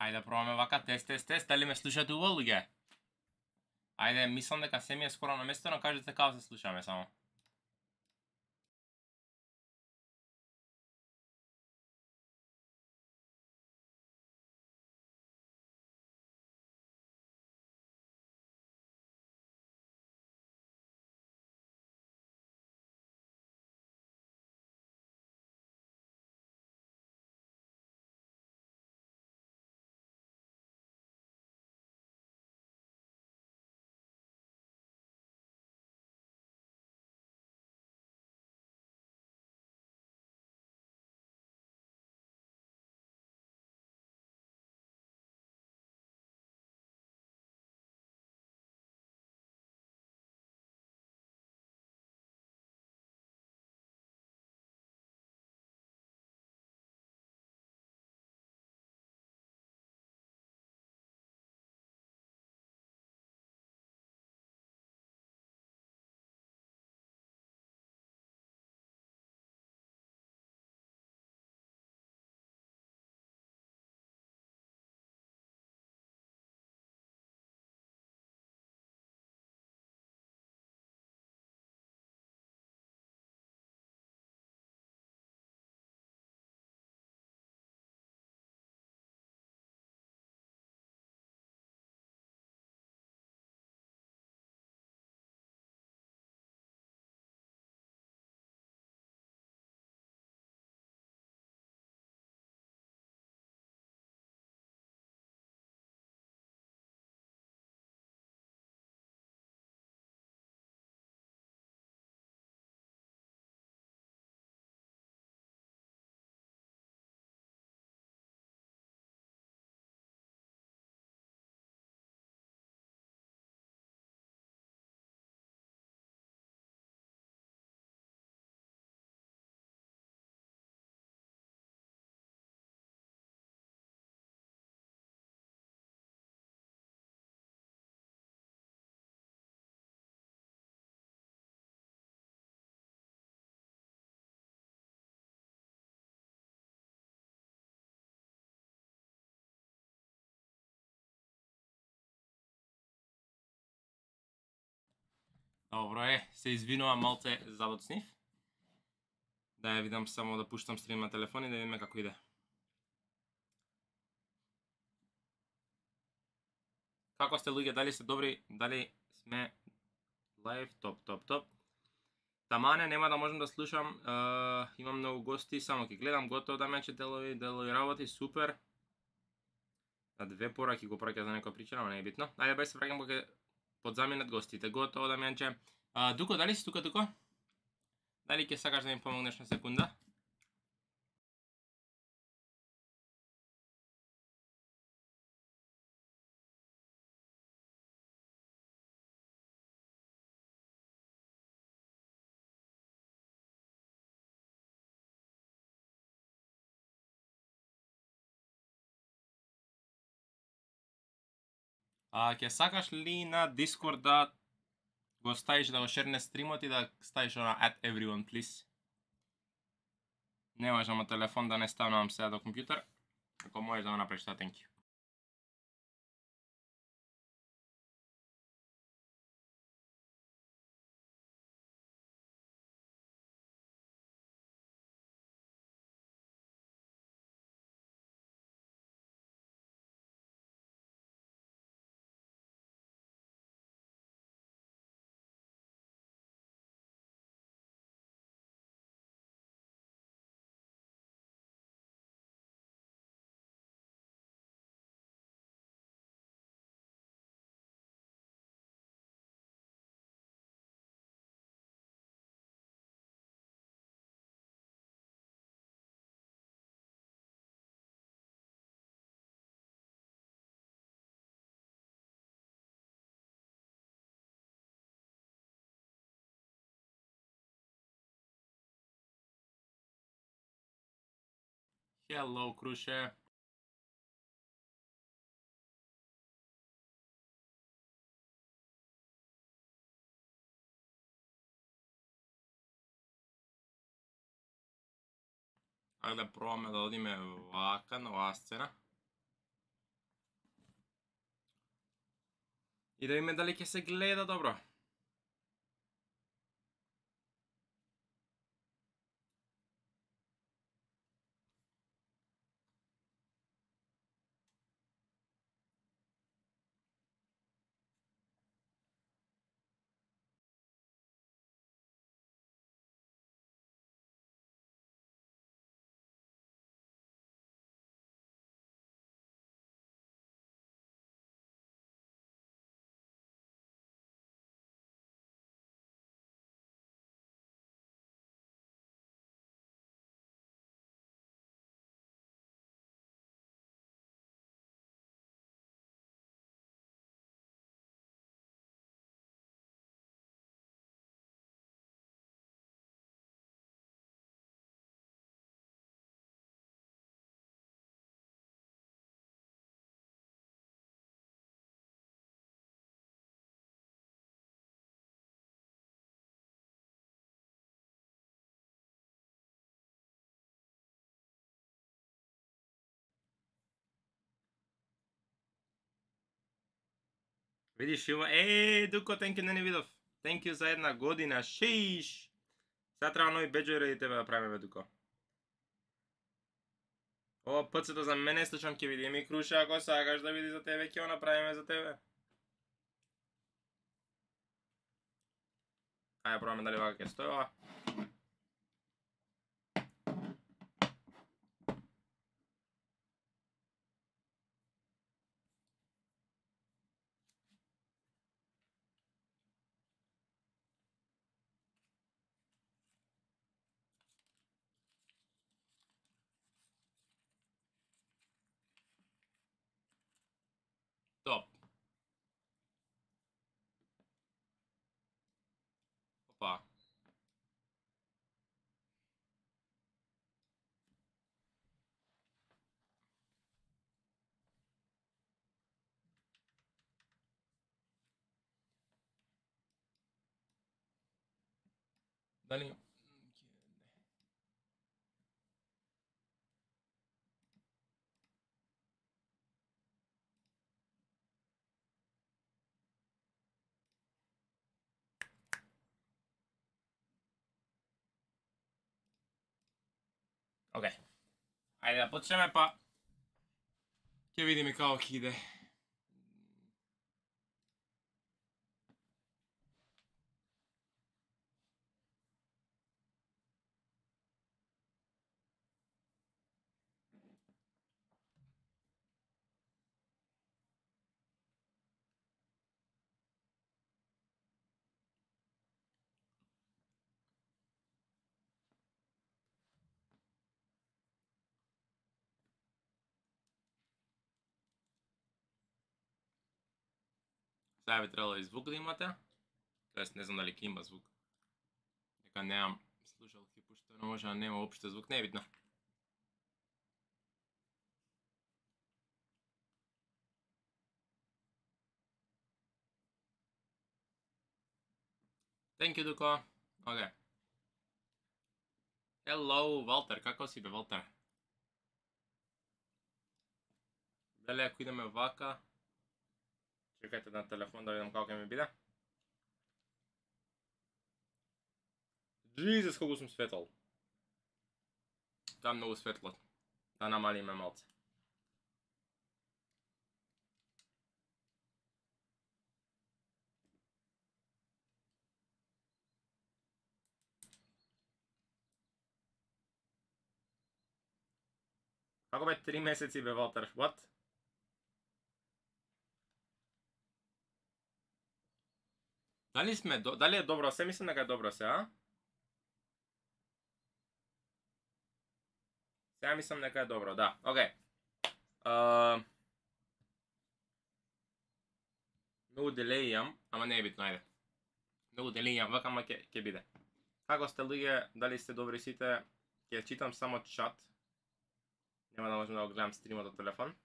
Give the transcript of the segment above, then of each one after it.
Ајде пробаме вака, тест, дали ме слушате убаво луѓе? Ајде, мислам дека се ми е скоро на место, но кажете како се слушаме само. Добро се извинувам малце забоцнив. Да ја видам само да пуштам стрим на телефон и да видиме како иде. Како сте луѓе, дали сте добри, дали сме лайв, топ. Тамане, нема да можам да слушам, имам многу гости, само ќе гледам, готово да мече делови работи, супер. На две пораки го праќа за некоја причина, но не е битно. Ајде бе се враќам кога подзаминат гостите, готово да менче. Дуко, дали си тука, Дуко? Дали ќе сакаш да ми помогнеш на секунда? Ќе сакаш ли на Discord да го ставиш да го шерне стримот и да ставиш на at everyone please? Не можам на телефон да не ставам сега до компјутер. Ако можеш да го направиш тоа, thank you. Hello, Круше. Ајде да пробаме да одиме вака на оваа сцена. И да видиме дали ќе се гледа добро. Видиш Иво, Дуко, thank you, не видов. Thank you за една година, шиш. Сега треба нови беџови ради тебе да правиме, Дуко. Ова пцето за мене слушам ќе види, ми Круша, ако сакаш да види за тебе, ќе го направиме за тебе. Ајде пробаме дали вака ќе стои ова. Топ. Опа. Дали... Океј. Ајде да почнеме, па ќе видиме како ќе иде. Сега би требало и звук да имате. Тоест, не знам дали ќе има звук. Дека немам слушалки, пошто не може да нема опште звук, не е битно. Thank you, Дуко. Океј. Hello, Валтер, како си бе, Валтер? Дали ако идеме вака... Чекајте на телефон да видам како ќе ми биде. Jesus, колку сум светол. Тоа многу светло. Да намалиме малце. Како бе 3 месеци бе, Валтер? What? Дали сме, дали е добро се? Мислам дека е добро се, а? Сега мислам дека е добро, да. Океј. Многу делеј имам, ама не е битно, ајде. Многу делеј имам, вака ама ќе биде. Како сте луѓе, дали сте добри сите? Ќе читам само чат. Нема да можам да го гледам стримот од телефон.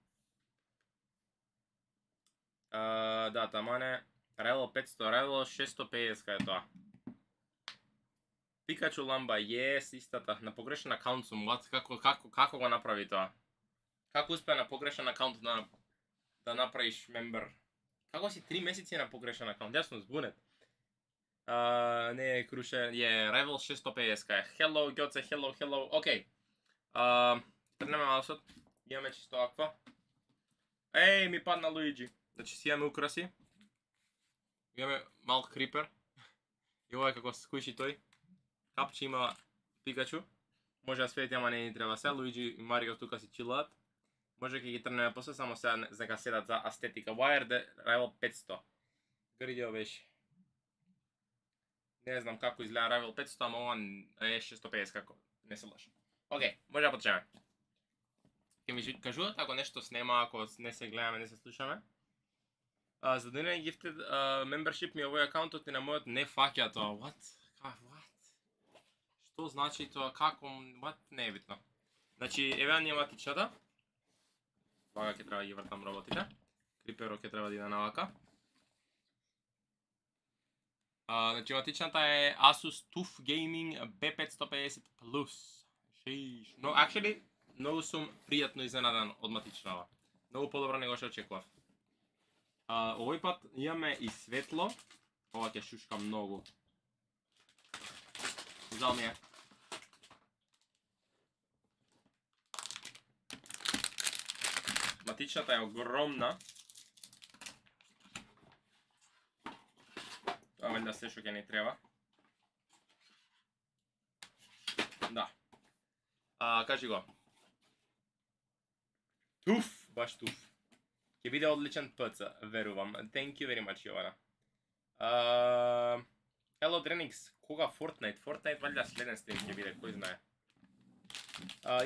Да, тамане. Райло 500, Райло 650 кај тоа. Пикачу ламба, yes, истата. На погрешен акаунт сум, како го направи тоа? Како успеа на погрешен акаунт да направиш мембер? Како си 3 месеци на погрешен акаунт? Јас сум збунет. Не е крушен, е Rival 650 е. Hello, Гјоце, hello. Океј. Трнеме маусот. Имаме чисто аква. Еј, ми падна Луиджи. Значи си имаме украси. Имаме мал крипер. И ова е како скуиши тој. Капче има Пикачу. Може да свети, ама не ни треба се. Луиджи и Марио тука си чилаат. Може ќе ги трнеме после, само сега нека седат за естетика. Wired Rival 500. Гридио беше. Не знам како изгледа Rival 500, ама ова е 650 како. Не се лошо. Океј, може да почнеме. Ке ми кажуват ако нешто снема, ако не се гледаме, не се слушаме. За да не gifted membership ми овој акаунтот и на мојот не фаќа тоа. What? Што значи тоа? Како? What? Не е битно. Значи, еве ни матичата. Вага ќе треба да ги вртам роботите. Криперо ќе треба да иде навака. Значи, матичната е Asus TUF Gaming B550 Plus. Но, actually, многу сум пријатно изненадан од матичнава. Многу подобро него што очекував. Овој пат имаме и светло. Ова ќе шушка многу. Жал ми е. Матичната е огромна. Тоа валјда се што ќе ни треба. Да. Кажи го. Туф, баш туф. Ќе биде одличен ПЦ, верувам. Thank you very much, Јована. Hello Drenix, кога Fortnite? Fortnite валјда следен стрим ќе биде, кој знае.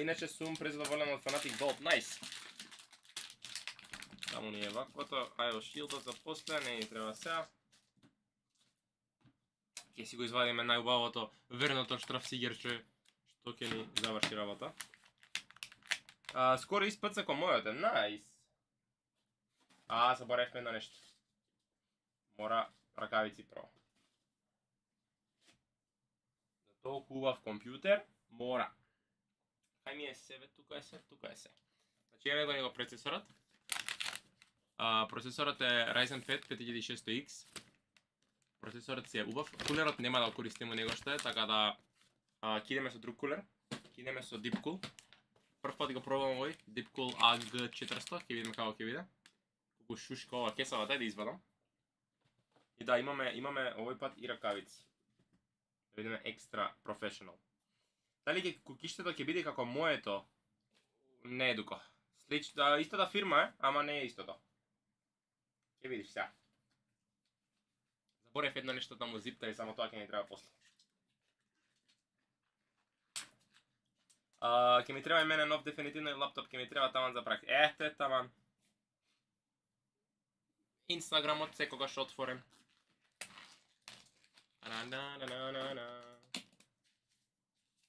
Иначе сум презадоволен од Fnatic Gold, nice. Таму ни е ваквото, ајо шилдот за после, не ни треба сега. Ќе си го извадиме најубавото верното штрафсигерче, што ќе ни заврши работа. Скоро испаца ко мојот е, nice. Заборавме на нешто. Мора ракавици прво. За толку убав компјутер, мора. Кај ми е себе, тука е се. Значи имаме го него процесорот. Процесорот е Ryzen 5 5600X. Процесорот си е убав. Кулерот нема да користиме него што е, така да кидеме со друг кулер. Кидеме со Deepcool. Прв пат го пробувам овој Deepcool AG400, ќе видиме како ќе биде. Колку шушка ова кесава, дај да извадам. И да, имаме овој пат и ракавици. Да видиме екстра професионал. Дали кукиштето ќе биде како моето? Не е дуко. Истата фирма е, ама не е истото. Ќе видиш сега. Заборев едно нешто таму зипта и само тоа ќе ни треба после. Ќе ми треба и мене нов дефинитивно и лаптоп, ќе ми треба таман за прак. Ете таман. Инстаграмот секогаш отворен.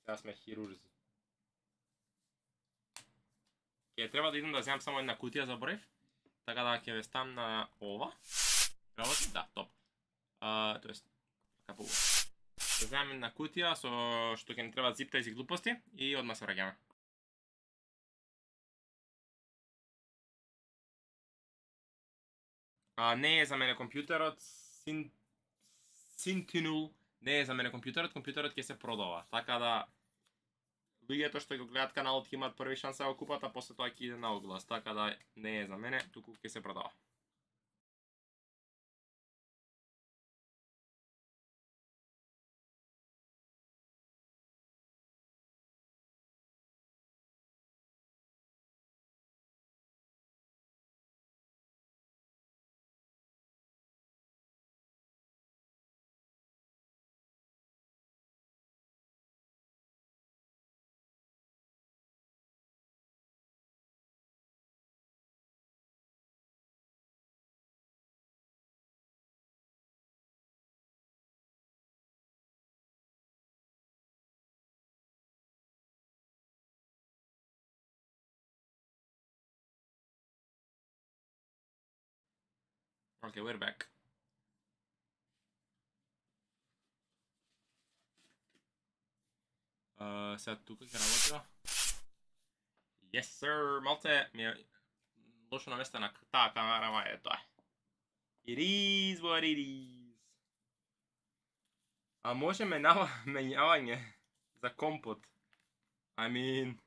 Сега сме хирурзи. Ќе треба да идам да земам само една кутија, заборев. Така да ќе ве ставам на ова. Работи? Да, топ. Тоест, капо ова. Да земам една кутија со што ќе ни треба зипта и глупости и одма се враќаме. Не е за мене компјутерот, Sentinel не е за мене компјутерот ќе се продава. Така да луѓето што го гледат каналот ќе имаат први шанс да го купат, а после тоа ќе иде на оглас. Така да не е за мене, туку ќе се продава. Okay, we're back. Сега тука ќе работи. Yes sir, малце ми е лошо наместена таа камера, ама е тоа. It is what it is. А може менјавање за компот. I mean,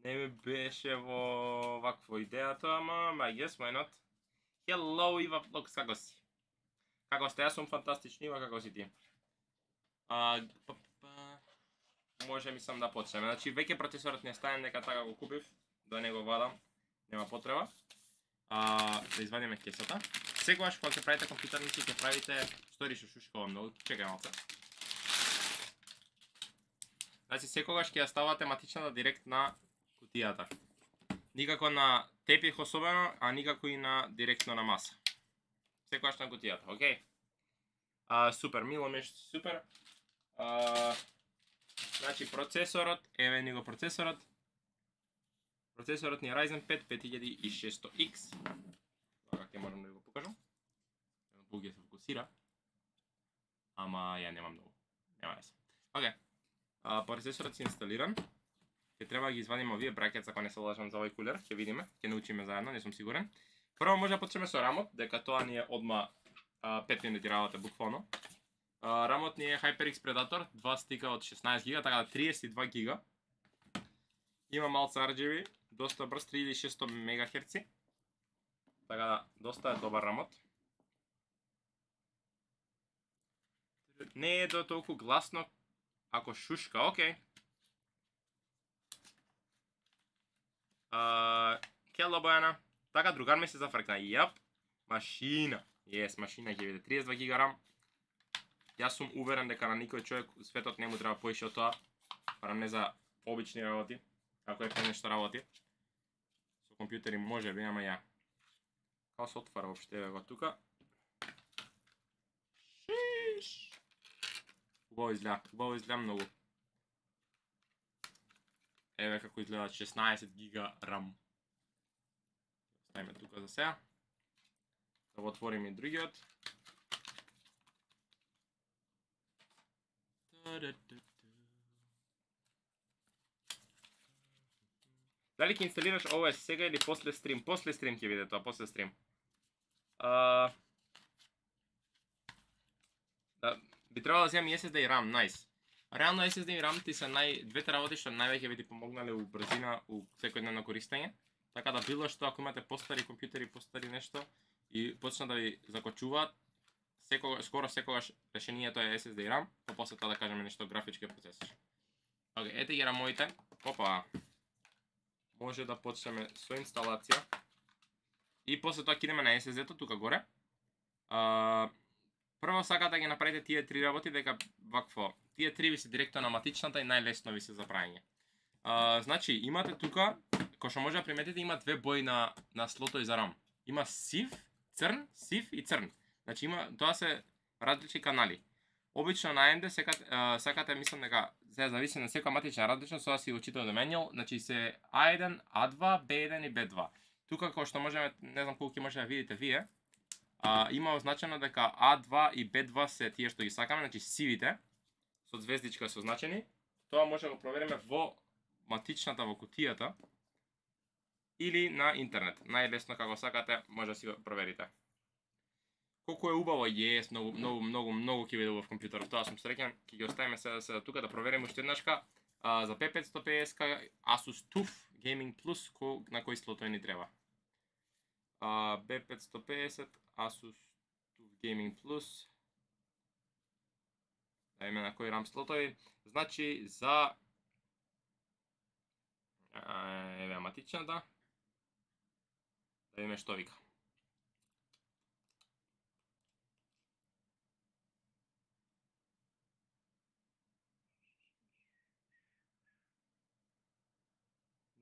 не ми беше во вакво идејата, ама I guess why not. Hello Ива Vlogs, како си? Како сте? Јас сум фантастични, Ива, како си ти? Може мислам да почнеме. Значи, веќе процесорот не стаен, дека така го купив, да не го вадам, нема потреба. Да извадиме кесата. Секогаш кога ќе правите компјутерници, ќе правите стори што шушкава многу. Чекај малце. Значи, секогаш ќе ја ставате матичната директ на кутијата. Никако на тепих особено, а никако и на директно на маса. Секогаш на кутијата, окей? Супер, мило меш, супер. Значи, процесорот, еве ни го процесорот. Процесорот ни е Ryzen 5 5600X. Така ќе можам да го покажам. Буги се фокусира. Ама ја немам многу. Нема веќе. Окей. Процесорот си инсталиран. Ќе треба да ги извадиме овие бракет, ако не се лажам за овој кулер, ќе видиме, ќе научиме заедно, не сум сигурен. Прво може да почнеме со рамот, дека тоа ни е одма 5 минути работа буквално. Рамот ни е HyperX Predator, 2 стика од 16 гига, така да 32 гига. Има малце RGB, доста брз, 3600 МГц. Така да, доста е добар рамот. Не е до толку гласно ако шушка, окей. Кело Бојана. Така, другар ми се зафркна. Јап, машина. Јес, машина ќе биде 32 гига рам. Јас сум уверен дека на никој човек у светот не му треба поише од тоа, барем не за обични работи, ако е нешто работи. Со компјутери може би, ама ја. Као се отвара воопште, еве го тука. Шиш. Убаво изгледа многу. Еве како изгледа 16 гига рам. Ставиме тука за сега. Да го отвориме и другиот. Дали ќе инсталираш OS сега или после стрим? После стрим ќе биде тоа, после стрим. Би требало да земам SSD и RAM, nice. Реално SSD и RAM ти се двете работи што највеќе би ти помогнале у брзина, у секојдневно користење. Така да било што ако имате постари компјутери, постари нешто и почна да ви закочуваат, скоро секогаш решението е SSD и RAM, па после тоа да кажеме нешто графички процесор. Окей, ете ги рамовите. Опа. Може да почнеме со инсталација. И после тоа ќе идеме на SSD-то тука горе. Прво сакате да ги направите тие три работи, дека вакво. Тие три ви се директно на матичната и најлесно ви се за праење. Значи, имате тука, кој што може да приметите, има две бои на слото и за RAM. Има сив, црн, сив и црн. Значи, тоа се различни канали. Обично на AMD сакате, мислам дека се зависи на секоја матична различно, со да си учител да менјал, значи се A1, A2, B1 и B2. Тука кој што можеме, не знам колку ќе може да видите вие, има означено дека A2 и B2 се тие што ги сакаме, значи сивите, со звездичка се означени. Тоа може да го провериме во матичната во кутијата или на интернет. Најлесно како сакате, може да си го проверите. Колку е убаво, јес, многу ќе биде убав компјутерот. Тоа сум среќен, ќе ги оставиме сега тука да провериме уште еднашка за P550 Asus TUF Gaming Plus на кој слотој ни треба. B550 Asus TUF Gaming Plus. Да видиме на кој RAM слотови. Значи за еве матичната. Да видиме што вика.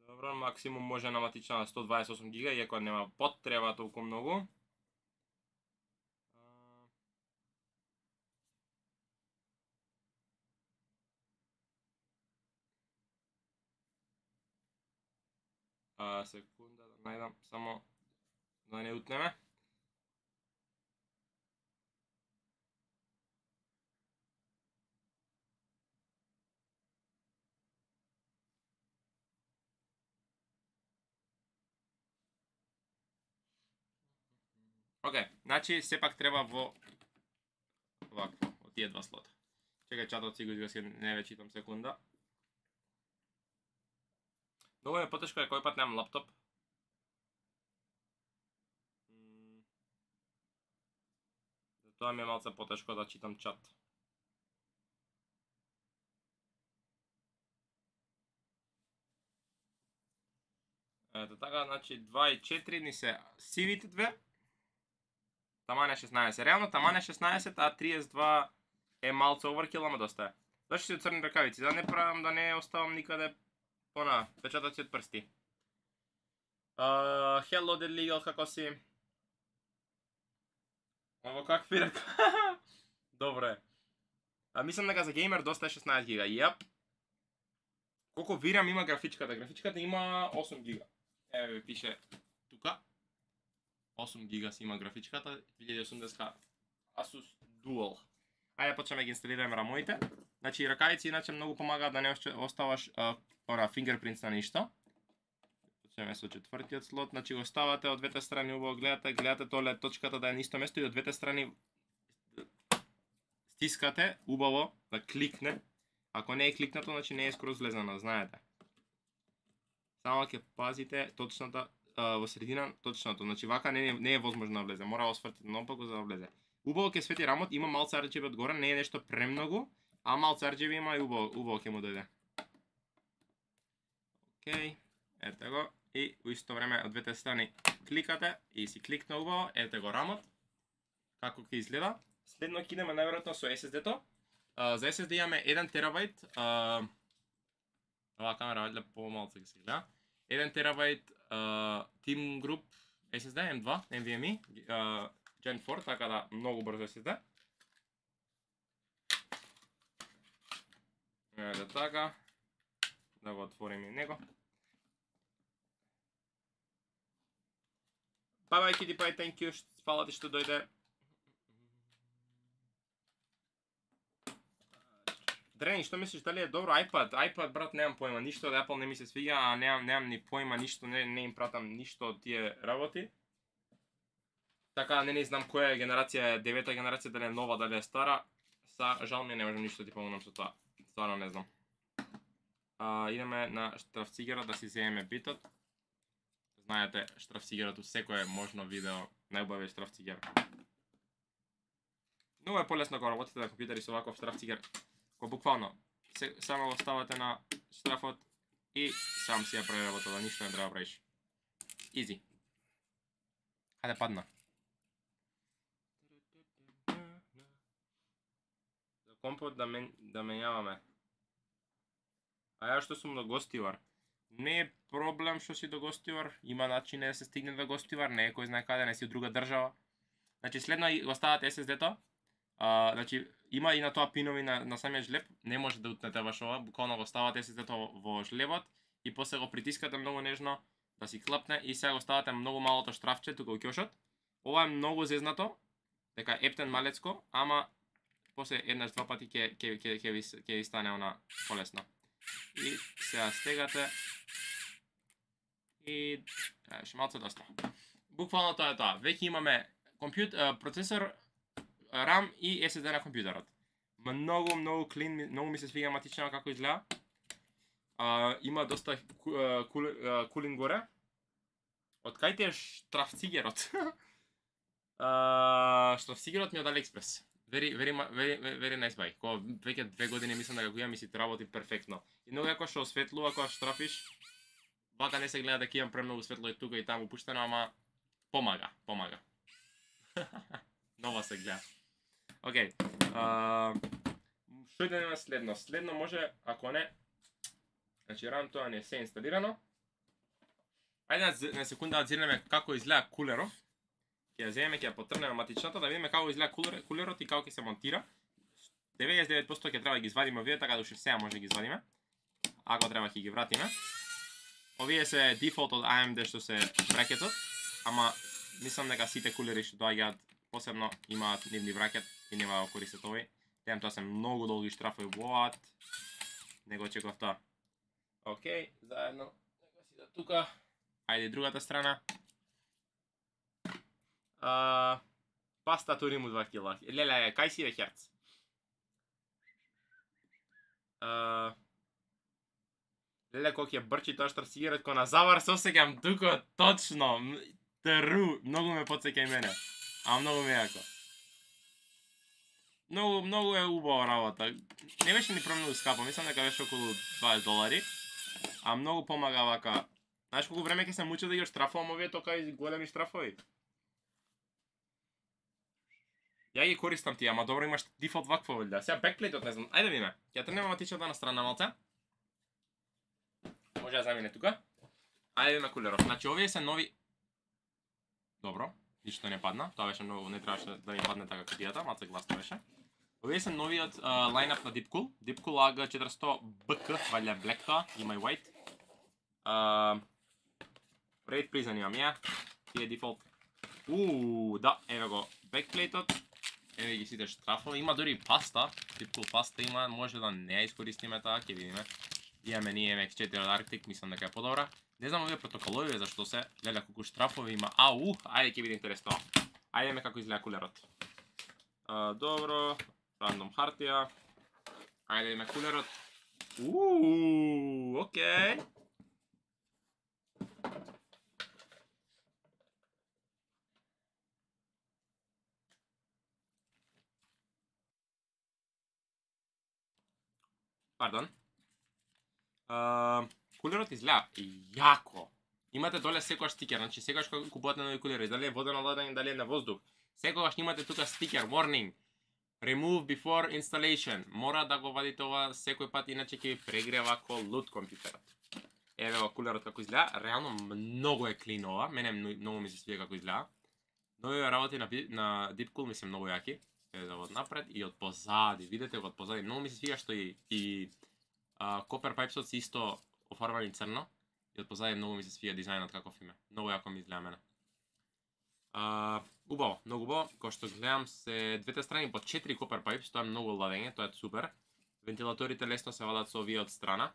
Добро, максимум може на матична на 128 гига, иако нема потреба толку многу. Секунда да најдам, само да не утнеме. Океј, значи сепак треба во овакво, од тие два слота. Чекај чатот си го изгаси, не ве читам секунда. Многу е потешко е кој пат немам лаптоп. Затоа ми е малце потешко да читам чат. Ето така, значи 2 и 4 ни се сивите две. Таман е 16. Реално таман е 16, а 32 е малце overkill, ама доста е. Зашто си црни ракавици? Да не правам, да не оставам никаде она, печатоци од прсти. Hello Dead Legal, како си? Ово какви рака? Добре. Мислам дека за геймер доста е 16 гига. Јап. Колко вирам има графичката? Графичката има 8 гига. Еве пише тука. 8 гига си има графичката, 2080 Asus Dual. Ајде почнеме ги инсталираме рамоите. Значи ракавици иначе многу помагаат да не оставаш fingerprints на ништо. Почнеме со четвртиот слот, значи го ставате од двете страни, убаво гледате толе точката да е на исто место и од двете страни стискате убаво да кликне. Ако не е кликнато, значи не е скроз влезано, знаете. Само ќе пазите точната во средина точното, значи вака не е возможно да влезе, мора да освртите наопаку за да влезе. Убаво ќе свети рамот, има малце RGB одгоре, не е нешто премногу, а малце RGB има и убаво ќе му дојде. Океј, ете го, и во исто време од двете страни кликате и си кликна убаво, ете го рамот, како ќе изгледа. Следно ќе идеме најверојатно со SSD-то. За SSD имаме 1 терабайт, оваа камера вајде помалце ќе се гледа. 1 терабайт Team Group SSD M2 NVMe Gen 4, така да многу брзо SSD. Ете така. Да го отворим и него. Bye bye Kitty Pie, thank you, фала ти што дојде. Дрени, што мислиш, дали е добро iPad? iPad, брат, немам појма, ништо од Apple не ми се свиѓа, а немам ни појма, ништо, не им пратам ништо од тие работи. Така, не знам која е генерација, 9-та генерација, дали е нова, дали е стара. Жал ми не можам ништо ти помогнам со тоа. Стварно не знам. Идеме на штрафцигерот да си земеме битот. Знаете, штрафцигерот у секое можно видео, најубавиот штрафцигер. Многу е полесно кога работите на компјутери со ваков штрафцигер. Ко буквално, само го ставате на штрафот и сам си ја прави работата, ништо не треба да правиш. Изи. Хаде падна. За компот да менјаваме. А ја што сум до гостивар. Не е проблем што си до гостивар, има начин да се стигне до гостивар, не е кој знае каде, не си од друга држава. Значи следно го ставате SSD-то. Значи има и на тоа пинови на самиот жлеб, не може да утнете баш ова, буквално го ставате SSD-то во жлебот и после го притискате многу нежно да си клапне и сега го ставате многу малото штрафче тука во ќошот. Ова е многу зезнато, дека ептен малецко, ама после еднаш два пати ќе ви стане она полесно. И сега стегате и ше малце доста. Буквално тоа е тоа. Веќе имаме процесор, RAM и SSD на компјутерот. Многу клин, многу ми се свиѓа матично како изгледа. Има доста кулин горе. Од кај ти е штрафцигерот? Штрафцигерот ми од AliExpress. Very nice buy. Кога веќе 2 години мислам дека го имам и си работи перфектно. И многу како што осветлува кога штрафиш, вака не се гледа дека имам премногу светло и тука и таму пуштено, ама помага. Нова се гледа. Океј. Што да нема следно? Следно може, ако не, значи RAM тоа не се инсталирано. Ајде на секунда да зирнеме како изгледа кулерот. Ќе ја земеме, ќе ја потрнеме матичната да видиме како изгледа кулерот и како ќе се монтира. 99% ќе треба да ги извадиме овие, така да уште сега може да ги извадиме. Ако треба ќе ги вратиме. Овие се дефолт од AMD што се бракетот, ама мислам дека сите кулери што доаѓаат посебно имаат нивни бракет и нема да користат овој. Темам тоа се многу долги штрафови, what? Не го очекував тоа. Океј, заедно, нека си да тука. Ајде другата страна. Паста Туриму 2 кила. Леле, кај си бе Херц? Леле, колко ќе брчи тоа што сигарет ко на завар, се осеќам тука точно. Тру, многу ме потсеќа и мене. А многу ме јако. Многу е убава работа. Не беше ни премногу скапо, мислам дека беше околу $20. А многу помага вака. Знаеш колку време ќе се мучи да ги штрафувам овие тока и големи штрафови? Ја ги користам тие, ама добро имаш дефолт вакво валјда. Сега бекплейтот не знам. Ајде видиме. Ќе тренуваме матичата на страна малце. Може да замине тука. Ајде видиме кулерот. Значи овие се нови. Добро, ништо не падна. Тоа беше многу, не требаше да ми падне така кутијата, малце гласно беше. Овие се новиот лајнап на Deepcool. Deepcool AG400 BK, валја black тоа, има и white. Рейд призан имам ја. Тие дефолт. Да, еве го бекплейтот. Еве ги сите штрафови, има дури паста, Deepcool паста има, може да не ја искористиме таа, ќе видиме. Имаме ние MX4 од Arctic, мислам дека е подобра. Не знам овие протоколови зашто се, леле колку штрафови има. Ајде ќе биде интересно. Ајдеме како изгледа кулерот. Добро, рандом хартија. Ајде видиме кулерот. Окей. Пардон. Кулерот изгледа јако. Имате доле секојаш стикер, значи секојаш кога купувате нови кулери, дали е водено ладење, дали е на воздух. Секојаш имате тука стикер, warning. Remove before installation. Мора да го вадите ова секој пат, иначе ќе ви прегрева ко лут компјутерот. Еве го кулерот како изгледа, реално многу е клин ова, мене многу ми се свија како изгледа. Нови работи на Deepcool ми се многу јаки. Еве да од напред и од позади, видите го од позади, многу ми се свија што и Copper Pipesот се исто офарбани црно и од позади многу ми се свија дизајнот каков име. Многу јако ми изгледа мене. Убаво, многу убаво. Кој што гледам се двете страни по 4 Copper Pipes, тоа е многу ладење, тоа е супер. Вентилаторите лесно се вадат со овие од страна.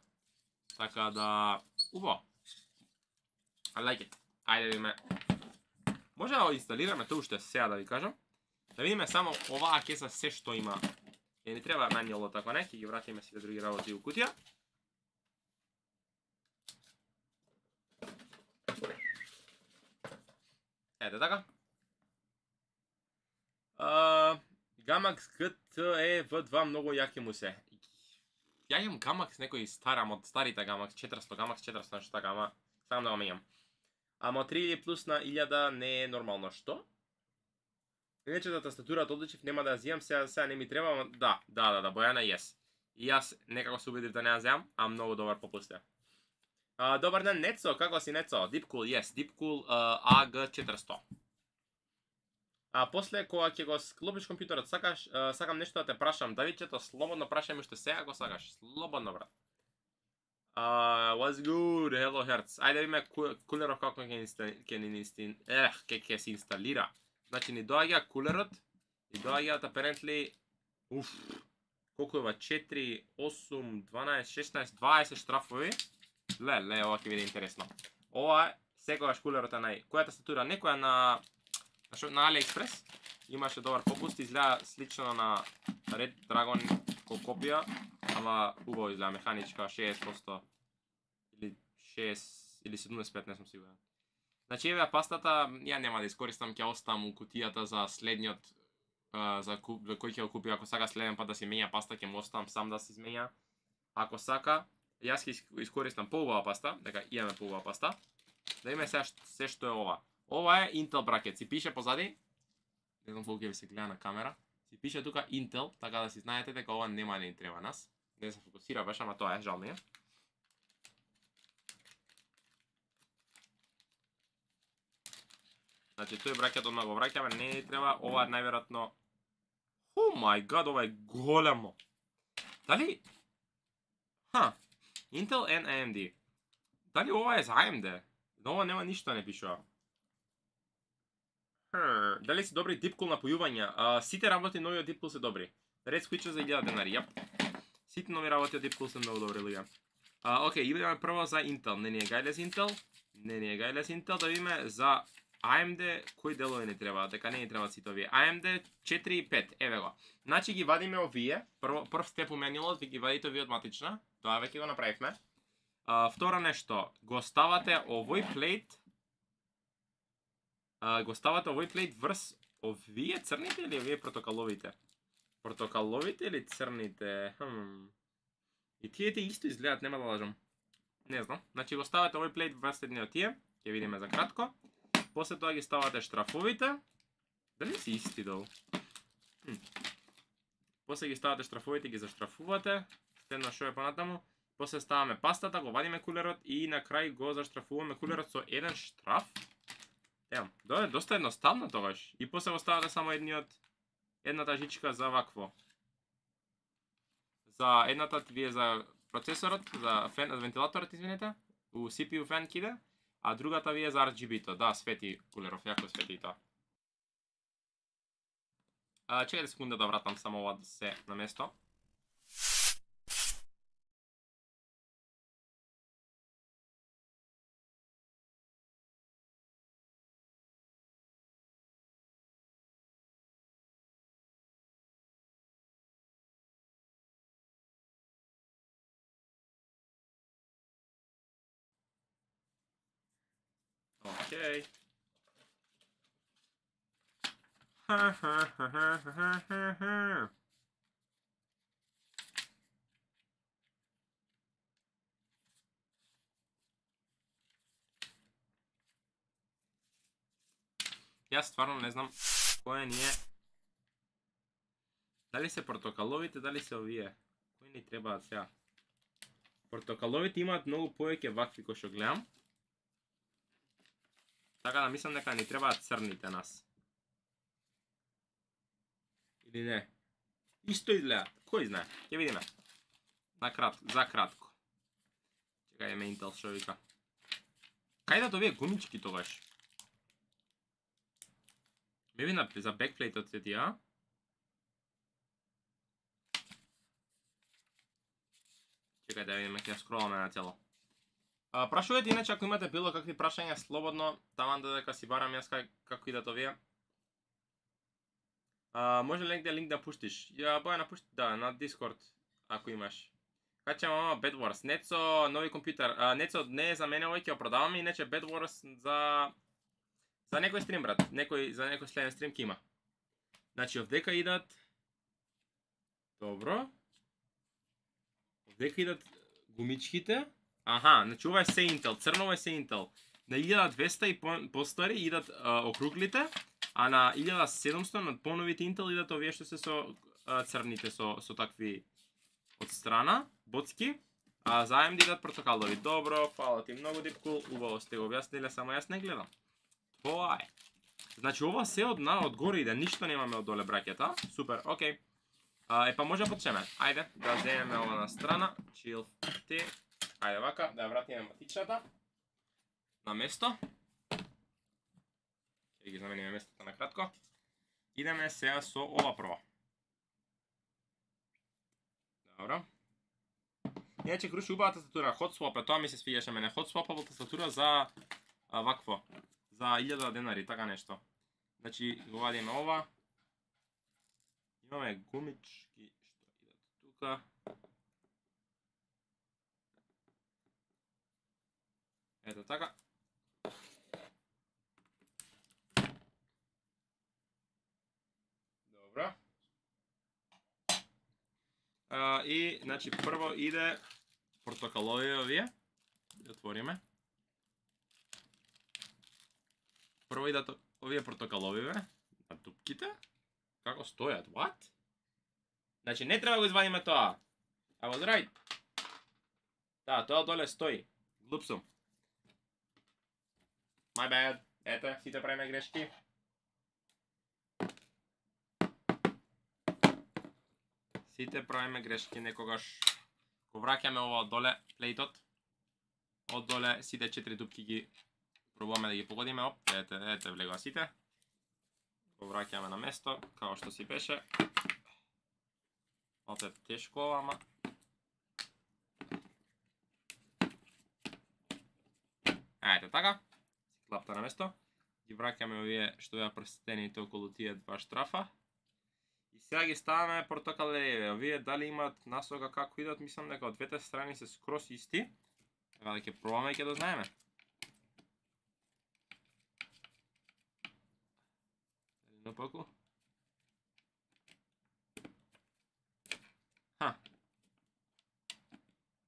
Така да, убаво. I like it. Ајде видиме. Може да инсталираме тоа уште сега да ви кажам. Да видиме само оваа кеса се што има. Е, не треба манјало така не, ќе ги вратиме сите други работи у кутија. Ете така. Gamax GTE-V2 многу јаки му се. Ја имам Gamax некој старам од старите Gamax 400, Gamax 400 нешто така, ама сакам да го менјам. Ама 3000 плюс на 1000 не е нормално, што? Иначе да тастатурата одличив, нема да ја зијам, сега не ми треба, да, Бојана yes. И јас некако се убедив да не ја зијам, а многу добар попуст е. Добар ден, Нецо, како си Нецо? Deepcool, yes, Deepcool AG400. После кога ќе го склопиш компјутерот, сакам нешто да те прашам, Давидчето, слободно прашај ме уште сега ако сакаш, слободно брат. What's good, hello Hertz. Ајде видиме кулерот како ќе се инсталира. Значи ни доаѓа кулерот, и доаѓаат apparently, колку е ова, 4, 8, 12, 16, 20 штрафови. Леле, ова ќе биде интересно. Ова е, секогаш кулерот е која тастатура, некоја на AliExpress, имаше добар попуст, изгледа слично на Red Dragon копија, ама убаво изгледа механичка, 60% или 6 или 75, не сум сигурен. Значи еве пастата, ја нема да искористам, ќе оставам у кутијата за следниот, за кој ќе го купи, ако сака следен пат да си менја паста, ќе му оставам сам да се изменја. Ако сака, јас ќе искористам поубава паста, дека имаме поубава паста. Да видиме сега се што е ова. Ова е Intel бракет, си пише позади, не знам колку ќе ви се гледа на камера, си пише тука Intel, така да си знаете дека ова нема да ни треба нас. Не се фокусира баш, ама тоа е, жал ми е. Значи тој бракет одма го враќаме, не ни треба, ова е најверојатно. Oh my god, ова е големо. Дали? Intel and AMD. Дали ова е за AMD? Ова нема ништо не пишува. Дали се добри Deepcool напојувања? Сите работи нови од Deepcool се добри. Red Switcher за 1000 денари, јап. Сите нови работи од Deepcool се многу добри, луѓе. Окей, идеме прво за Intel. Не ни е гајлес Intel. Да видиме за AMD, кои делови не треба, дека не ни треба сите овие. AMD 4 и 5, еве го. Значи ги вадиме овие, прв степ уменилот, ви ги вадите овие од матична, тоа веќе го направивме. Второ нешто, го ставате овој плейт, врз овие црните или овие протокаловите? Протокаловите или црните? И тие исто изгледат, нема да лажам. Не знам. Значи го ставате овој плейт врз едни од тие, ќе видиме за кратко. После тоа ги ставате штрафовите. Дали си исти долу? После ги ставате штрафовите, ги заштрафувате. Следно шо е понатаму. После ставаме пастата, го вадиме кулерот и на крај го заштрафуваме кулерот со еден штраф. Ево, доста едноставно тогаш. И после го ставате само едната жичка за вакво. За едната вие за процесорот, за вентилаторот, извинете, у CPU фен киде, а другата вие за RGB-то. Да, свети кулеров, јако свети и тоа. Чекајте секунда да вратам само ова да се на место. Океј. Јас стварно не знам кој ни е. Дали се протокаловите, дали се овие? Кои ни требаат сега? Протокаловите имаат многу повеќе вакви кои што гледам. Така да мислам дека ни требаат црните нас. Или не? Исто изгледаат. Кој знае? Ќе видиме. За кратко. Чекајме Intel шо вика. Кај да овие гумички тогаш? Ме видна за бекплейтот се тие, а? Чекај да видиме, ќе скроламе на цело. Прашувате иначе ако имате било какви прашања слободно, таман додека си барам јас како идат овие. Може ли негде линк да пуштиш? Ја Бојана пушти, да, на Discord, ако имаш. Качам ама Bed Wars, Нецо нови компјутер. Нецо не е за мене, овој ќе продаваме, иначе Bed Wars за некој стрим, брат. За некој следен стрим ќе има. Значи овдека идат. Добро. Овдека идат гумичките. Аха, значи ова е се Intel, црново е се Intel. На 1200 и постари идат округлите, а на 1700 на поновите Intel идат овие што се со црните со такви од страна, боцки, а за AMD идат протокалови. Добро, фала ти многу, Дипкул, убаво сте го објасниле, само јас не гледам. Тоа е. Значи ова се од горе иде, ништо немаме од доле бракета. Супер, окей. Па може да потчеме. Ајде, да земеме ова на страна. Chill ти. Ајде вака, да ја вратиме матичната на место. Ќе ги замениме местото на кратко. Идеме сега со ова прво. Добро. Иначе круши убава тастатура, Hot Swap, тоа ми се свиѓаше мене. Hot Swap тастатура за вакво. За 1000 денари, така нешто. Значи, го вадиме ова. Имаме гумички што идат тука. Ето така. Добро. И, значи, прво иде портокалови овие. Ги отвориме. Прво идат овие портокаловиве на тупките. Како стојат? What? Значи, не треба го извадиме тоа. I was right. Да, тоа доле стои. Глуп сум. My bad. Ете, сите правиме грешки. Сите правиме грешки некогаш. Го враќаме ова од доле, плейтот. Од доле сите 4 дупки ги пробуваме да ги погодиме. Оп, ете влегува сите. Го враќаме на место, као што си беше. Опет тешко ова, ама. Ете така. Клапта на место. Ги враќаме овие што беа прстените околу тие два штрафа. И сега ги ставаме портокалевите. Овие дали имаат насока како идат, мислам дека од двете страни се скрос исти. Така да ќе пробаме и ќе дознаеме. Дали напаку?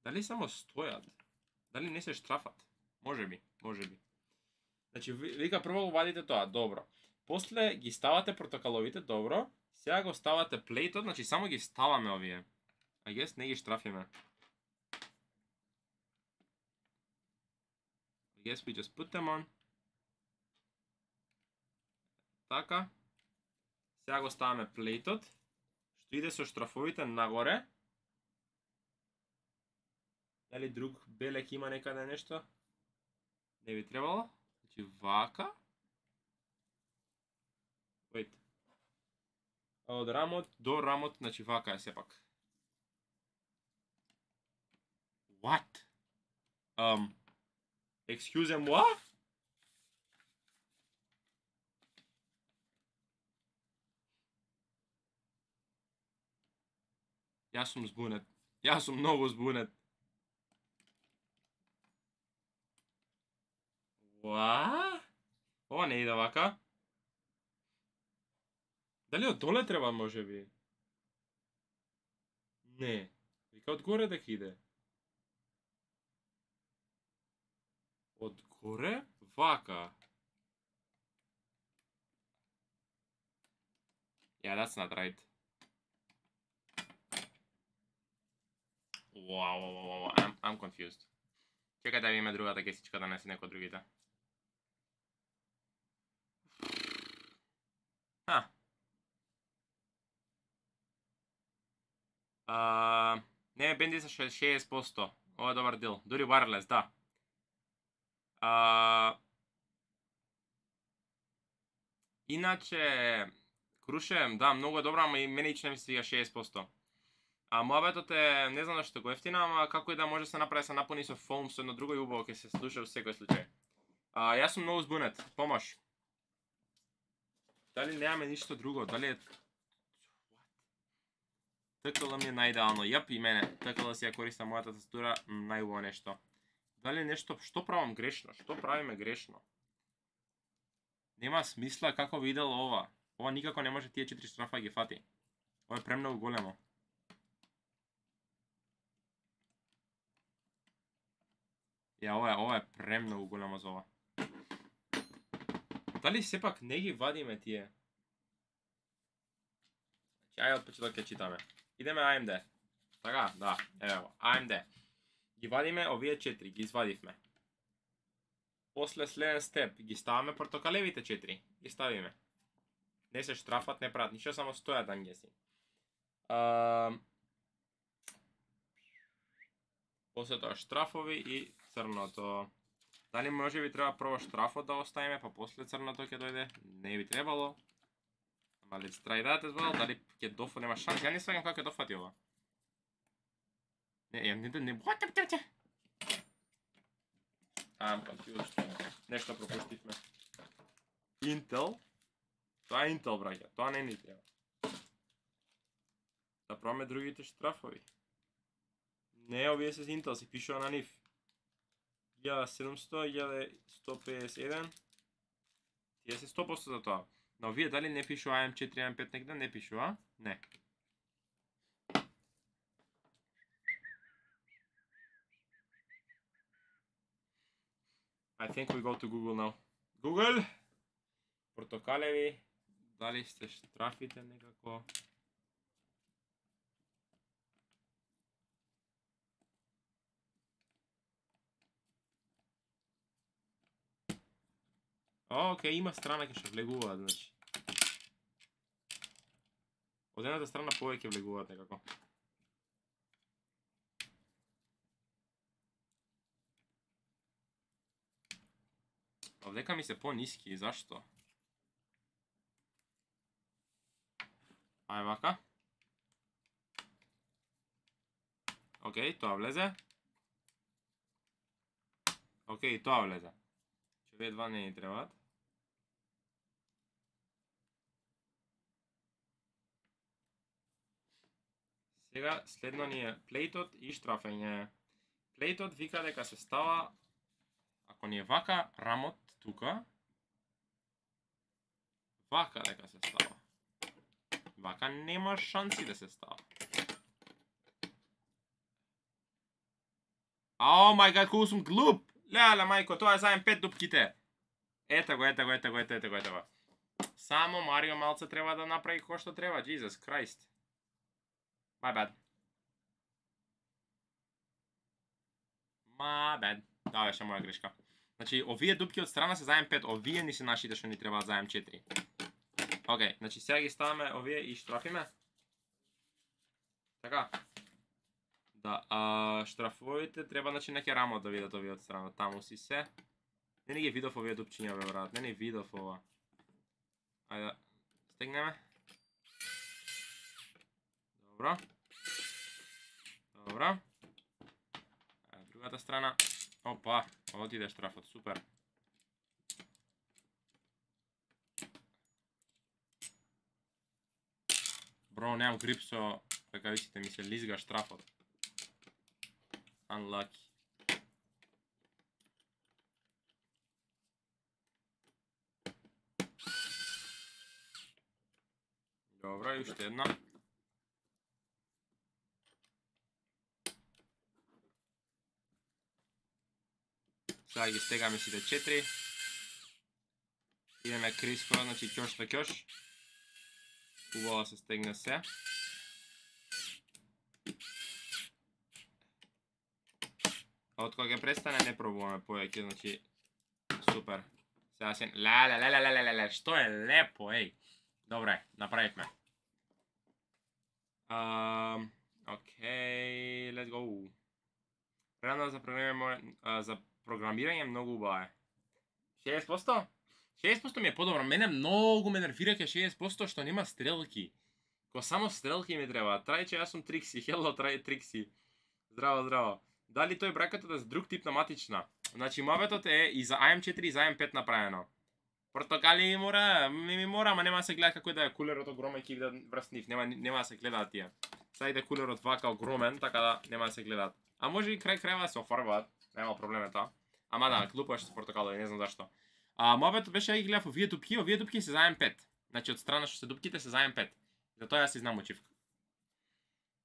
Дали само стојат? Дали не се штрафат? Може би. Значи, вика прво вадите тоа, добро. После ги ставате портокаловите, добро. Сега го ставате плейтот, значи само ги ставаме овие. I guess не ги штрафиме. I guess we just put them on. Така. Сега го ставаме плейтот, што иде со штрафовите нагоре. Дали друг белек има некаде нешто? Не би требало. Значи вака. Wait. Од рамот до рамот, значи вака е сепак. What? Excuse moi? Јас сум збунет. Јас сум многу збунет. What? Ова не иде вака. Дали од доле треба може би? Не. Вика од горе дека иде. Од горе? Вака. Yeah, that's not right. Wow. I'm confused. Чекај да видиме другата кесичка да не се некој другите. Не, бенди за 60%. Ова е добар дел. Дури wireless, да. Иначе, Круше, да, многу е добра, ама и мене ично ми се свига 60%. Муабетот е, не знам што го ефтина, ама како и да може се направи, се напуни со фолм, со едно друго и убаво ќе се слуша во секој случај. Јас сум многу збунет, помош. Дали немаме ништо друго, дали е... ТКЛ ми е најидеално, јап и мене, ТКЛ си ја користам мојата тастатура, најубаво нешто. Дали нешто, што правам грешно, што правиме грешно? Нема смисла како видел ова. Ова никако не може тие 4 штрафа ги фати. Ова е премногу големо. Ова е премногу големо за ова. Дали сепак не ги вадиме тие? Ајде од почеток ќе читаме. Идеме AMD. Така, да, ево, AMD. Ги вадиме овие 4, ги извадивме. После следен степ, ги ставаме портокалевите 4, ги ставиме. Не се штрафат, не прават ништо, само стојат ангеси. После тоа штрафови и црното. Дали може би треба прво штрафот да оставиме, па после црното ќе дојде? Не би требало. Ама let's try that as well, дали ќе дофа, нема шанс, ја не сваќам како ќе дофати ова. Не, what? I'm confused. Нешто пропуштивме. Intel? Тоа е Intel, браќа, тоа не ни треба. Да пробаме другите штрафови. Не, овие се Intel, си пишува на нив. 1700, 1151. Тие се 100% за тоа. Но овие дали не пишува AM4, AM5 негде? Не пишува? Не. I think we go to Google now. Google! Портокалеви. Дали сте штрафите некако? Океј, има страна ке што влегуваат, значи. Од едната страна повеќе влегуваат некако. Овдека ми се по-ниски, зашто? Ај вака. Океј, тоа влезе. Океј, тоа влезе. Че овие два не ни требаат. Сега следно ни е плейтот и штрафење. Плейтот вика дека се става, ако ни е вака рамот тука, вака дека се става. Вака нема шанси да се става. О мај гад, колку сум глуп! Леле мајко, тоа е заем 5 дупките. Ето го. Само Марио малце треба да направи кој што треба, Jesus Christ. My bad. Да, беше моја грешка. Значи, овие дупки од страна се заем 5, овие ни се нашите што ни требаат заем 4. Океј, значи сега ги ставаме овие и штрафиме. Така. Да, штрафовите треба, значи, неке рамот да видат овие од страна. Таму си се. Не ги видов овие дупчиња, бе, брат. Не видов ова. Ајде, стегнеме. Добро. Другата страна. Опа, отиде штрафот, супер. Бро, немам грип со ракавиците, ми се лизга штрафот. Unlucky. Добро, и уште една. Сега ги стегаме сите 4. Идеме крискора, значи ќош на ќош. Убаво се стегне се. А од кога ќе престане не пробуваме повеќе, значи супер. Сега се леле, што е лепо, еј. Добре, направивме. Океј, let's go. Рано за програмирање многу убава е. 60%? 60% ми е подобро. Мене многу ме нервираќе 60% што нема стрелки. Ко само стрелки ми треба. Трајче, јас сум Трикси. Hello, Трикси. Здраво. Дали тој бракетот е за друг тип на матична? Значи, мобетот е и за AM4 и за AM5 направено. Портокали ми мора, ама нема да се гледа како да е кулерот огромен ќе биде врз нив. Нема да се гледаат тие. Сега иде кулерот вака огромен, така да нема да се гледаат. А може и крај да се офарбаат. Нема проблем е тоа. Ама да, глупо е што се портокалови, не знам зашто. Мобетот беше да ги гледав овие дупки се заем 5. Значи од страна што се дупките се заем 5. Затоа јас се изнамучив.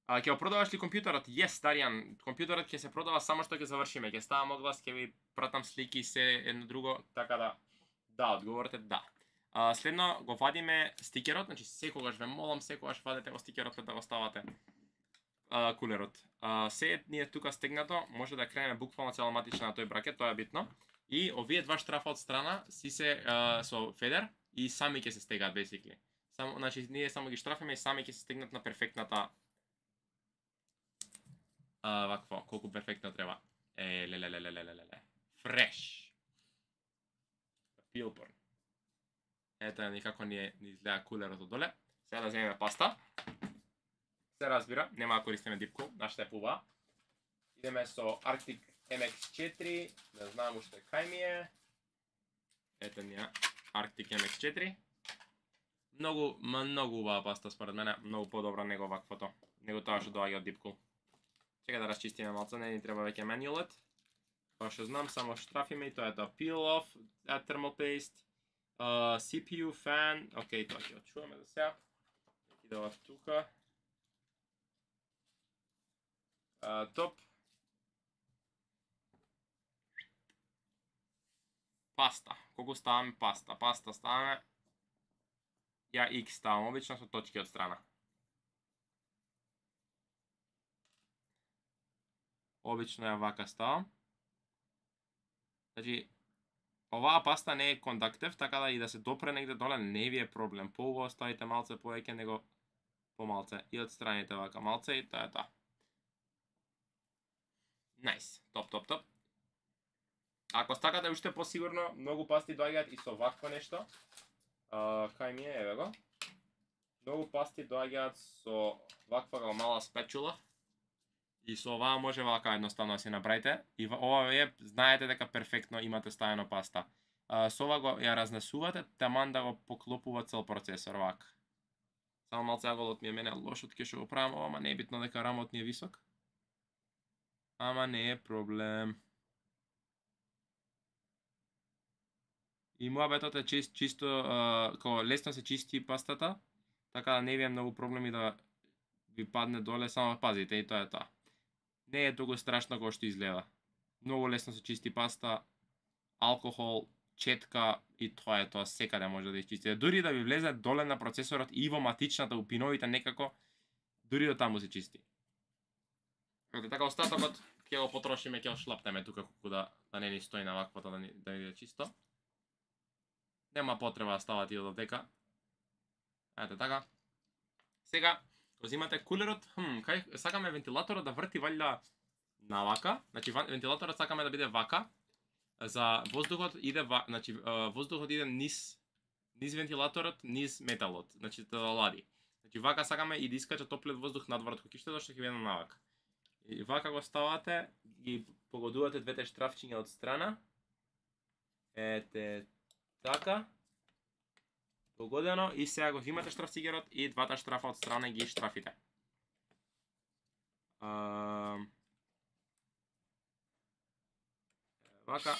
Ќе го продаваш ли компјутерот? Yes, Даријан. Компјутерот ќе се продава само што ќе завршиме. Ќе ставам оглас, ќе ви пратам слики се едно друго, така да. Да, одговорот е да. Следно го вадиме стикерот, значи секогаш ве молам, секогаш вадете го стикерот пред да го ставате кулерот. Се ние тука стегнато, може да кренеме буквално целоматична на тој бракет, тоа е битно. И овие два штрафа од страна си се со федер и сами ќе се стегаат basically. Значи ние само ги штрафиме и сами ќе се стегнат на перфектната вакво, колку перфектно треба. Леле. Фреш. Пилборн. Ето ни како ни изгледа кулерот од доле. Сега да земеме паста. Се разбира, нема да користиме дипку, нашата е пуба. Идеме со Arctic MX4, да знам уште кај ми е. Ето ни е Arctic MX4. Многу убава паста според мене, многу подобра него ваквото, него тоа што доаѓа од дипку. Чека да расчистиме малце, не ни треба веќе менјулет. Па што знам, само штрафиме и тоа е тоа. Peel off, add thermal paste, CPU, fan, окей, тоа ќе очуваме за сега. Идева тука. Топ. Паста. Колку ставаме паста? Паста ставаме. Ја X ставам, обично со точки од страна. Обично ја вака ставам. Значи, оваа паста не е кондактив, така да и да се допре негде доле не ви е проблем. Поубаво ставите малце повеќе него помалце. И од страните вака малце и тоа е тоа. Nice. Топ. Ако стакате уште посигурно, многу пасти доаѓаат и со вакво нешто. Кај ми е, еве го. Многу пасти доаѓаат со ваква мала спечула. И со оваа може вака едноставно да си направите. И ова е, знаете дека перфектно имате ставено паста. Со ова го ја разнесувате, таман да го поклопува цел процесор вака. Само малце аголот ми е мене лошот, ќе што го правам ова, ама не е битно дека рамот ни е висок. Ама не е проблем. И муабетот е чисто, како лесно се чисти пастата, така да не ви е многу проблеми да ви падне доле, само пазите и тоа е тоа. Не е толку страшно како што изгледа. Многу лесно се чисти паста, алкохол, четка и тоа е тоа, секаде може да изчисти. Дури да ви влезе доле на процесорот и во матичната, у пиновите некако, дури до таму се чисти. Така остатокот ќе го потрошиме, ќе го шлапнеме тука колку да не ни стои на ваквото да ни е чисто. Нема потреба да ставате и од дека. Ете така. Сега, го зимате кулерот, кај сакаме вентилаторот да врти валја навака, значи вентилаторот сакаме да биде вака, за воздухот иде значи воздухот иде низ вентилаторот, низ металот, значи да лади. Значи вака сакаме и да искача топлиот воздух надвор од куќиштето што ќе биде навака. И вака го ставате, ги погодувате двете штрафчиња од страна. Ете така. Погодено и сега го имате штрафцигерот и двата штрафа од страна ги штрафите. Вака.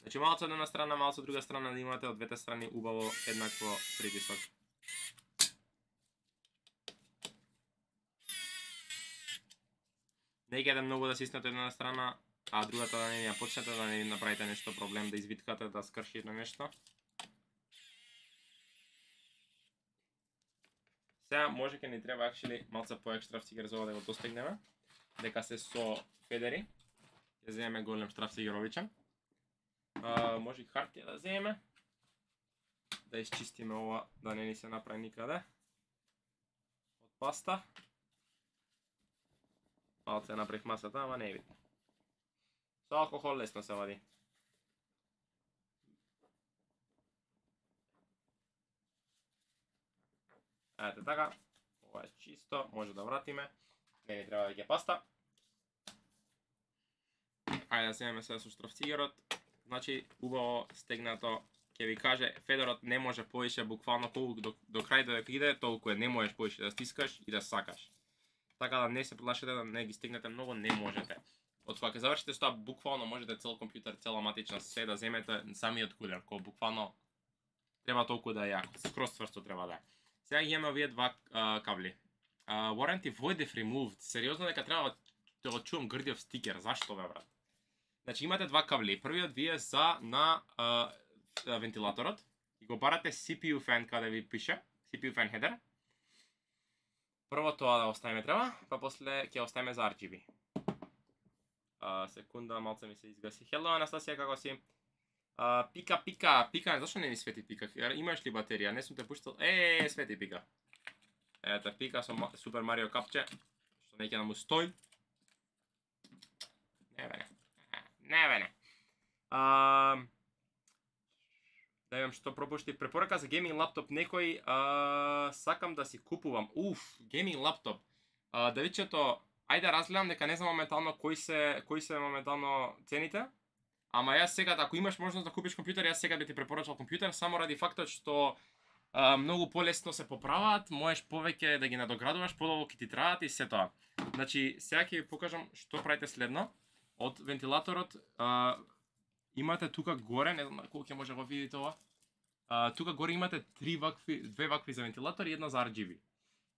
Значи малце од една страна, малце од друга страна да имате од двете страни убаво еднакво притисок. Не ќе многу да сиснете една страна, а другата да не ја почнете, да не направите нешто проблем, да извиткате, да скрши на нешто. Сега може ке ни треба малце поек штрафцигер за ова да го достигнеме, дека се со федери. Ќе земеме голем штрафцигеровичен. Може и хартија да земеме. Да изчистиме ова, да не ни се направи никаде. Од паста. Малце направих масата, ама не е битно. Со алкохол лесно се вади. Ете така, ова е чисто, може да вратиме, не ни треба да ќе паста. Ајде да земеме сега со штрафцигерот, значи убаво стегнато, ќе ви каже, федерот не може повише, буквално колку до крај додека иде, толку е, не можеш повише да стискаш и да сакаш. Така да не се плашите да не ги стигнете многу, не можете. Од кога ќе завршите со тоа, буквално можете цел компјутер, цела матична, се да земете самиот кулер, кој буквално треба толку да е јако, скроз цврсто треба да е. Сега имаме овие два кабли. Warranty void if removed. Сериозно дека треба да го чувам грдиов стикер. Зашто бе, брат? Значи имате два кабли. Првиот ви е за на вентилаторот и го барате CPU fan каде ви пише, CPU fan header. Прво тоа да оставиме треба, па после ќе оставиме за RGB. Секунда, малце ми се изгаси. Hello, Анастасија, како си? Пика, зашто не ни свети пика? Имаш ли батерија? Не сум те пуштал. Свети пика. Ето пика со Супер Марио капче, што не ќе да му стои. Не бе. Да видам што пропуштив. Препорака за гейминг лаптоп некој, сакам да си купувам. Гейминг лаптоп. Давидчето, ајде разгледам дека не знам моментално кои се моментално цените. Ама јас сега, ако имаш можност да купиш компјутер, јас сега би ти препорачал компјутер, само ради фактот што многу полесно се поправаат, можеш повеќе да ги надоградуваш, подолго ќе ти траат и се тоа. Значи, сега ќе ви покажам што правите следно. Од вентилаторот имате тука горе, не знам колку ќе може да го видите ова. Тука горе имате две вакви за вентилатор и една за RGB.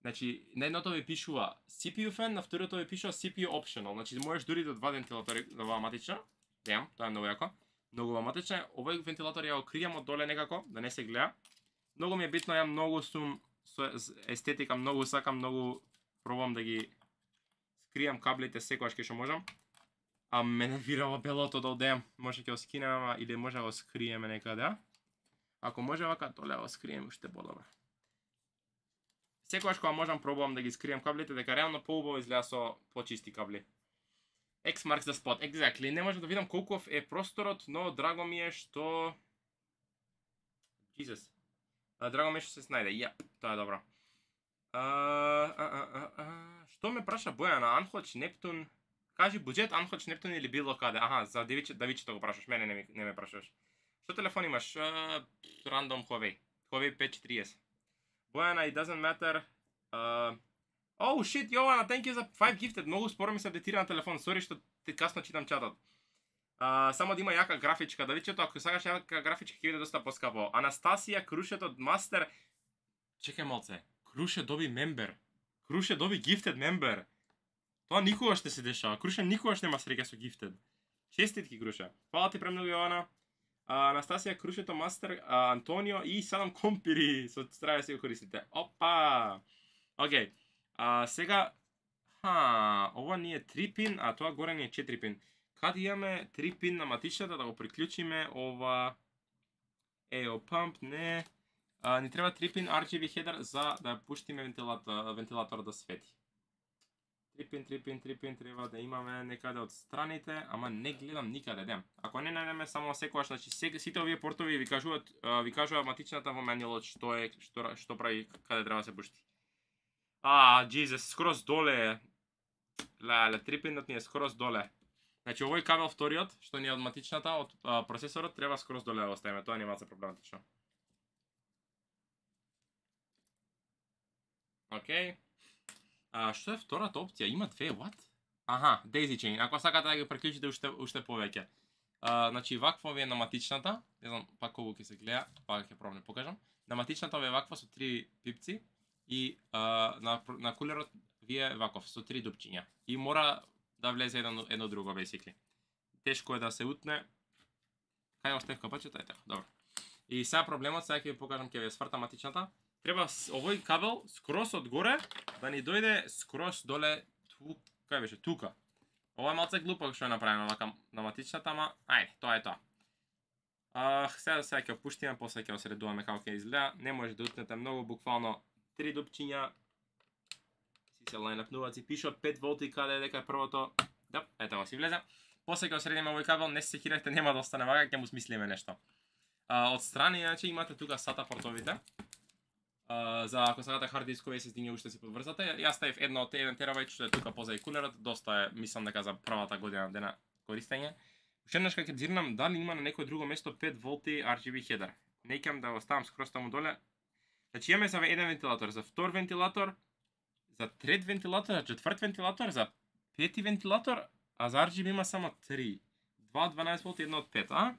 Значи, на едното ви пишува CPU fan, на второто ви пишува CPU optional. Значи, можеш дури до два вентилатори да ова матична. Тоа е многу јако. Многу матична. Овој вентилатор ја окријам од доле некако, да не се гледа. Многу ми е битно, ја многу сум со естетика, многу сакам, многу пробам да ги скријам каблите секогаш кога што можам. А мене вирава белото да одеам. Може ќе го скинеме, или може да го скриеме некаде. Ако може вака, толе го скрием уште подобро. Секогаш кога можам пробувам да ги скрием каблите, дека реално поубаво изгледа со почисти кабли. X marks the spot, exactly. Не можам да видам колков е просторот, но драго ми е што... Jesus. Драго ми е што се снајде. Тоа е добро. Што ме праша Бојана? Анхоч, Нептун... Кажи буџет, Анхоч, Нептун или било каде? За Давичето го прашаш, мене не ме прашаш. Што телефон имаш? Random Huawei. Huawei P40. Бојана, it doesn't matter. Oh shit, Јована, thank you за 5 gifted. Многу споро ми се апдейтира на телефон. Сори што ти касно читам чатот. Само да има јака графичка. Да видите, ако сакаш јака графичка ќе биде доста поскапо. Анастасија Крушет од Мастер. Чекај малце. Круше доби мембер. Круше доби gifted member. Тоа никогаш не се дешава. Круше никогаш нема среќа со gifted. Честитки, Круше. Фала ти премногу, Јована. Анастасија Крушето Мастер, Антонио и 7 компири. Со треба да се го користите. Опа! Океј. Сега ова ни е 3 пин, а тоа горе ни е 4 пин. Каде имаме 3 пин на матичната да го приклучиме ова pump, не. Ни треба 3 пин RGB header за да пуштиме вентилатор да свети. 3 пин треба да имаме некаде од страните, ама не гледам никаде, дем. Ако не најдеме само секогаш, значи сите овие портови ви кажуваат матичната во менјалот што прави, каде треба да се пушти. Jesus, скроз доле. Леле, 3 пинот ни е скроз доле. Значи овој кабел вториот, што ни е од матичната, од процесорот, треба скроз доле да оставиме, тоа нема се проблематично. Океј. Што е втората опција? Има две, what? Аха, daisy chain. Ако сакате да ги приклучите уште повеќе. Значи вакво ви е на матичната, не знам пак колку ќе се гледа, пак ќе пробам да покажам. На матичната ви е ваква со 3 пипци и на кулерот ви е ваков со 3 дупчиња. И мора да влезе едно друго basically. Тешко е да се утне. Кај остав капачето? Ете, добро. И сега проблемот, сега ќе ви покажам, ќе ви сврта матичната. Треба овој кабел скроз од горе да ни дојде скроз доле кај беше тука. Ова е малце глупо што е направено вака на матичната, ама ајде, тоа е тоа. Сега ќе опуштиме, после ќе осредуваме како ќе изгледа. Не може да утнете многу, буквално 3 дупчиња. Си се лајнапнуваат, си пишат 5 волти каде е дека е првото. Да, ето го си влезе. После ќе осредиме овој кабел, не се секирате, нема да остане вака, ќе му смислиме нешто. Од страни, иначе имате тука SATA портовите. За ако сакате хард дискови SSD ги уште си подврзате. Јас ставив едно од 1 терабајт што е тука позади кулерот, доста е, мислам дека за првата година дена користење. Уште еднаш кога ќе зирнам дали има на некој друго место 5 волти RGB header. Неќам да го ставам скроз таму доле. Значи имаме за еден вентилатор, за втор вентилатор, за трет вентилатор, за четврт вентилатор, за пети вентилатор, а за RGB има само 3. 2 од 12 волти, едно од 5, а?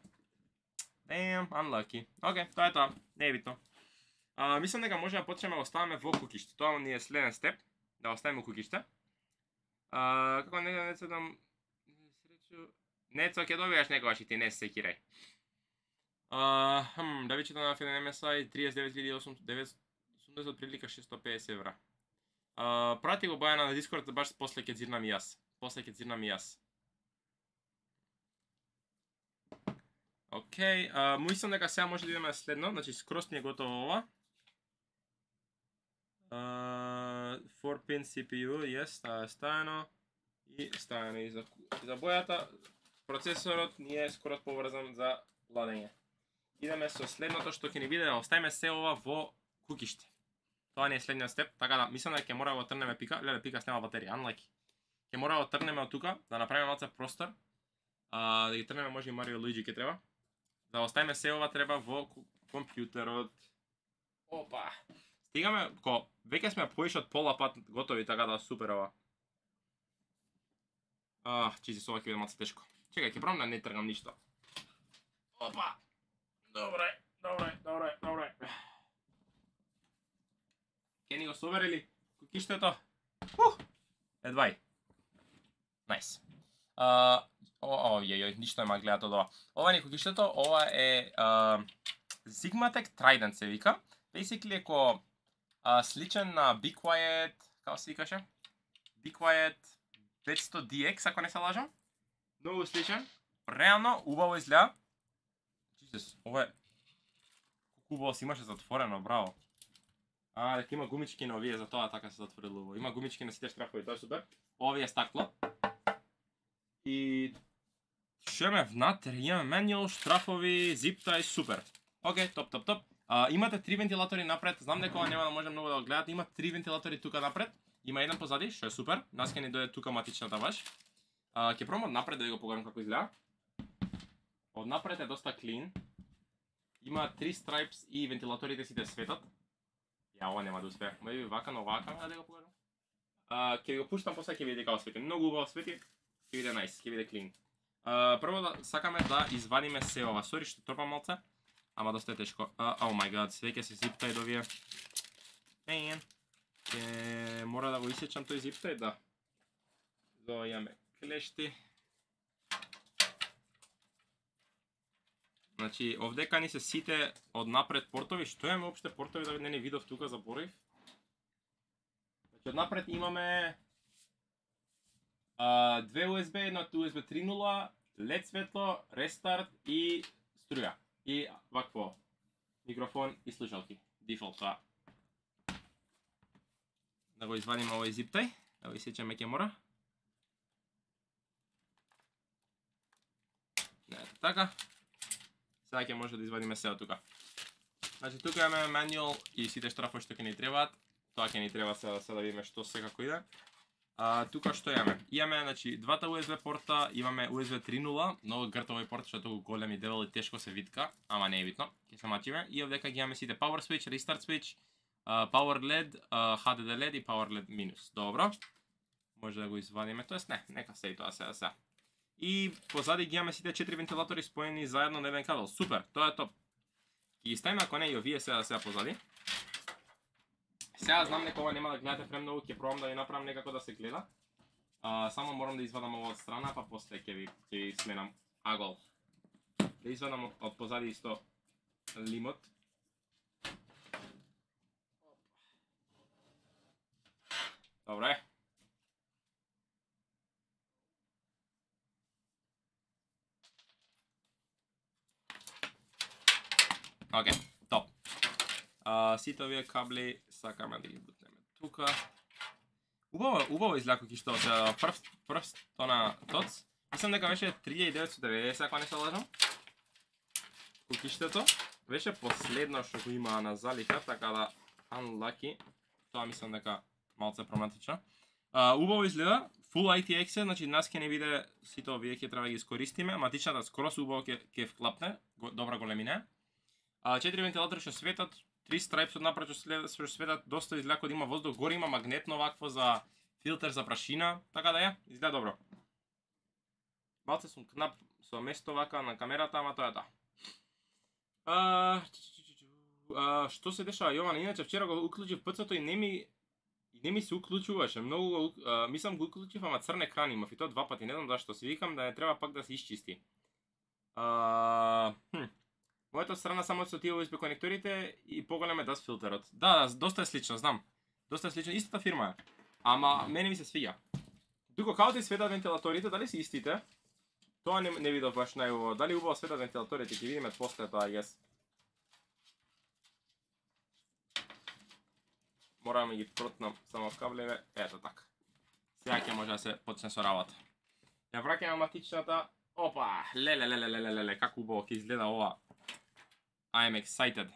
Damn, unlucky. Океј, тоа е тоа, не е битно. Мислам дека може да почнеме да оставаме во кукиште. Тоа ни е следен степ, да оставиме кукиште. Како не се дам среќу. Нецо ќе добиеш некогаш и ти не се секирај. Да ви читам на FNMSI 39.980 прилика 650 евра. Прати го Бојана на Discord, баш после ќе зирнам и јас. Океј, мислам дека сега може да идеме следно, значи скроз ни е готово ова. 4-pin CPU, yes, таа е ставено. И ставено и за бојата. Процесорот ни е скроз поврзан за ладење. Идеме со следното што ќе ни биде да оставиме се ова во кукиште. Тоа не е следниот степ, така да мислам дека ќе мора да го трнеме пика, леле пика снема батерија, unlucky. Ќе мора да трнеме од тука, да направиме малце простор. Да ги трнеме може и Марио Луиджи ќе треба. Да оставиме се ова треба во компјутерот. Опа. Стигаме, веќе сме поише од пола пат готови, така да супер ова. Jesus, ова ќе биде малце тешко. Чекај, ќе пробам да не тргам ништо. Опа. Добре. Ке ни го соверили кукиштето? Едвај. Најс. Ништо нема гледат од ова. Ова ни кукиштето, ова е Sigmatech Trident се вика. Basically еко сличен на Be Quiet, како се викаше? Be Quiet 500DX, ако не се лажам. Многу сличен. Реално, убаво изгледа. Jesus, ова е... Колку убаво си имаше затворено, браво. Дека има гумички на овие, за тоа така се затворило убаво. Има гумички на сите штрафови, тоа е супер. Овие е стакло. И... Што имаме внатре? Имаме менјал, штрафови, зип-тай, супер. Океј, топ. Имате 3 вентилатори напред, знам дека ова нема да може многу да го гледате, има 3 вентилатори тука напред, има еден позади, што е супер, нас ќе ни дојде тука матичната баш. Ќе пробам од напред да ви го покажам како изгледа. Од напред е доста клин. Има 3 stripes и вентилаторите сите светат. Ја, ова нема да успее. Може би вака, но вака да го покажам. Ќе ви го пуштам после ќе видите како свети. Многу убаво свети. Ќе биде најс, ќе биде клин. Прво да сакаме да извадиме се ова. Сори што трпам малце. Ама доста е тешко. Oh my god, све ќе се зиптај до вие. Man. Мора да го исечам тој зиптај, да. Имаме клешти. Значи, овдека ни се сите од напред портови. Што имаме опште портови да не видов тука, заборив? Значи, од напред имаме 2 USB, едно USB 3.0, LED светло, рестарт и струја. И вакво микрофон и слушалки. Дефолт тоа. Да го извадиме овој зиптај, да го исечеме ќе мора. Ето така. Сега ќе може да извадиме се од тука. Значи тука имаме мануал и сите штрафови што ќе ни требаат. Тоа ќе ни треба сега да видиме што секако иде. Тука што имаме? Имаме значи двата USB порта, имаме USB 3.0, многу грт овој порт што толку голем и дебел и тешко се витка, ама не е битно. Ќе се мачиме и овдека ги имаме сите power switch, restart switch, power LED, HDD LED и power LED минус. Добро. Може да го извадиме, тоест не, нека се и тоа сега. И позади ги имаме сите 4 вентилатори споени заедно на еден кабел. Супер, тоа е топ. Ги ставиме ако не и овие сега позади. Сега знам дека ова нема да гледате премногу, ќе пробам да ви направам некако да се гледа. Само морам да извадам ова од страна, па после ќе ви сменам агол. Да извадам од позади исто лимот. Добре. Океј, топ. Сите овие кабли сакаме да ги бутнеме тука. Убаво изгледа кукиштото се прв тона тоц. Мислам дека беше 3990, ако не се лажам. Кукиштето беше последно што го има на залика, така да unlucky. Тоа мислам дека малце проблематично. Убаво изгледа, full ITX е, значи нас ќе не биде сите овие ќе треба да ги искористиме, матичната скрос убаво ќе вклапне, добра големина. 4 вентилатори што светат, 3 страйпс од напред што светат, доста изгледа кога има воздух, горе има магнетно вакво за филтер за прашина, така да изгледа добро. Малце сум кнап со место вака на камерата, ама тоа е тоа. Што се дешава, Јован? Иначе вчера го уклучив ПЦ-то и не ми се уклучуваше. Многу мислам го уклучив, ама црн екран имав и тоа 2 пати, не знам зашто. Си викам да не треба пак да се исчисти. Мојата страна само со тие USB конекторите и поголем е dust филтерот. Да, доста е слично, знам. Доста е слично, истата фирма е. Ама мене ми се свиѓа. Тука како ти светат вентилаторите, дали се истите? Тоа не видов баш најубаво. Дали убаво светат вентилаторите, ќе видиме после тоа, I guess. Морам да ги протнам само каблеве, ето така. Сега ќе може да се почне со работа. Ја враќаме матичната. Опа, леле, како убаво ќе изгледа ова. I am excited.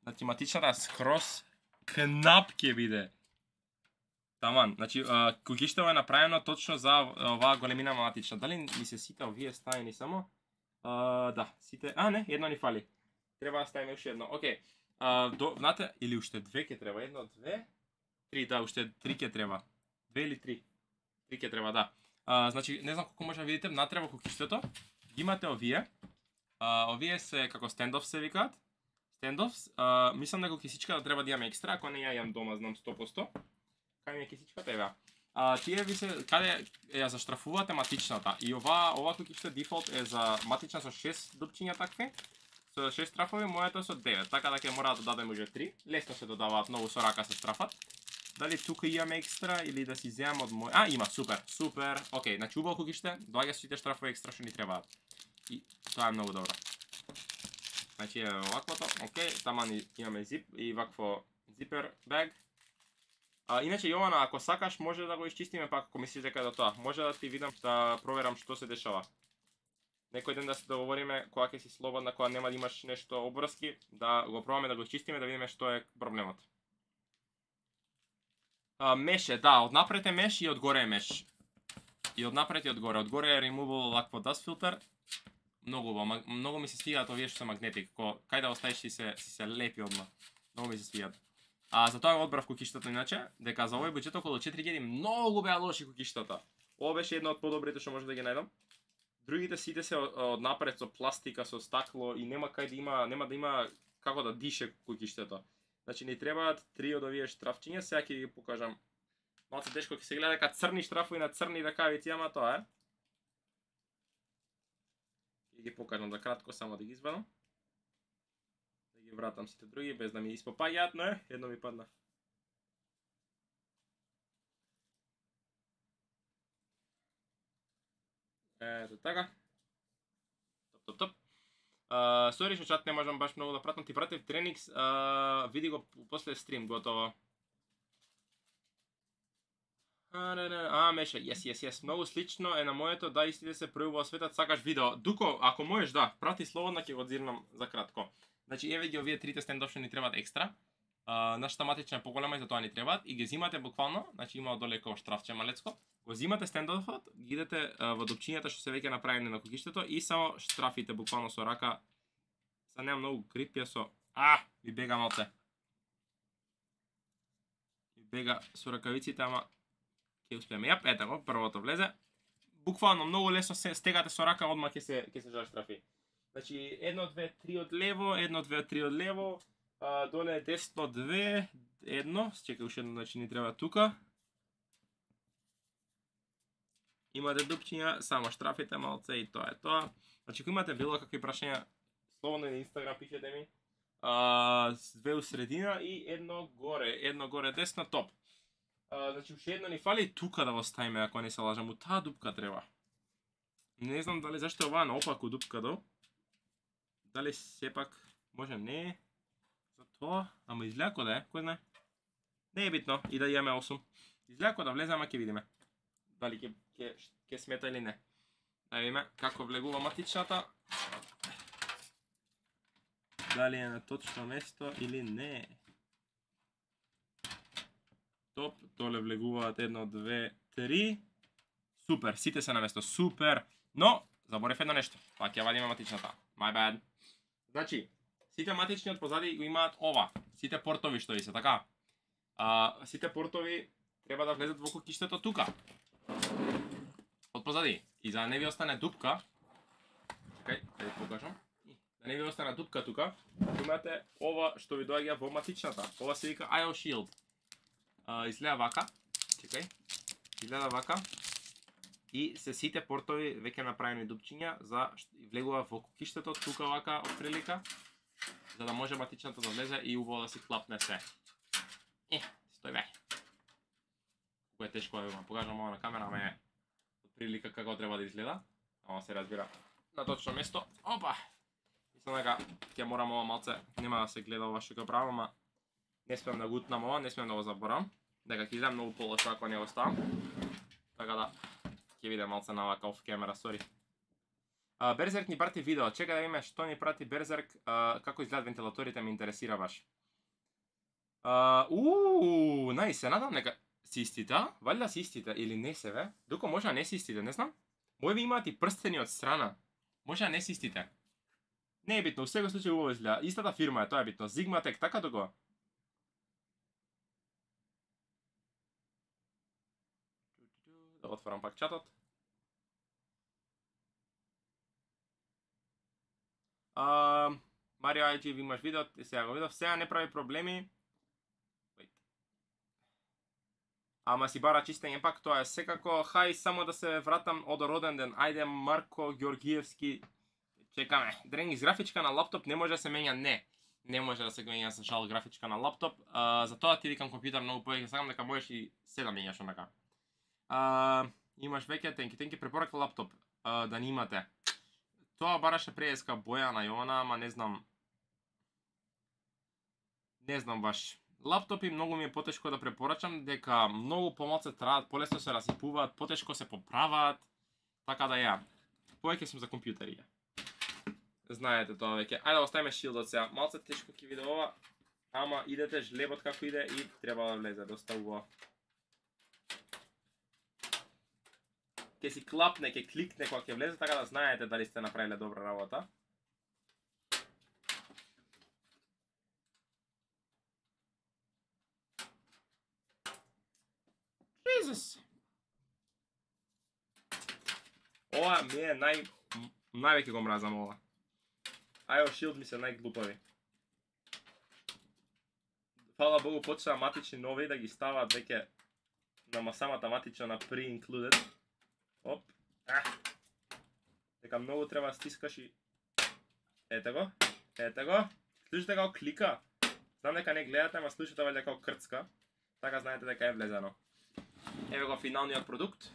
Значи матичната скрос кнап ќе биде. Таман, значи кукиштево е направено точно за оваа големина матична. Дали ми се сите овие ставени само? Да, сите. Не, едно ни фали. Треба да ставиме уште едно. Океј. Знаете, или уште две ќе треба, едно, две, три, да, уште три ќе треба. Две или три? Три ќе треба, да. Значи, не знам колку може да видите, внатре во кукиштето имате овие. Овие се како стендоф се викаат. Стендофс, мислам дека кисичка да треба да имаме екстра, ако не ја имам дома, знам 100%. Кај ми е кисичката, ева. Тие ви се, каде ја заштрафувате матичната. И ова кукиште дефолт е за матична со 6 дупчиња такви. Со 6 страфови, моето со 9, така да ќе мора да додадеме уже 3. Лесно се додаваат, многу со рака се страфат. Дали тука имаме екстра или да си земам од мој... Има, супер. Океј, значи убаво кукиште, доаѓа со сите штрафови екстра што ни требаат. И тоа е многу добро. Значи е оваквото, океј, таман имаме зип и вакво зипер баг. Иначе Јована, ако сакаш може да го исчистиме пак ако мислиш дека е до тоа. Може да ти видам да проверам што се дешава. Некој ден да се договориме кога ќе си слободна, кога нема да имаш нешто обврски, да го пробаме да го исчистиме да видиме што е проблемот. Меш е, да, однапред е меш и одгоре е меш. И однапред и одгоре. Одгоре е removable лакво dust filter. Многу ми се свигаат овие што се магнетик, кај да оставиш си се лепи одма. Многу ми се свигаат. За тоа го одбрав кукиштата иначе, дека за овој буџет околу 4000 многу беа лоши кукиштата. Ова беше една од подобрите што може да ги најдам. Другите сите се од напред со пластика, со стакло и нема да има како да дише кукиштето. Значи ни требаат 3 од овие штрафчиња, сега ќе ги покажам. Малку тешко ќе се гледа дека црни штрафови на црни ракавици, ама тоа е. Ќе ги покажам за кратко, само да ги извадам. Да ги вратам сите други без да ми испопаѓаат, но едно ми падна. Ето така. Топ. Сори што чат не можам баш многу да пратам, ти пратив Треникс, види го после стрим, готово. Меше, yes, многу слично е на моето, да истите се пројавува во светот, сакаш видео. Дуко, ако можеш да, прати слободно, ќе го дзирнам за кратко. Значи, еве ги овие трите стендов што ни требаат екстра. Нашата матична е поголема и за тоа ни требаат и ги зимате буквално, значи има одоле како штрафче малецко. Го зимате стендовот, ги идете во дупчињата што се веќе направени на кукиштето и само штрафите буквално со рака. Са нема многу грип, ја со... ви бега малце. Ви бега со ракавиците, ама ќе успееме. Ето го, првото влезе. Буквално многу лесно се стегате со рака, одма ќе се заштрафи. Значи 1 2 3 од лево, 1 2 3 од лево, доле десно 2, 1, чекај уште едно, значи ни треба тука. Имате дупчиња, само штрафите малце и тоа е тоа. Значи ако имате било какви прашања, слободно на Инстаграм пишете ми. 2 у средина и едно горе десно, топ. Значи уште едно ни фали тука да го ставиме, ако не се лажам, у таа дупка треба. Не знам дали зашто е оваа наопаку дупка до. Дали сепак може не за тоа, ама изгледа да е, кој знае. Не е битно и да имаме 8. Изгледа да влезе, ама ќе видиме. Дали ќе смета или не. Да видиме како влегува матичната. Дали е на точно место или не. Топ, доле влегуваат 1, 2, 3. Супер, сите се на место, супер. Но, заборев едно нешто, па ќе вадиме матичната. My bad. Значи, сите матични од позади го имаат ова. Сите портови што ви се, така? Сите портови треба да влезат во кукиштето тука. Од позади. И за да не ви остане дупка, чекај, да ви покажам. Да не ви остане дупка тука, имате ова што ви доаѓа во матичната. Ова се вика IO Shield. Изгледа вака, чекај, изгледа вака. И се сите портови веќе направени дупчиња за влегува во кукиштето тука вака од прилика, за да може матичната да влезе и убаво да си клапне се. Стој бе. Кој е тешко да го покажам ова на камера, ама е од прилика како треба да изгледа. Ама се разбира на точно место. Опа! Мислам дека ќе морам ова малце, нема да се гледа ова што го правам, ама не смеам да гутнам ова, не смеам да го заборам. Дека ќе изгледа многу полошо ако не го ставам. Така да ќе видам малце на вака оф камера, сори. Берзерк ни прати видео, чека да видиме што ни прати Берзерк, како изгледат вентилаторите, ме интересира баш. Нај, се надам нека си истите, валјда си истите или не се бе? Дуко може да не си истите, не знам. Моје имаат и прстени од страна. Може да не си истите. Не е битно, у секој случај убаво изгледа. Истата фирма е, тоа е битно. Zigmatech, така дуко. Да отворам пак чатот. Марио IG, ви имаш видео, сега го видов, сега не прави проблеми. Ама си бара чистење пак, тоа е секако, хај само да се вратам од роден ден, ајде Марко Георгиевски, чекаме. Дренгис, графичка на лаптоп не може да се менја, не може да се менја за жал графичка на лаптоп, затоа ти викам компјутер многу повеќе, сакам дека можеш и се да менјаш онака. Имаш веќе, тенки, препорака лаптоп, да не имате. Тоа бараше преска боја на Јована, ама не знам. Не знам баш. Лаптопи многу ми е потешко да препорачам, дека многу помалце траат, полесно се расипуваат, потешко се поправаат, така да ја. Повеќе сум за компјутери. Знаете тоа веќе. Ајде да оставиме шилдот сега. Малце тешко ќе биде ова, ама идете жлебот како иде и треба да влезе, доста убаво. Ќе си клапне, ќе кликне кога ќе влезе, така да знаете дали сте направиле добра работа. Jesus. Ова ми е највеќе го мразам ова. IO Shield ми се најглупави. Фала Богу почнаа матични нови да ги ставаат веќе на самата матична на pre-included. Оп. Дека многу треба да стискаш и... Ете го. Слушате како клика. Знам дека не гледате, ама слушате валјда како крцка. Така знаете дека е влезено. Еве го финалниот продукт.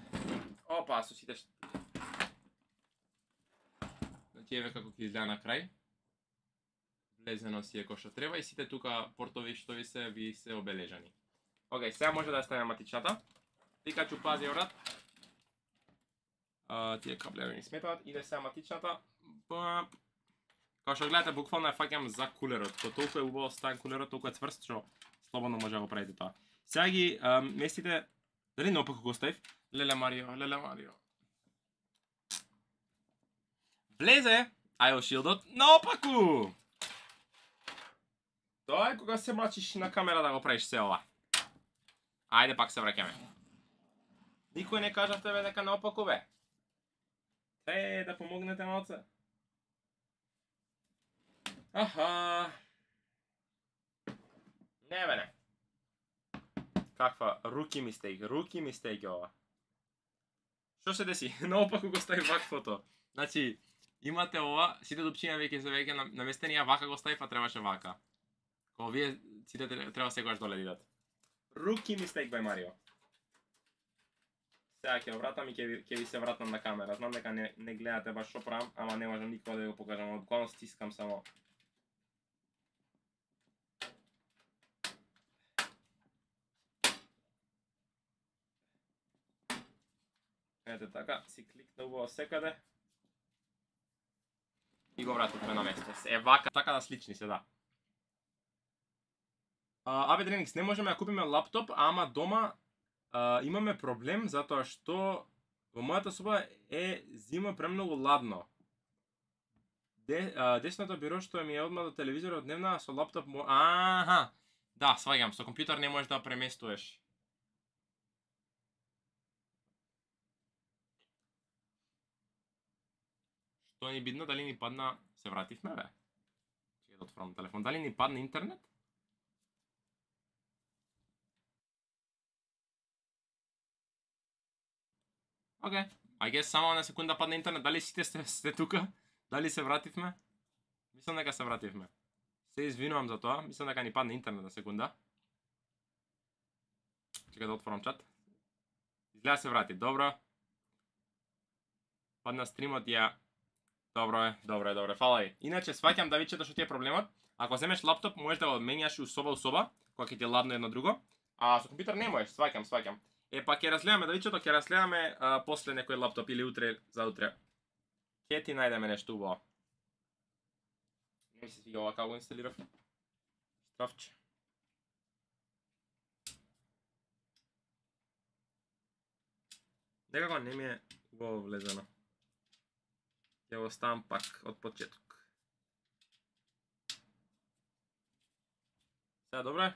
Опа, со сите... Значи еве како ќе изгледа на крај. Влезено си е кој што треба и сите тука портови што ви се обележани. Океј, сега може да ставиме матичната. Пикачу, пази брат. Тие каблеви ни сметаат. Иде сега матичната. Као што гледате, буквално ја фаќам за кулерот. Ко толку е убаво стан кулерот, толку е цврст, што слободно може да го правите тоа. Сега ги местите... Дали наопаку го ставив? Леле Марио. Влезе IO Shield-от наопаку! Тоа е кога се мачиш на камера да го правиш се ова. Ајде пак се враќаме. Никој не кажавте бе дека наопаку бе. Да помогнете малце. Аха. Не бе не. Каква руки мистейк ова. Што се деси? Наопаку го стави ваквото. Значи, имате ова, сите дупчиња веќе се веќе наместени, ја вака го ставив, а требаше вака. Кога вие сите треба секогаш доле дидат. Руки мистейк бај Марио. Сега ќе вратам и ќе ви се вратам на камера. Знам дека не гледате баш што правам, ама не можам никога да го покажам. Буквално стискам само. Ете така, си кликна убаво секаде. И го вративме на место. Е вака, така да слични се, да. Абе Дреникс, не можеме да купиме лаптоп, ама дома имаме проблем затоа што во мојата соба е зима премногу ладно. Десното биро што ми е одма до телевизорот дневна со лаптоп Аха, да, сваѓам, со компјутер не можеш да преместуваш. Што ни бидно, дали ни падна... Се вративме, бе? Чекай да отворам телефон. Дали ни падна интернет? Океј. I guess само на секунда падна интернет. Дали сите сте тука? Дали се вративме? Мислам дека се вративме. Се извинувам за тоа. Мислам дека ни падна интернет на секунда. Чекай да отворам чат. Изгледа се врати. Добро. Падна стримот ја... Добро е. Фала ви. Иначе сваќам да вичето што ти е проблемот. Ако земеш лаптоп, можеш да го менјаш у соба, кога ќе ти е ладно едно друго. А со компјутер не можеш, сваќам. Е, па ќе разгледаме да вичето, ќе разгледаме после некој лаптоп или утре за утре. Ќе ти најдеме нешто убаво. Не ми се свига ова како го инсталирав. Страфче. Некако не ми е убаво влезено. Ќе го ставам пак од почеток. Сега добро е?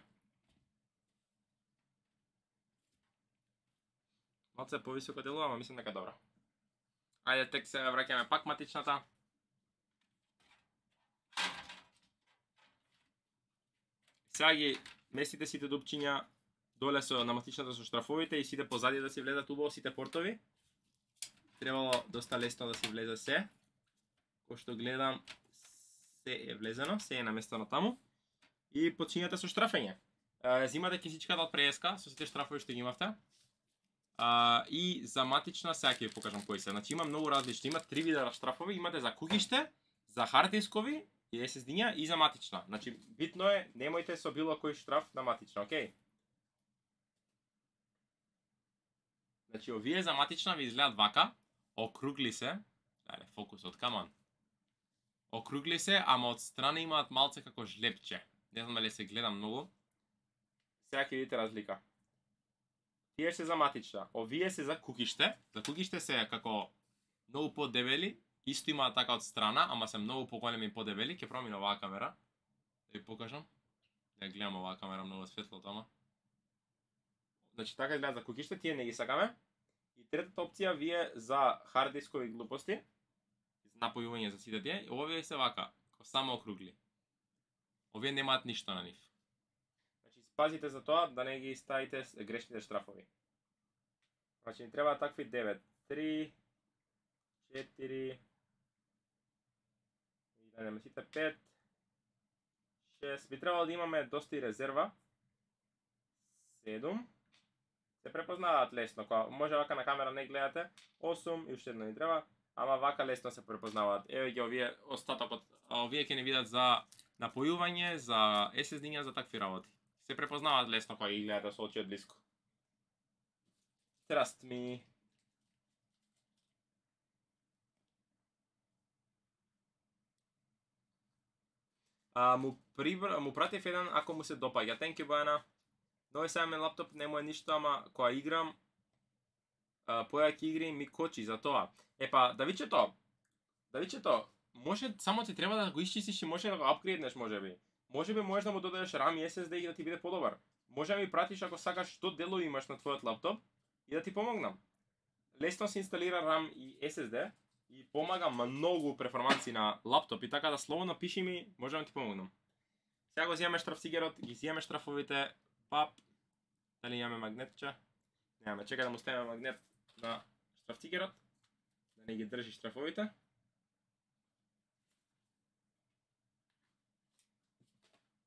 Малце повисоко делува, ама мислам дека добро. Ајде, тек се враќаме пак матичната. Сега ги местите сите дупчиња доле на матичната со штрафовите и сите позади да си влезат убаво сите портови. Требало доста лесно да си влезе се. Кој што гледам, се е влезено, се е наместено таму. И почињате со штрафење. Зимате кисичката од преска, со сите штрафови што ги имавте. И за матична, сега ќе ви покажам кои се. Значи има многу различни, има 3 вида штрафови, имате за куќиште, за харддискови и SSD-ња и за матична. Значи битно е, немојте со било кој штраф на матична, окей? Значи овие за матична ви изгледат вака, округли се, ајде фокусот, камон. Округли се, ама од страна имаат малце како жлепче. Не знам дали се гледа многу. Сега ќе видите разлика. Тие се за матична, овие се за куќиште. За куќиште се како многу подебели, исто имаат така од страна, ама се многу поголеми и подебели. Ќе промина оваа камера. Да ви покажам. Да гледам оваа камера, многу светло тома. значи така изгледа за кукиште, тие не ги сакаме. И третата опција вие за хард дискови глупости, напојување за сите тие, овие се вака, само округли. Овие немаат ништо на нив. Значи пазите за тоа да не ги ставите грешните штрафови. Значи ни треба такви 9, 3, 4, да не сите 5, 6, би требало да имаме доста и резерва. 7. Се препознаваат лесно, кога може вака на камера не гледате. 8 и уште едно ни треба, ама вака лесно се препознаваат. Еве ги овие остатокот, овие ќе ни видат за напојување, за SSD-ња, за такви работи. Се препознаваат лесно кога ги гледате со очи од блиску. Trust me. Му пратив еден ако му се допаѓа. Thank you, Бојана. Нови сајамен лаптоп нему е ништо, ама кога играм појаки игри ми кочи за тоа. Епа, Давичето, може само ти треба да го исчистиш и може да го апгрейднеш можеби. Можеби можеш да му додадеш RAM и SSD и да ти биде подобар. Може да ми пратиш ако сакаш што делови имаш на твојот лаптоп и да ти помогнам. Лесно се инсталира RAM и SSD и помага многу перформанси на лаптоп и така да слободно пиши ми, може да ти помогнам. Сега го зијаме штрафцигерот, ги зијаме штрафовите, пап. Дали имаме магнетче? Немаме, чекай да му ставиме магнет на штрафцигерот, да не ги држи штрафовите.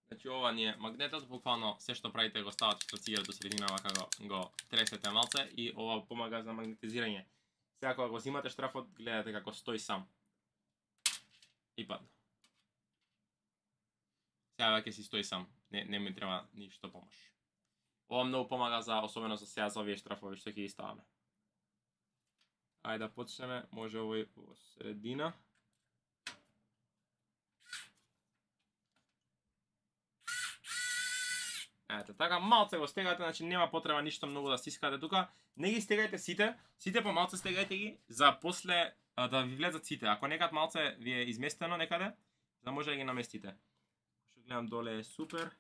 Значи ова ни е магнетот, буквално се што правите го ставате штрафцигерот до средина, вака го тресете малце и ова помага за магнетизирање. Сега кога го зимате штрафот, гледате како стои сам. И падна. Сега веќе си стои сам, не ми треба ништо помош. Ова многу помага за, особено за сега за овие штрафови што ќе ги ставаме. Ајде да почнеме, може овој во средина. Ете, така малце го стегате, значи нема потреба ништо многу да стискате тука. Не ги стегајте сите по малце стегајте ги за после да ви влезат сите. Ако некад малце ви е изместено некаде, за може да ги наместите. Што гледам доле е супер.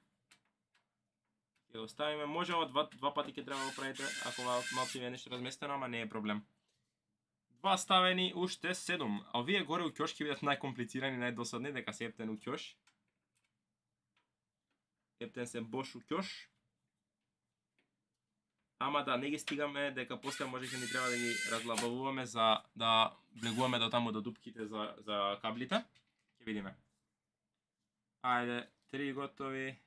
Ќе го ставиме, може ова два пати ќе треба да го правите, ако малце ви е нешто разместено, ама не е проблем. Два ставени, уште 7. А овие горе у ќош ќе бидат најкомплицирани, најдосадни, дека се ептен у ќош. Ептен се бош у ќош. Ама да, не ги стигаме, дека после може ќе ни треба да ги разлабавуваме за да влегуваме до таму до дупките за каблите. Ќе видиме. Ајде, 3 готови.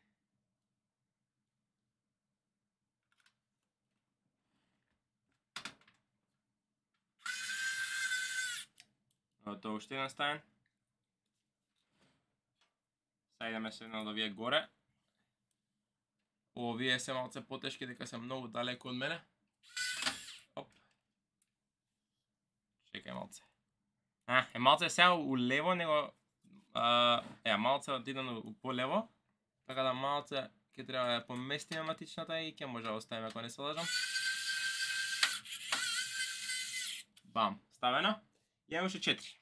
Тоа уште еден ставен. Сега идеме се едно од овие горе. Овие се малце потешки, дека се многу далеко од мене. Оп. Чекај малце. Малце сега у лево, него... малце отиден у полево. Така да малце ќе треба да поместиме матичната и ќе може да оставиме, ако не се лажам. Бам, ставено. Имаме уште 4.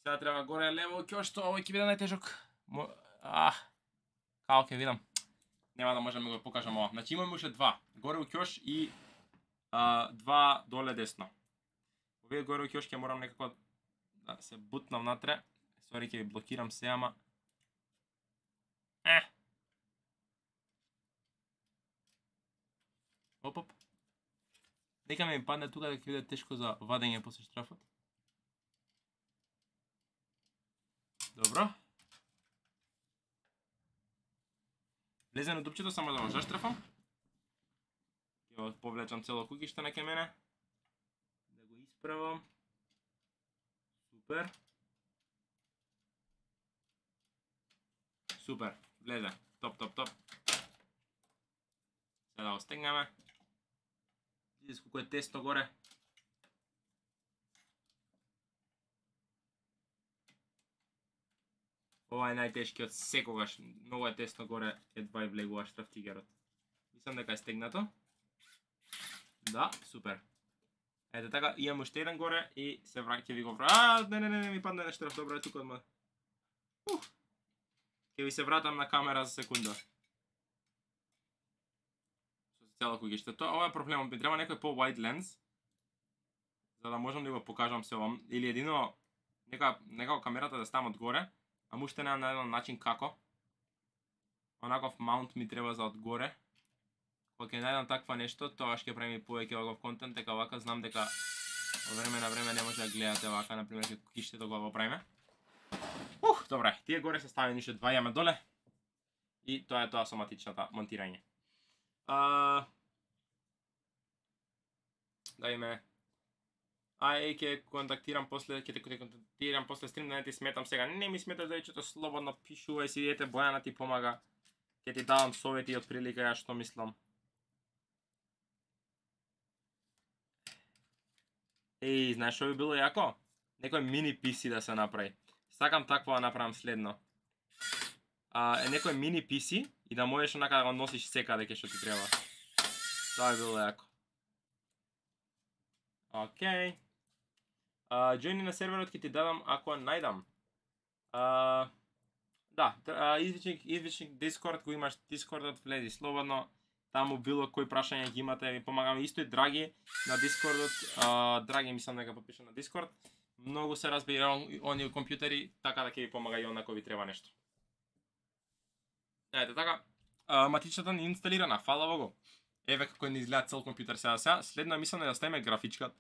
Сега треба горе лево ќошто, овој ќе биде најтежок. Као ќе видам. Нема да можам да го покажам ова. Значи имаме уште 2. Горе у ќош и 2 доле десно. Овие горе у ќош ќе морам некако да се бутнам натре. Сори, ќе ви блокирам се, ама... Оп. Нека ми падне тука дека ќе биде тешко за вадење после штрафот. Добро. Влезен у дупчето, само да го заштрафам. Ќе го повлечам цело кукиште на ке мене. Да го исправам. Супер. Супер, влезе. Топ. Сега да го стегнеме. Видите колко е тесно горе. Ова е најтешкиот секогаш, многу е тесно горе, едва и влегува штрафцигерот. Мислам дека е стегнато. Да, супер. Ете така, имам уште еден горе и се ќе ви го не, ми падне нешто штраф, добро е тука одма. Ќе ви се вратам на камера за секунда. Со цело куќиште. Ова е проблемот, ми треба некој по-wide lens, за да можам да го покажам се овам, или едино некако камерата да ставам одгоре, а уште немам најден начин како. Онаков маунт ми треба за одгоре. Кога ќе најдам таква нешто, тоа ќе правим и повеќе оваков контент, дека вака знам дека во време на време не може да гледате вака, например, како куќиште го правиме. Добре, тие горе се ставени уште два, јаме доле. И тоа е тоа со матичната монтирање. Дајме. Ќе контактирам после, ќе те контактирам после стрим, да не ти сметам сега. Не ми сметаш да слободно пишувај си, ете Бојана ти помага. Ќе ти давам совети од прилика ја што мислам. Знаеш што би било јако? Некој мини PC да се направи. Сакам такво да направам следно. Некој мини PC и да можеш онака да го носиш секаде кај што ти треба. Тоа би било јако. Океј. Join на серверот ќе ти дадам ако најдам. Да, извичник Discord, кој имаш Discordот, влези слободно. Таму било кој прашање ги имате, ви помагаме. Исто и Драги на Discordот. Драги мислам дека подпиша на Discord. Многу се разбира оние компјутери, така да ќе ви помага и он ако ви треба нешто. Ете така, матичната ни инсталирана, фала Богу. Еве како ни изгледа цел компјутер сега. Следно мислам да ставиме графичката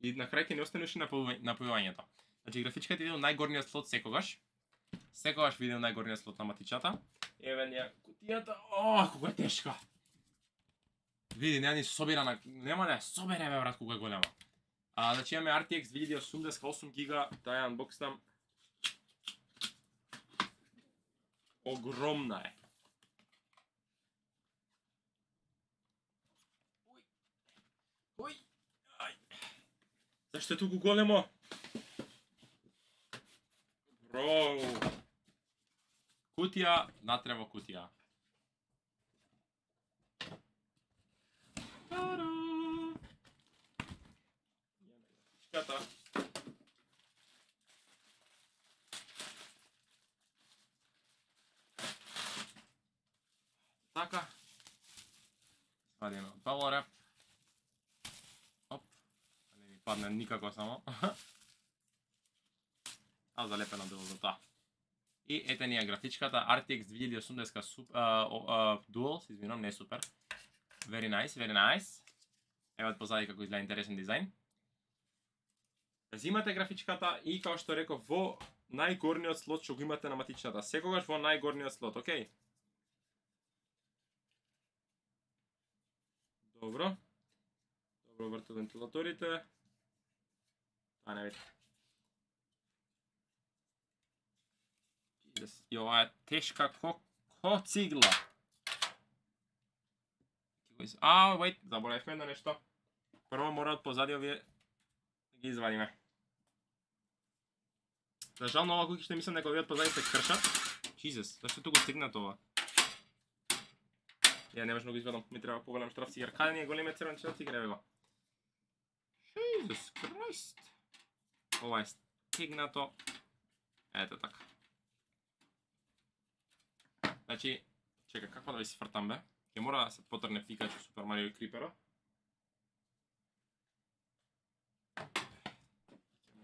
и на крај ќе не остане уште напојувањето. Значи графичката иде во најгорниот слот секогаш. Секогаш види најгорниот слот на матичата. Еве ни кутијата. Колку е тешка. Види, нема ни собирана, нема да собере бе брат колку е голема. Значи имаме RTX 2080 8 гига, таа анбоксам. Огромна е. Ој. Зашто е туку големо? Бро. Кутија, натрево кутија. Ката. Така. Свадиме од палоре. Оп. Не ми падне никако само. Залепено било за тоа. И ете ни е графичката RTX 2080 Dual, извинувам, не е супер. Very nice, very nice. Ево од позади како изгледа интересен дизајн. Зимате графичката и како што реков во најгорниот слот што го имате на матичната. Секогаш во најгорниот слот, окей? Добро. Добро вртат вентилаторите. Тоа не види. И ова е тешка ко цигла. Wait, заборавивме едно нешто. Прво мора од позади овие да ги извадиме. За жал на ова куќиште мислам дека овие од позади се кршат. Jesus, зашто туку стигнат ова? Ја не можам да го извадам, ми треба поголем штраф цигар. Каде ни е големиот црвен штраф цигар, еве го. Jesus Christ. Ова е стигнато. Ето така. Значи, чека, како да ви се фртам бе? Ќе мора да се потрне Пикачу Супер Марио и Крипера.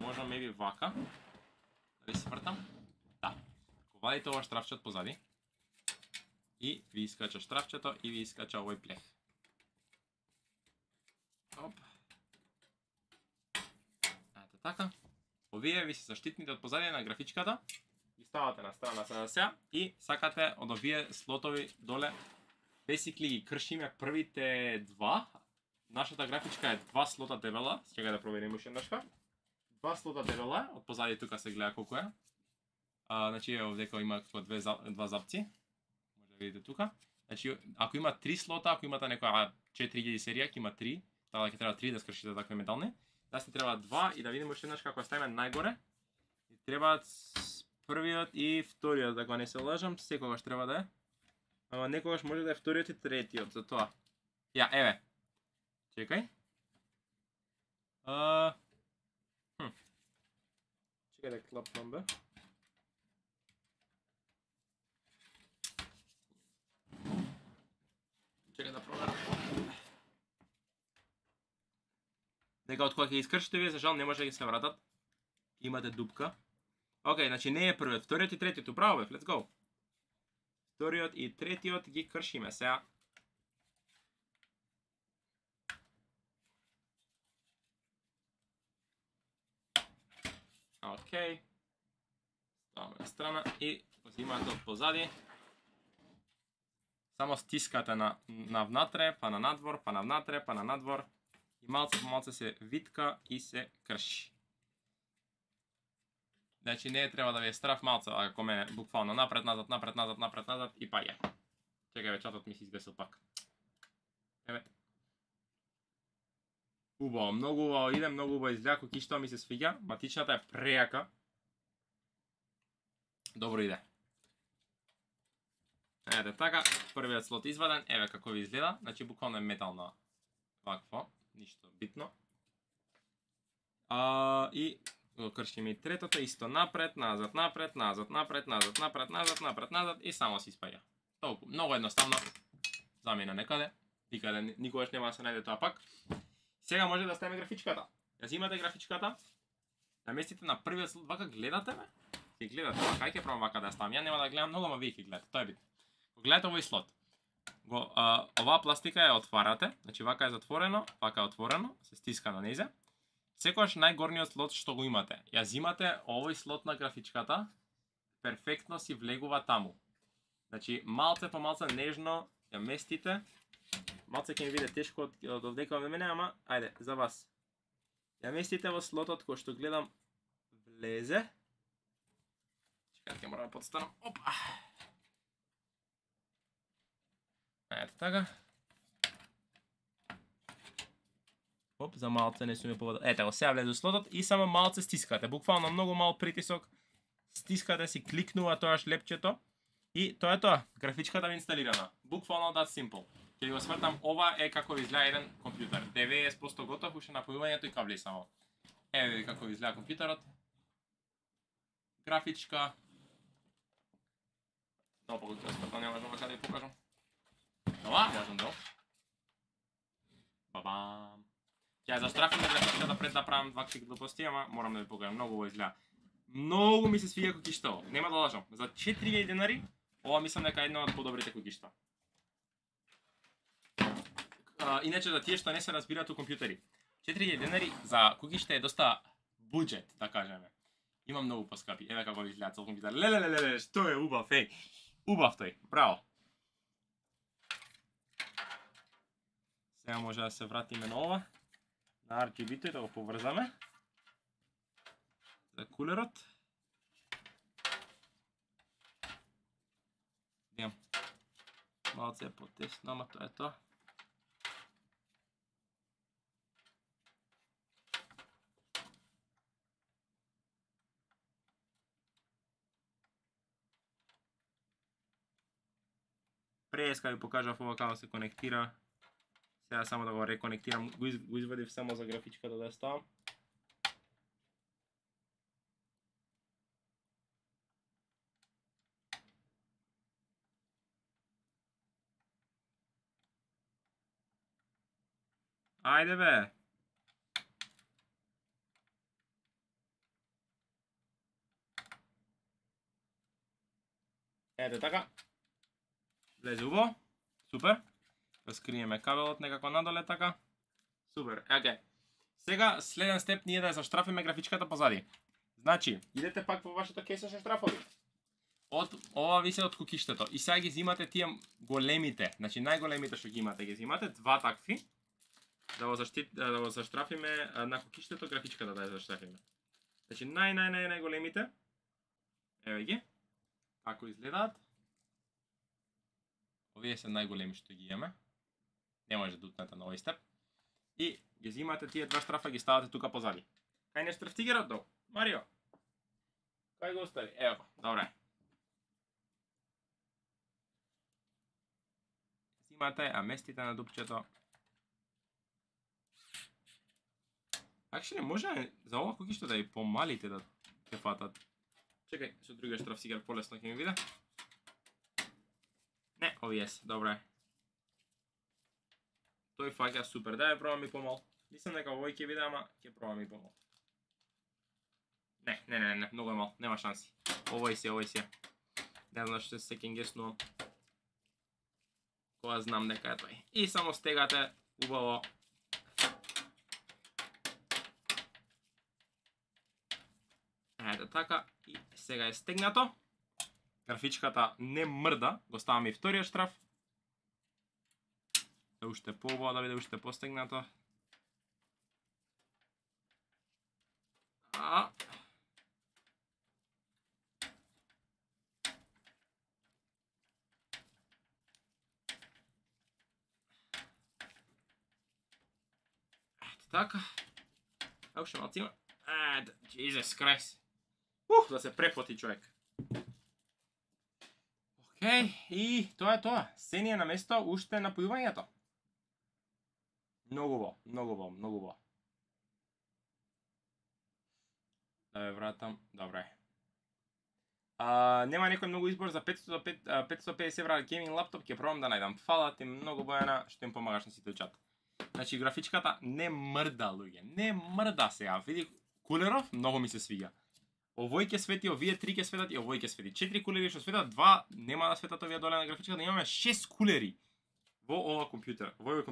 Можам maybe вака. Да ви се фртам? Да. Ко вадите ова штрафче од позади. И ви искача штрафчето и ви искача овој плех. Оп. Ето така. Овие ви се заштитните од позади на графичката. Ги ставате на страна сега и сакате од овие слотови доле. Basically ги кршиме првите два. Нашата графичка е 2 слота дебела. Чекај да проверим уште еднашка. 2 слота дебела, од позади тука се гледа колку е. Значи овдека има како два запци. Може да видите тука. Значи ако има 3 слота, ако имате некоја 4000 серија, ќе има 3. Така ќе треба 3 да скршите такви метални. Да се треба 2 и да видиме уште еднаш како ставиме најгоре. И требаат првиот и вториот, ако не се лажам, секогаш треба да е. Ама некогаш може да е вториот и третиот, за тоа. Ја, еве. Чекај. Чекај да клапнам бе. Чекай да проверам. Дека од кога ќе искршите вие, за жал не може да ги се вратат. Имате дупка. Океј, значи не е првиот, вториот и третиот, управо бе, let's go. Вториот и третиот ги кршиме сега. Океј. Ставаме на страна и го имате од позади. Само стискате на внатре, па на надвор, па на внатре, па на надвор. И малце по малце се витка и се крши. Значи не треба да ви е страф малце, ако мене буквално напред, назад, напред, назад, напред, назад и па е. Чекај бе, чатот ми се изгасил пак. Еве. Убаво, многу убаво иде, многу убаво изгледа, кукиштава ми се свиѓа, матичната е прејака. Добро иде. Ете така, првиот слот изваден, еве како ви изгледа, значи буквално е метално вакво, ништо битно. И го кршиме и третото, исто напред, назад, напред, назад, напред, назад, напред, назад, напред, назад и само се испаѓа. Толку, многу едноставно, замина некаде, никаде никогаш нема да се најде тоа пак. Сега може да ставиме графичката. Ја зимате графичката, наместите на првиот слот, вака гледате бе? Ќе гледате, вака, ќе пробам вака да ја ставам. Ја нема да гледам многу, ама вие ќе гледате, тоа е битно. Го гледате овој слот. Оваа пластика ја отварате, значи вака е затворено, вака е отворено, се стиска на незе. Секогаш најгорниот слот што го имате, ја зимате овој слот на графичката, перфектно си влегува таму. Значи малце по малце нежно ја местите. Малце ќе ми биде тешко од овдека од мене, ама ајде, за вас. Ја местите во слотот кој што гледам влезе. Чекајте, ќе морам да подстанам. Опа. Ето така. Оп, за малце не сме поводил. Ете го, сега влезе слотот и само малце стискате. Буквално многу мал притисок. Стискате си, кликнува тоаш лепчето. И тоа е тоа. Графичката ви инсталирана. Буквално that simple. Ќе ви го свртам, ова е како ви изгледа еден компјутер. 90% готов, уште напојувањето и кабли само. Еве ви како ви изгледа компјутерот. Графичка. Тоа поготово спртно, не можам да ви покажам. Ова, можам да. Бабам. Ќе ја заштрафиме графичката пред да правам вакви глупости, ама морам да ви покажам, многу во изгледа. Многу ми се свиѓа кукиштаво, нема да лажам. За 4000 денари, ова мислам дека е една од подобрите кукишта. Иначе за тие што не се разбираат у компјутери. 4000 денари за кукишта е доста буџет, да кажеме. Има многу поскапи. Еве како ви изгледа цел компјутер. Лелелелеле, што е убав, еј. Убав тој, браво. Сега може да се вратиме на ова. На RGB-то и да го поврзаме. За кулерот. Идем. Малце е потесно, ама тоа е тоа. Преска ви покажав ова како се конектира. Сега само да го реконектирам, го извадив само за графичката да ја ставам. Ајде бе! Ете така. Влезе убаво. Супер. Скриеме кабелот некако надоле така. Супер. Океј. Сега следен степ ние да ја заштрафиме графичката позади. Значи, идете пак во вашето кејсе со штрафови. Ова висе од кукиштето. И сега ги зимате тие големите, значи најголемите што ги имате, ги зимате два такви. Да го заштрафиме на кукиштето, графичката да ја заштрафиме. Значи најголемите. Еве ги. Како изгледаат. Овие се најголеми што ги имаме. Не може да утнете на овој степ. И ги зимате тие два штрафа, ги ставате тука позади. Кај не штрафтигерот долу? Марио. Кај го остави? Ево, добре. Зимате, а местите на дупчето. Actually, може за ова кукишто да и помалите да те фатат. Чекај, со другиот штрафтигер полесно ќе ми биде. Не, овие се, добре. тој фаќа супер. Дај пробам и помал. Мислам дека овој ќе биде, ама ќе пробам и помал. Не, многу е мал, нема шанси. Овој си. Не знам што се кенгеснувам. Кога знам дека е тој. И само стегате убаво. Ете така, и сега е стегнато. Графичката не мрда, го ставаме и вториот штраф. Да уште поубаво, да биде уште постегнато. Така. Ево ше малци има. Jesus Christ. Да се препоти човек. Океј, и тоа е тоа. Се ни е на место уште напојувањето. Многу во. Да ве вратам. Добре. Нема некој многу избор за 550 евра гейминг лаптоп, ќе пробам да најдам. Фала ти многу, Бојана, што им помагаш на сите чат. Значи, графичката не мрда, луѓе. Не мрда сега. Види, кулеров многу ми се свиѓа. Овој ќе свети, овие 3 ќе светат и овој ќе свети. 4 кулери што светат, 2 нема да светат овие доле на графичката, имаме 6 кулери во ова компјутер, во ова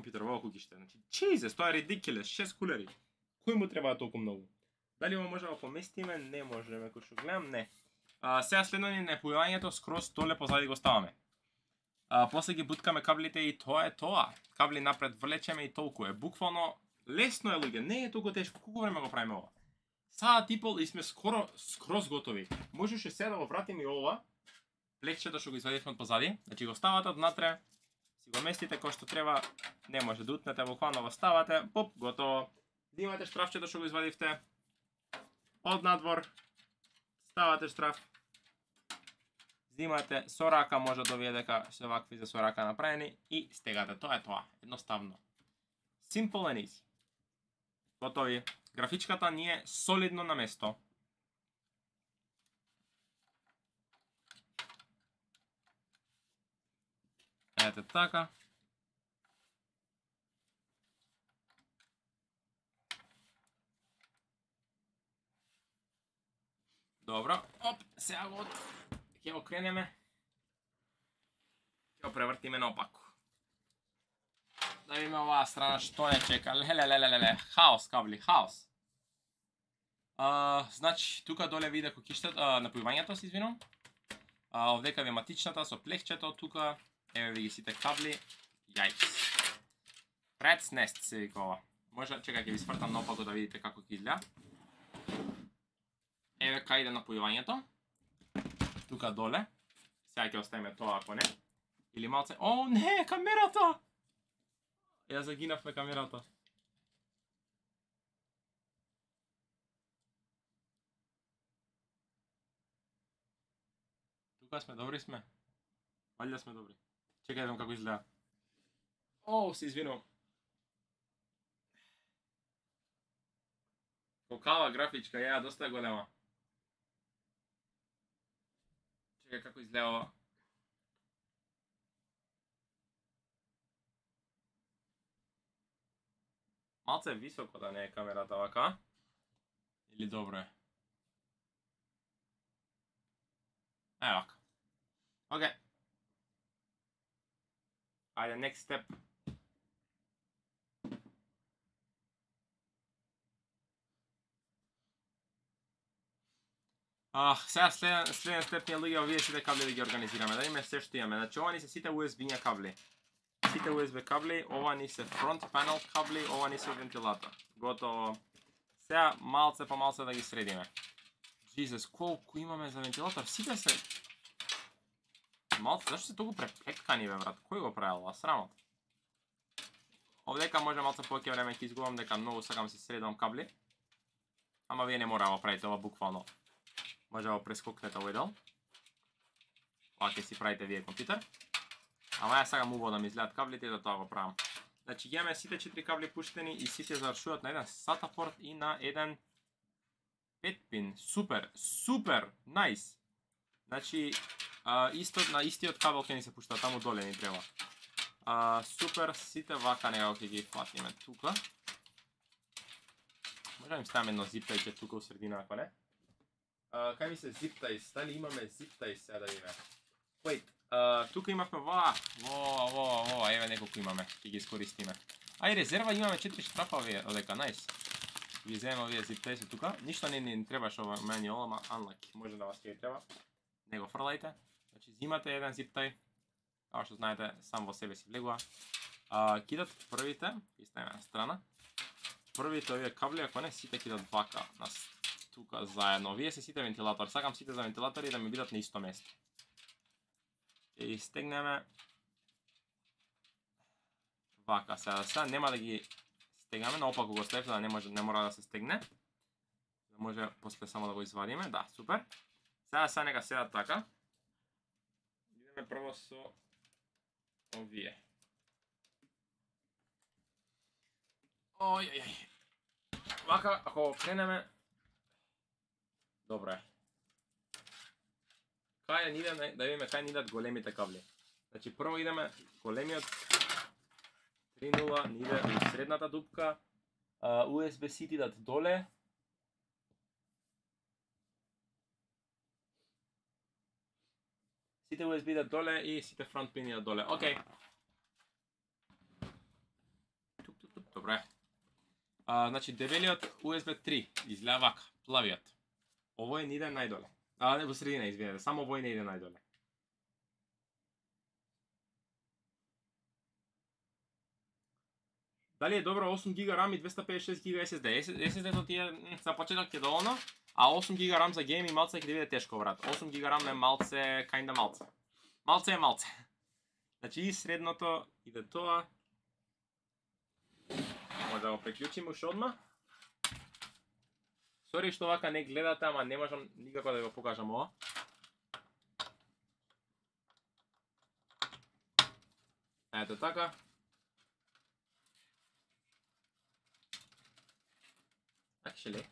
куќиште. Значи, Jesus, тоа е ridiculous, 6 кулери. Кој му треба толку многу? Дали ова може да го поместиме? Не можеме, кој што гледам, не. Сега следно ни напојувањето, скроз доле позади го ставаме. После ги буткаме каблите и тоа е тоа. Кабли напред влечеме и толку е. Буквално лесно е, луѓе, не е толку тешко. Колку време го правиме ова? Саат и пол и сме скроз готови. Можеше сега да го вратиме и ова. Плекчето што го извадивме од позади. Значи го ставате однатре, си го местите кој што треба. Не може да утнете, буквално го ставате. Поп, готово. Имате штрафчето што го извадивте. Од надвор. Ставате штраф. Зимате со рака, може да вие дека се вакви за со рака направени и стегате. Тоа е тоа. Едноставно. Simple and easy. Готови. Графичката ни е солидно на место. Ете така. Добро. Оп, сега го ќе окренеме. Ќе го превртиме наопаку. Да видиме оваа страна што не чека. Леле. Хаос, кабли, хаос. Значи, тука доле виде кукиштето, напојувањето, се извинувам. Овдека ви матичната со плехчето, тука еве ви ги сите кабли. Јајкс. Rat's Nest се вика ова. Може, чекај, ќе ви свртам наопаку да видите како ќе изгледа. Еве кај иде напојувањето. Тука доле. Сега ќе оставиме тоа ако не. Или малце... О, не, камерата! Ја загинавме камерата. Тука сме, добри сме. Валја сме добри. Чекај да видам како изгледа. О, се извинувам. Колкава графичка, ја доста голема. Чекај како изгледа ова. Малце високо да не е камерата вака. Или добро е? Вака. Океј. Ајде, next step. Сега следен степ ни е, луѓе, овие сите кабли да ги организираме, да имаме се што имаме. Значи, ова ни се сите USB-ња кабли. Сите USB кабли, ова ни се front panel кабли, ова ни се вентилатор. Готово. Сега малце по малце да ги средиме. Jesus, колку имаме за вентилатор? Сите се... Малце, зашто се толку преплеткани, бе, брат? Кој го правил, срамот? Овдека може малце повеќе време ќе изгубам, дека многу сакам се средам кабли. Ама вие не мора да го правите ова буквално. Може да го прескокнете овој дел. Ова ќе си правите вие компјутер. Ама ја сакам убаво да ми изгледат каблите и да тоа го правам. Значи, имаме сите 4 кабли пуштени и сите завршуваат на еден SATA порт и на еден 5 пин. Супер, супер, најс. Значи, на истиот кабел ќе ни се пушта, таму доле ни треба. Супер, сите вака некако ќе ги фатиме тука. Може да им ставаме едно зиптајче тука у средина, ако не? Кај ми се зиптајс? Дали имаме зиптајс сега да видиме? Wait, тука имавме во, еве неколку имаме, ќе ги искористиме. Ај, резерва имаме 4 штрапа овие, одека, најс. Ги земеме овие зиптајси тука. Ништо не требаше ова manual, ама unlucky, може да вас ќе треба. Не го фрлајте. Значи, зимате еден зиптај. Како што знаете, сам во себе си влегува. Кидат првите, ги ставиме на страна. Првите овие кабли, ако не, сите кидат вака, тука заедно. Овие се сите вентилатори. Сакам сите за вентилатори да ми бидат на исто место. Ќе ги стегнеме вака. Сега нема да ги стегнеме, наопаку го ставите да не мора да се стегне. Да може после само да го извадиме. Да, супер. Сега нека седат така. Идеме прво со овие. Ој. Вака, ако кренеме... Добро е. Кај ни идеме, да видиме кај ни идат големите кабли. Значи, прво идеме големиот 3.0, ни иде у средната дупка. USB-C идат доле. Сите USB идат доле и сите фронт пини идат доле. Океј. Добро е. Значи, дебелиот USB 3 изгледа вака, плавиот. Овој не иде најдоле. Не, во средина, извинете, само овој не иде најдоле. Дали е добро 8 GB RAM и 256 GB SSD? SSD-то ти е за почеток е доволно, а 8 GB RAM за гейм и малце ќе биде тешко, брат. 8 GB RAM е малце, kinda малце. Малце е малце. Значи и средното иде тоа. Може да го приклучиме уште одма. Сори што вака не гледате, ама не можам никако да го покажам ова. Ето така. Actually.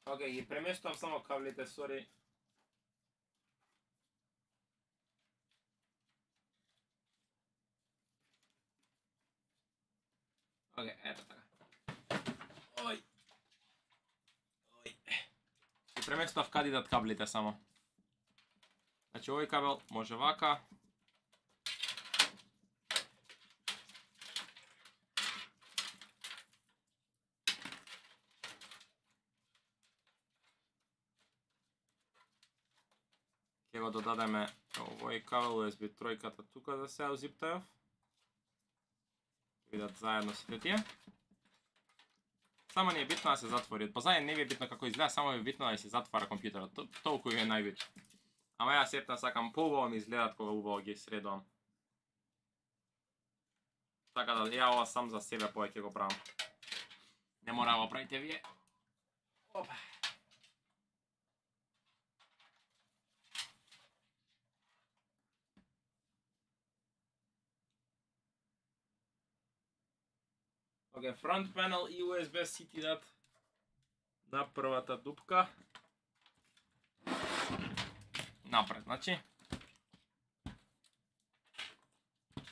Океј, ги преместувам само каблите, сори. Океј, ето така. Ој. Ги преместував каде идат каблите само. Значи, овој кабел може вака. Ќе го додадеме овој кабел USB тројката тука да се узиптајав. Ќе видат заедно сите тие. Само не е битно да се затвори. Позади не ви е битно како изгледа, само е битно да се затвара компјутерот. Толку е најбитно. Ама ја сепна сакам поубаво ми изгледат кога убаво ги средувам. Така да ја ова сам за себе повеќе го правам. Не мора да го правите вие. Опа. Океј, front panel и USB-C ти дат на првата дупка. Напред, значи.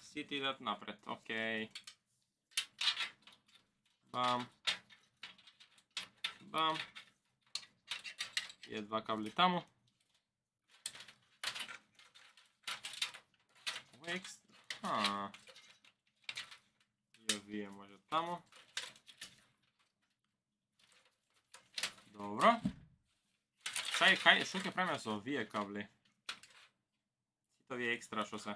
Си ти дат напред, океј. Бам. Бам. И два кабли таму. И овие може таму. Добро. Што ќе правиме со овие кабли? Сите овие екстра што се.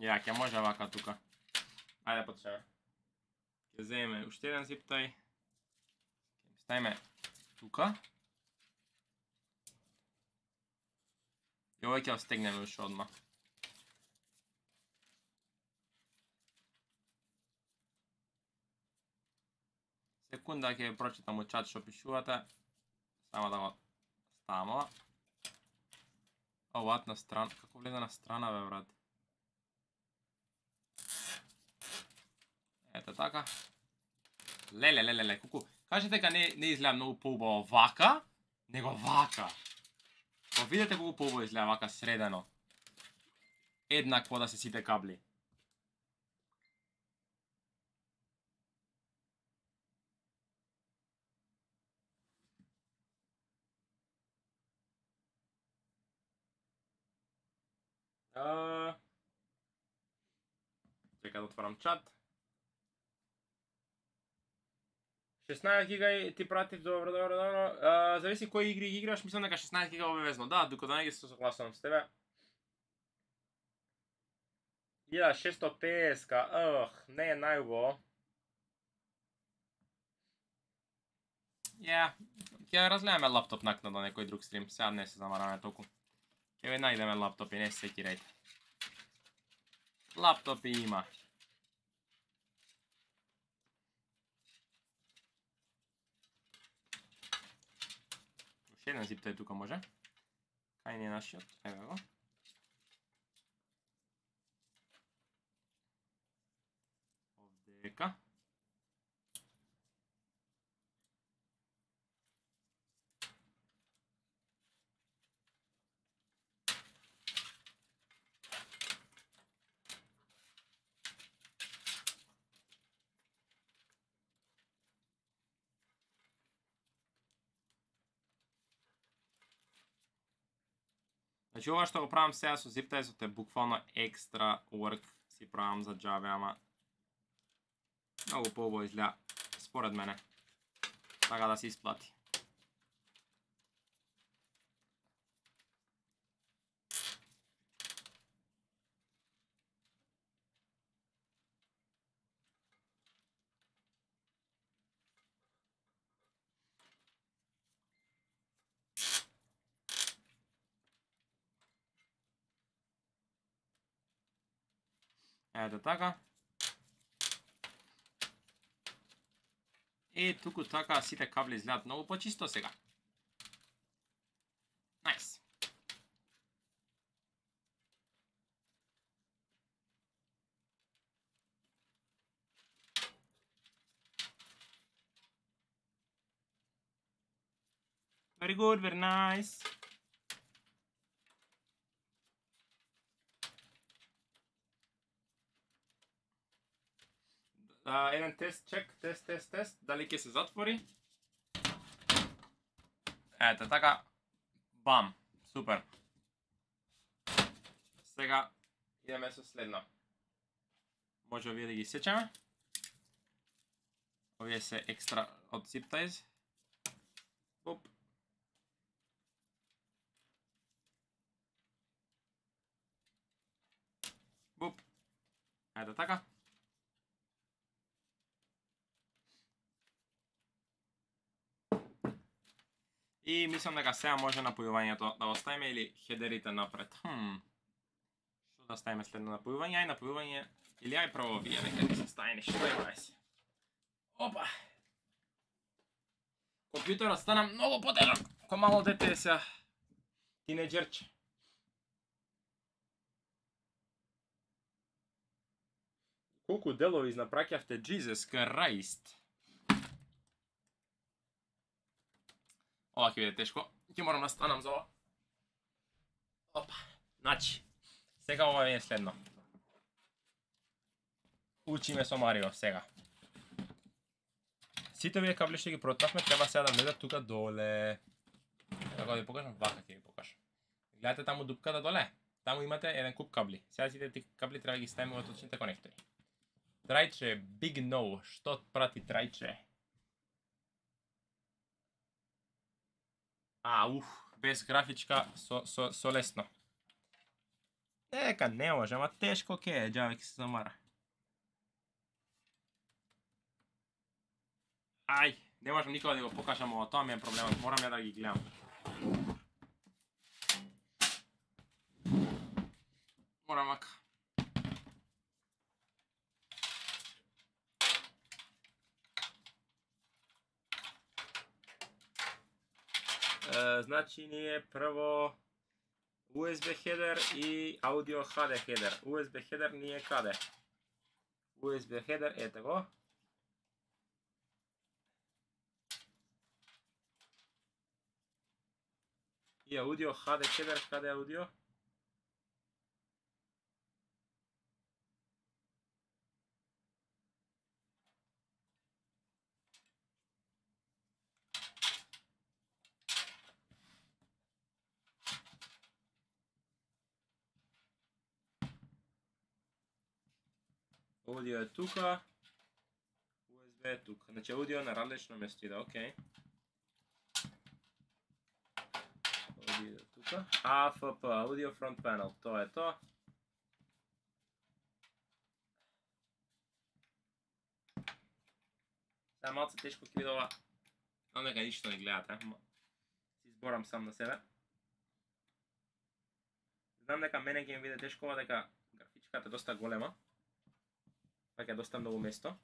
Ја, ќе може вака тука. Ајде почнеме. Ќе земеме уште еден зиптај. Ќе ставиме тука. И овој ќе стегнеме уште одма. Секунда ќе прочитам у чат што пишувате. Само да го ставам ова. Оваат на страна. Како влезе на страна, бе, брат? Ето така. Леле, куку. Кажете дека не изгледа многу поубаво вака, него вака. Па видете колку поубаво изгледа вака средено. Еднакво да се сите кабли. Чека да отворам чат. 16 гига ти пратив, добро. Зависи кои игри играш, мислам дека 16 гига обавезно. Да, докато не ги се согласувам с тебе. 1650, не е најубаво. Ја, ќе разгледаме лаптоп накнадо на некој друг стрим, сега не се замараме толку. Ќе ви најдеме лаптопи, не се секирајте. Лаптопи има. Уште еден зиптај тука може. Кај не е нашиот? Ева го. Овдека. Значи ова што го правам сега со зиптајсот е буквално екстра work си правам за џабе, ама многу поубаво изгледа според мене. Така да се исплати. Ето така. Туку така сите кабли изгледат многу почисто сега. Најс. Very good, very nice. Еден тест, чек, тест, дали ќе се затвори? Ето така, бам, супер. Сега идеме со следно. Може овие да ги сечеме. Овие се екстра од zip ties. Оп. Оп. Ето така. И мислам дека сега може напојувањето да оставиме или хедерите напред. Што да ставиме следно напојување? Ај напојување или ај прво овие, нека да се стави нешто, ај се. Опа! Компјутерот стана многу потежок, ко мало дете е сега. Тинеџерче. Колку делови изнапраќавте, Jesus Christ. Ова ќе биде тешко. Ќе морам да станам за ова. Опа. Значи, сега ова е следно. Учиме со Марио сега. Сите овие кабли што ги протнавме треба сега да влезат тука доле. Како да ви покажам, вака ќе ви покажам. Гледате таму дупката доле? Таму имате еден куп кабли. Сега сите тие кабли треба да ги ставиме во точните конектори. Трајче, big no. Што прати трајче? Без графичка со лесно. Дека не може, ама тешко ке е, џаве ќе се замара. Ај, не можам никога да го покажам ова, тоа ми е проблемот, морам ја да ги гледам. Морам вака. Значи ние прво USB header и audio HD header. USB header ние каде? USB header, ете го. И audio HD header, каде е audio? Audio е тука, USB е тука. Значи audio на различно место иде, окей. Audio е тука. AFP, Audio Front Panel, тоа е тоа. Сега малце тешко ќе биде ова. Знам дека ништо не гледате, ама си изборам сам на себе. Знам дека мене ќе ми биде тешко ова, дека графичката е доста голема. Така е доста многу место.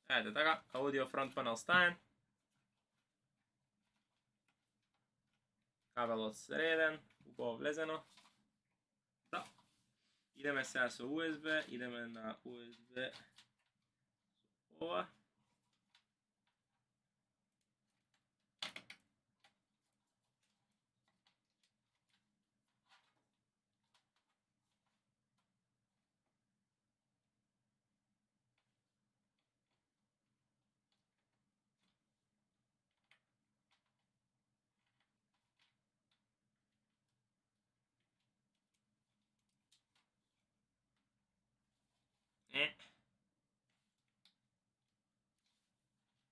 Ете така, audio front panel ставен. Кабелот среден, убаво влезено. Да. Идеме сега со USB, идеме на USB ова.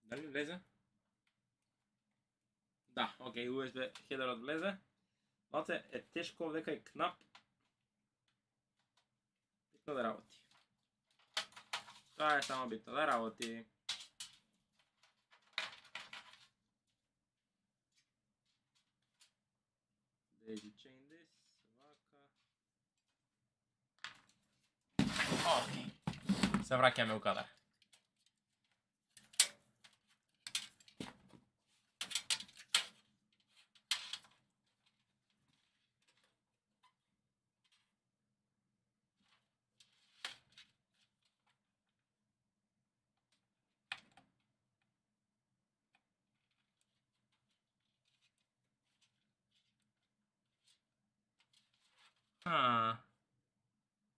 Дали влезе? Да, окей, USB хедерот влезе. Малце е тешко овдека е кнап. Битно да работи. Тоа е само битно да работи. Daisy chain this, вака. Окей. Се враќаме у кадар.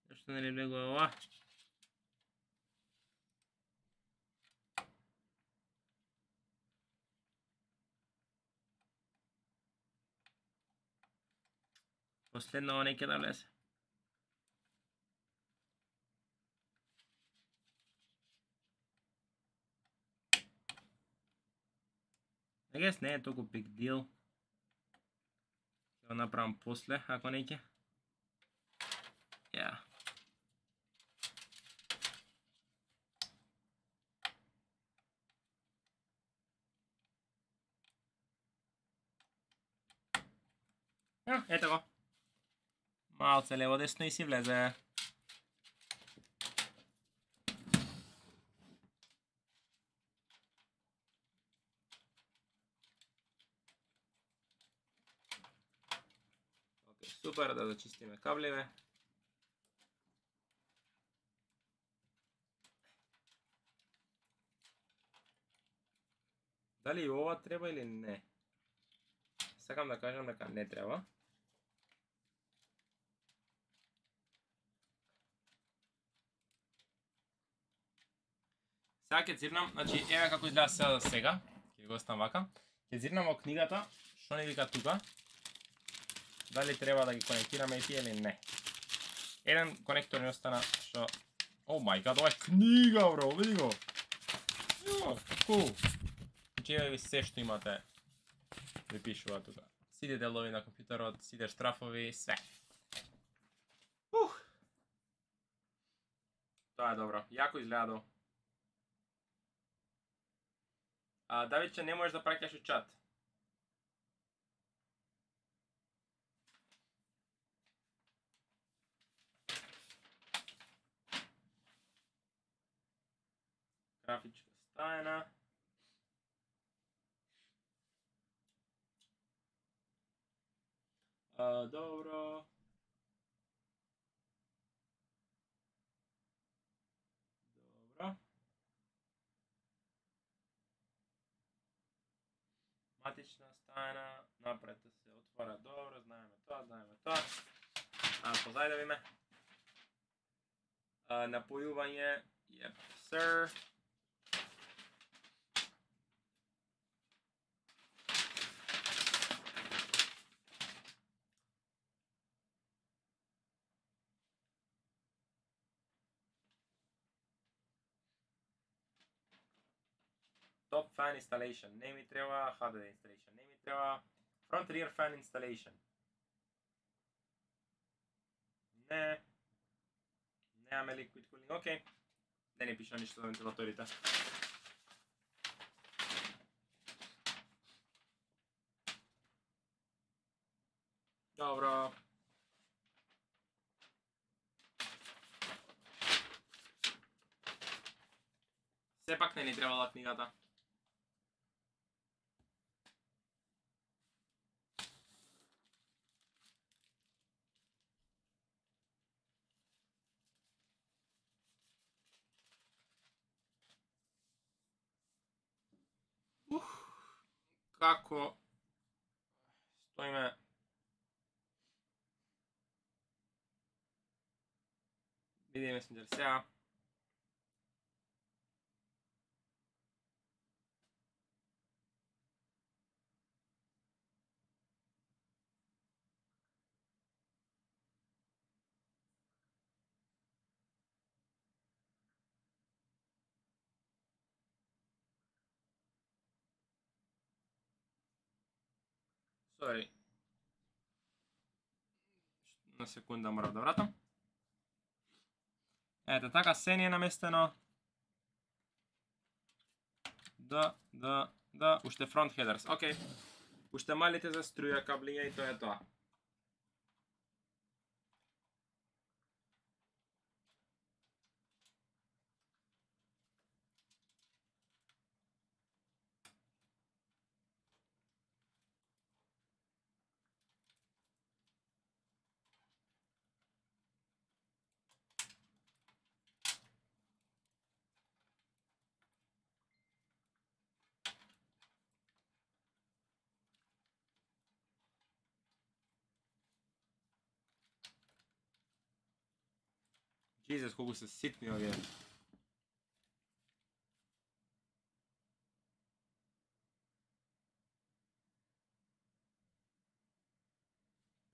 Зашто не ли влегува ова? Последно ова не ќе да влезе. I guess не е толку big deal. Ќе го направам после, ако не ќе. Yeah. Ето го. Малце лево десно и си влезе. Окей, супер, да зачистиме кабливе. дали ова треба или не? Сакам да кажам дека не треба. Сега ќе цирнам, значи еве како изгледа се сега. Ќе го оставам вака. Ќе цирнам во книгата, што ни вика тука. Дали треба да ги конектираме и тие или не. Еден конектор ни остана што... О мај гад, ова е книга, бро, види го. Cool. Значи еве ви се што имате ви пишува тука. Сите делови на компјутерот, сите штрафови, све. Тоа е добро. Јако изгледа. Давидче, не можеш да праќаш у чат. Графичка стајна. Добро. Добро. Матична стајна, напред се отвора, добро, знаеме тоа. Позајде ви ме. Напојување, yep, sir. Top fan installation, не ми треба, HDD installation, не ми треба, front rear fan installation. Не. Немаме liquid cooling, окей. Не ни пиша ништо за вентилаторите. Добро. Сепак не ни требала книгата. Како стоиме види месенџер сега. Sorry. На секунда морам да вратам. Ето така, се ни е наместено. Да, уште front headers, окей. Уште малите за струја каблиња и тоа е тоа. Jesus, колку се ситни овие.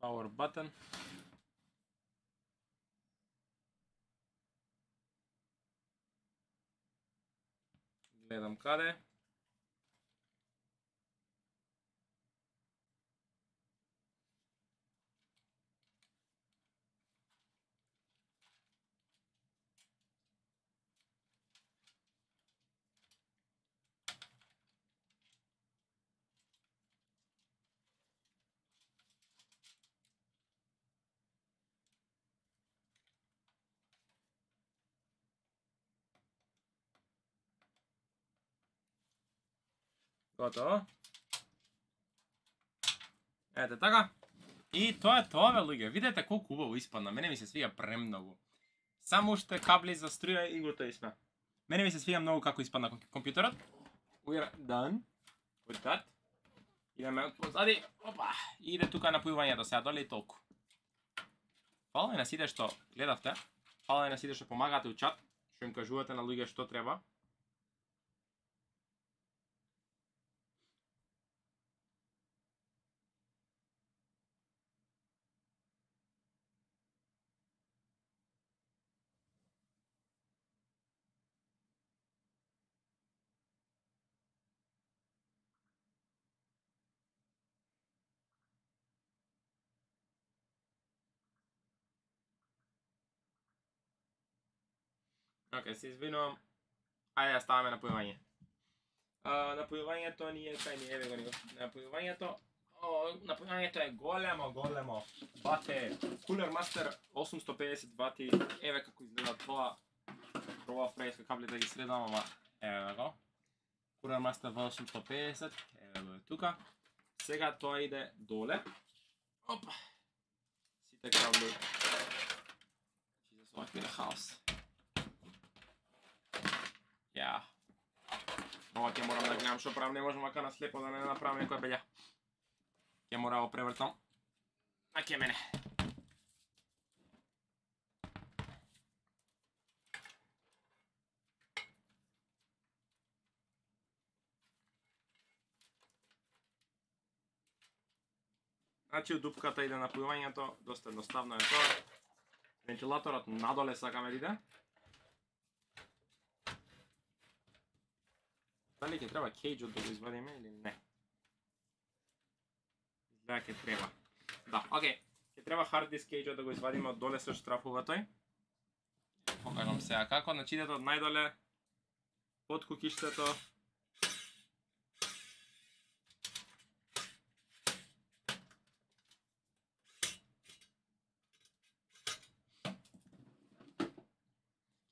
Power button. Гледам каде. Готово. Ете така. И тоа е тоа, бе, луѓе. Видете колку убаво испадна. Мене ми се свига премногу. Само уште кабли за струја и готови сме. Мене ми се свига многу како испадна компјутерот. We are done. With that. Идеме од позади. Опа. И иде тука напојувањето сега доле и толку. Фала на сите што гледавте. Фала на сите што помагате у чат, што им кажувате на луѓе што треба. Океј, се извинувам. Ајде да ставаме напојување. Напојувањето ни е кај ни, еве го него. Напојувањето е големо. Бате, Cooler Master 850 вати. Еве како изгледа тоа. Пробав преска каблите да ги средам, ама еве го. Cooler Master 850, еве го е тука. Сега тоа иде доле. Опа. Сите кабли. Jesus, what in the house. Ја. Ова ќе морам да гледам што правам, не можам вака на слепо да не направам некоја белја. Ќе мора да превртам. А ке мене. Значи у дупката иде напојувањето, доста едноставно е тоа. Вентилаторот надоле сакаме да иде. Дали ќе треба кейџот да го извадиме или не? Изгледа ќе треба. Да, окей. Ќе треба hard disk кейџот да го извадиме од доле со штрафува тој. Покажам сега како. Значи идете од најдоле под кукиштето.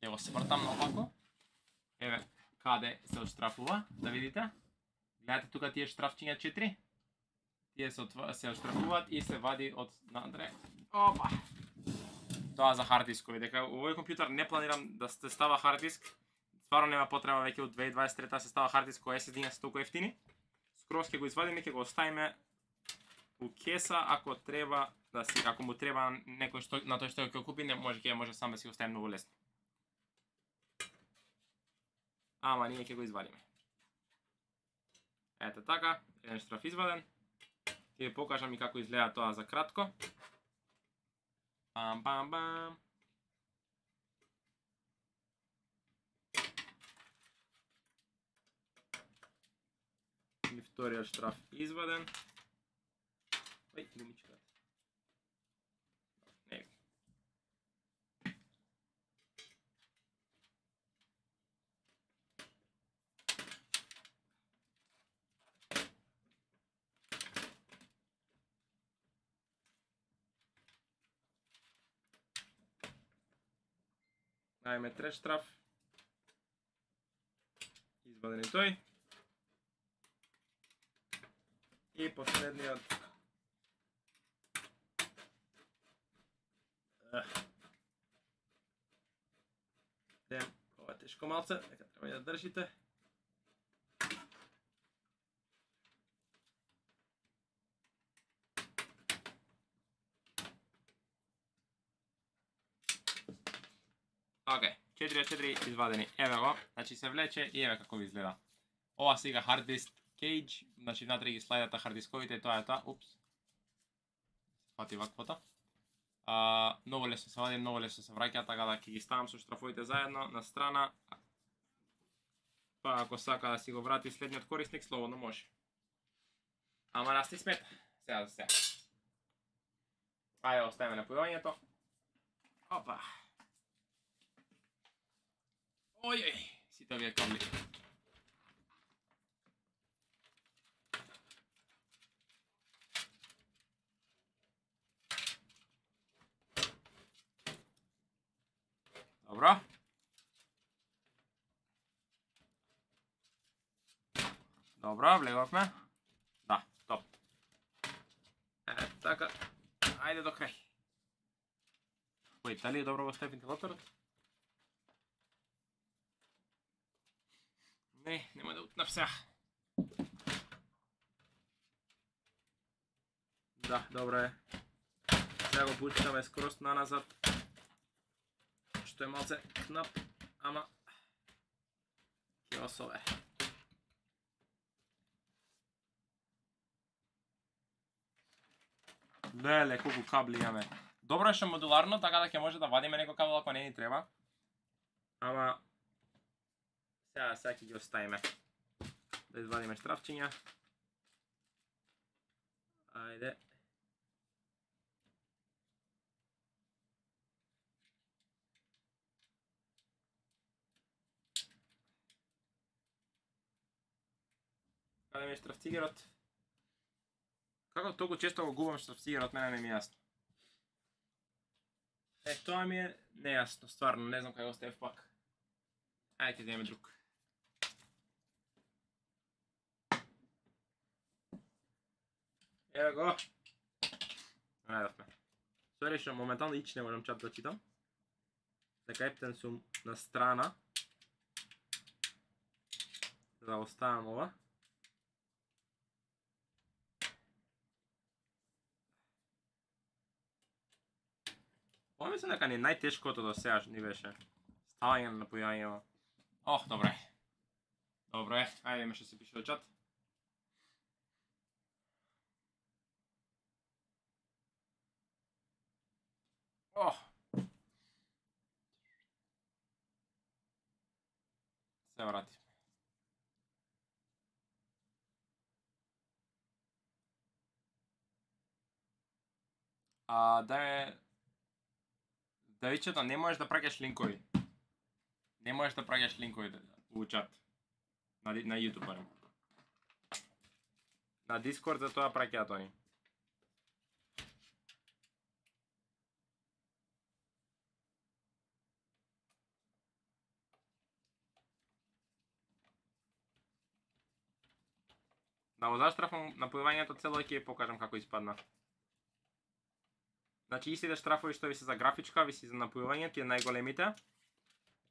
Ќе го свртам наопаку. Еве каде се отштрафува, да видите. Гледате тука тие штрафчиња 4. Тие се отштрафуваат и се вади од надре. Опа! Тоа за хард дискови. Дека овој компјутер не планирам да се става хард диск. Стварно нема потреба, веќе од 2023 се става хард диск кој SSD-на се толку ефтини. Скроз ќе го извадиме, ќе го оставиме у кеса, ако треба да си, ако му треба некој што на тој што ќе купи, не може ќе може сам да си го стави многу лесно. Ама ние ќе го извадиме. Ете така, еден штраф изваден. Ќе ви покажам и како изгледа тоа за кратко. Бам. И вториот штраф изваден. Ој, гумичка. Дајме трет штраф. Изваден и тој. И последниот. Ова е тешко малце, дека треба да држите. Океј, 4 од 4 извадени. Еве го, значи се влече и еве како ви изгледа. Ова сега hard disk cage, значи внатре ги слајдата hard дисковите и тоа е тоа. Упс. Фати ваквото. Многу лесно се вади, многу лесно се враќа, така да ќе ги ставам со штрафовите заедно на страна. Па ако сака да си го врати следниот корисник, слободно може. Ама нас ти смета. Сега за сега. Ајде, оставиме напојувањето. Опа. Ојеј, сите овие кабли. Добро. Добро, влеговме. Да, топ. Така, ајде до крај. Кој, дали е добро го стави вентилаторот? Не, нема да утнав сега. Да, добро е. Сега го пуштаме скроз наназад. Што е малце кнап, ама ќе осове. Леле, колку кабли имаме. Добро е што модуларно, така да ќе може да вадиме некој кабел ако не ни треба. Ама сега ќе ги оставиме. Да извадиме штрафчиња. Ајде. Каде ми е штрафцигерот? Како толку често го губам штрафцигерот, мене не ми е јасно. Тоа ми е нејасно, стварно, не знам кај го оставив пак. Ајде ќе земеме друг. Ево го. Најдовме. Сори што моментално ич не можам чат да читам. Дека ептен сум на страна. Да оставам ова. Ова мислам дека ни најтешкото до сега ни беше. Ставање на напојањето. Ох, добре. Добре, ајде има што се пише во чат. Ох. Се врати. Давичето, не можеш да праќаш линкови. Не можеш да праќаш линкови во чат. На YouTube барем. На Discord за тоа праќаат они. Да го заштрафам напојувањето цело ќе покажам како испадна. Значи истите штрафови што ви се за графичка, ви се за напојување, тие најголемите.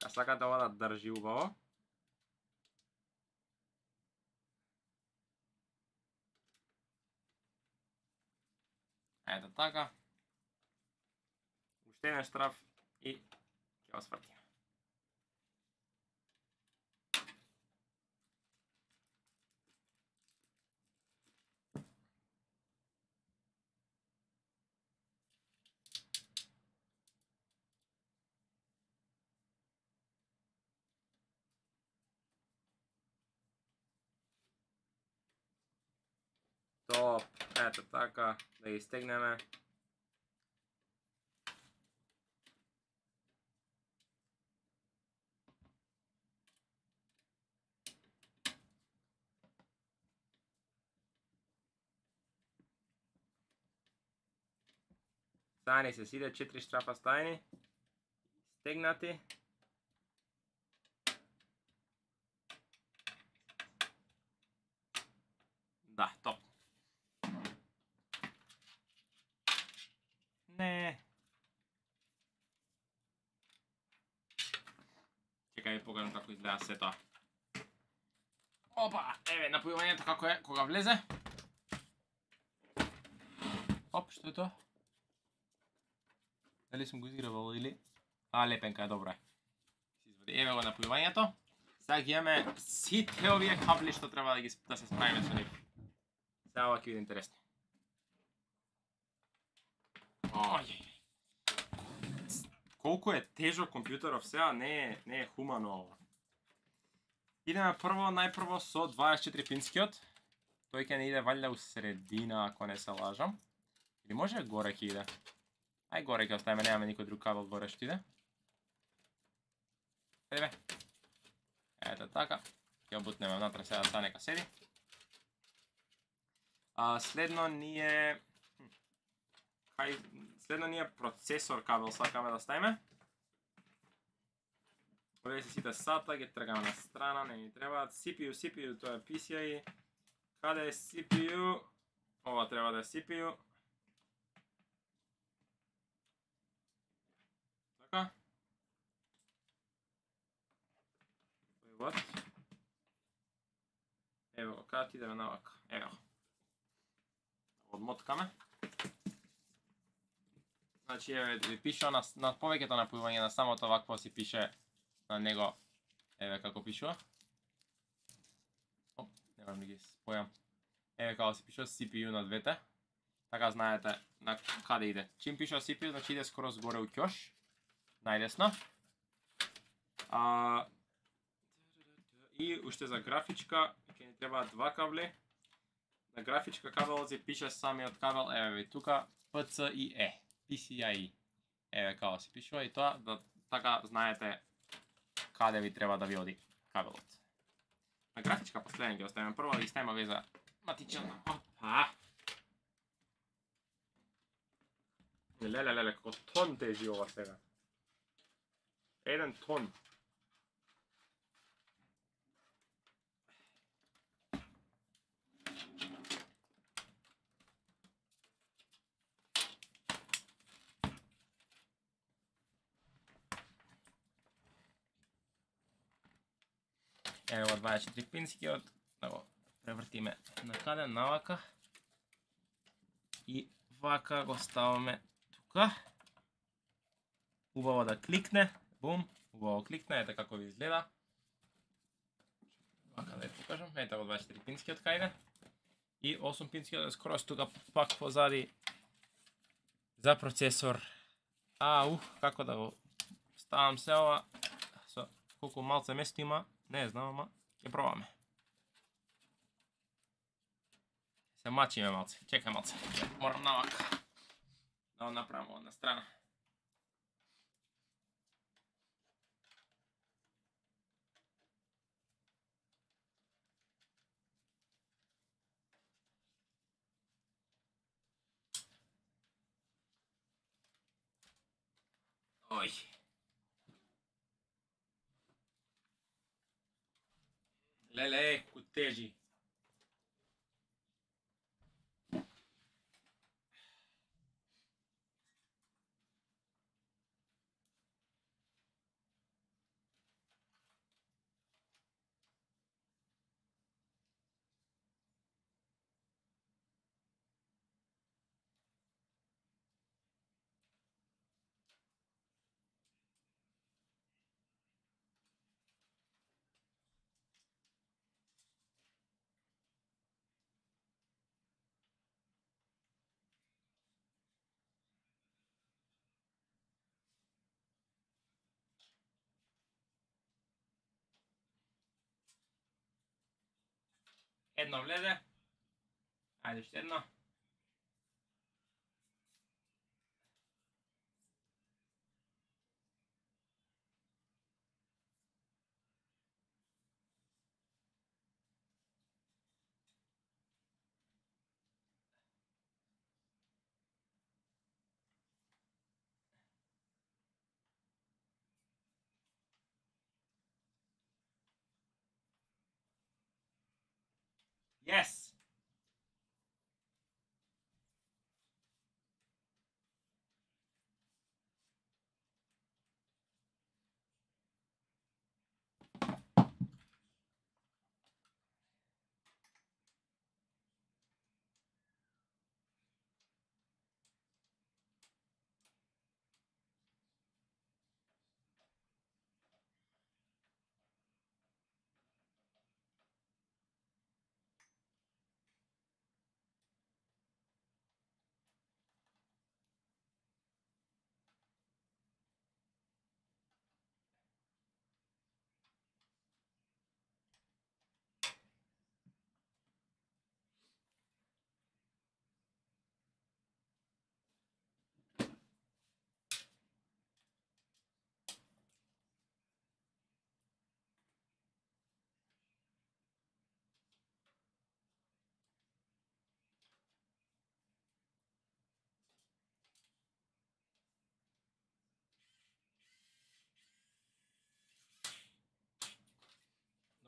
А сакате ова да држи убаво. Ето така. Уште еден штраф и ќе го свртиме. Топ, ето така, да ги стегнеме. Стајани се сите 4 штрафа стајани, стегнати. Да, топ. Не. Чекај да покажам како изгледа се тоа. Опа, еве напојувањето како е кога влезе. Оп, што е тоа? Дали сум го изгревал или? Лепенка е, добро е. Еве го напојувањето. Сега ги имаме сите овие кабли што треба да се справиме со нив. Сега ова ќе биде интересно. Колку е тежок компјутеров сега, не е хумано ова. Идеме најпрво со 24 пинскиот. Тој ќе не иде валја у средина, ако не се лажам. Или може горе ќе иде? Ај горе ќе оставиме, немаме никој друг кабел горе што иде. Еве. Ето така. Ќе бутнеме внатре сега да нека седи. Следно ни е процесор кабел сакаме да ставиме. Овие се сите SATA, ги тргаме на страна, не ни требаат. CPU, тоа е PCI. Каде е CPU? Ова треба да е CPU. Така. Вот. Ево го, каде ти идеме навака. Ево. Одмоткаме. Значи, еве, ви пишува на повеќето напојување на самото вакво си пише на него, еве како пишува. Оп, не можам да ги спојам. Еве како се пишува CPU на двете. Така знаете на каде иде. Чим пишува CPU, значи иде скоро згоре у ќош. Најдесно. И уште за графичка, ќе ни требаат два кабли. На графичка кабелот се пише самиот кабел, еве ви тука, PCIe. PCIe. Еве како се пишува и тоа, да така знаете каде ви треба да ви оди кабелот. На графичка последен ги оставиме прво, да ги ставиме веза матична. Опа! Леле, како тон тежи ова сега. 1 тон. Ево 24 пинскиот, да го превртиме накаде, навака. И вака го ставаме тука. Убаво да кликне, бум, убаво кликне, ете како ви изгледа. Вака да ја покажам, ете го 24 пинскиот кајде. И 8 пинскиот е скоро тука пак позади за процесор. Како да го ставам се ова, со колку малце место има, не знам, ама ќе пробаме. Се мачиме малце, чекај малце, морам навака да го направам ова на страна. Ој. Леле, ку тежи. Едно влезе. Ајде уште едно. Yes!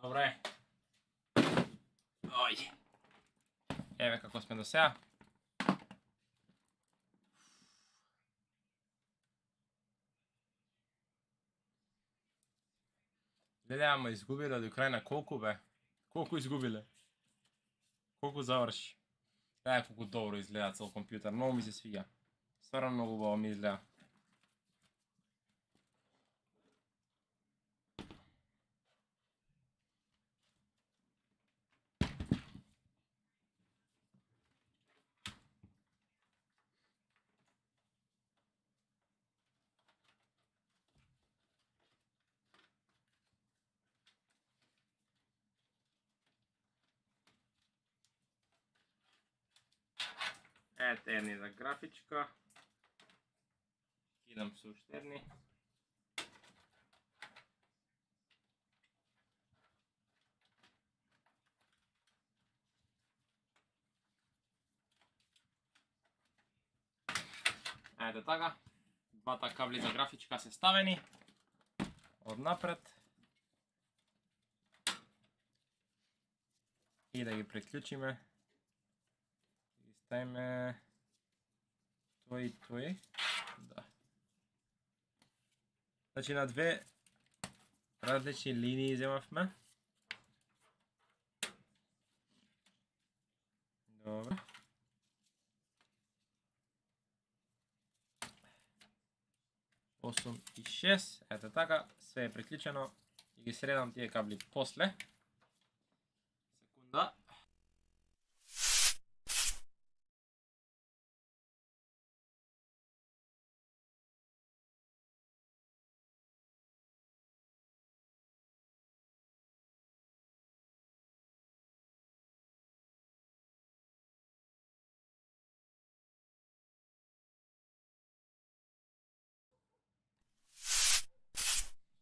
Добре. Ој. Еве како сме до сега. Леле, ама изгубиле до крај на колку бе? Колку изгубиле? Колку заврши? Колку добро изгледа цел компјутер, многу ми се свиѓа. Стварно многу убаво ми изгледа. Ето едни за графичка. Идам со уште едни. Ете така. Двата кабли за графичка се ставени. Однапред. И да ги приклучиме. Ги ставиме тој и тој. Да. Значи на две различни линии земавме. Добро. Осум и 6. Ето така, све е приклучено. И ги средам тие кабли после. Секунда.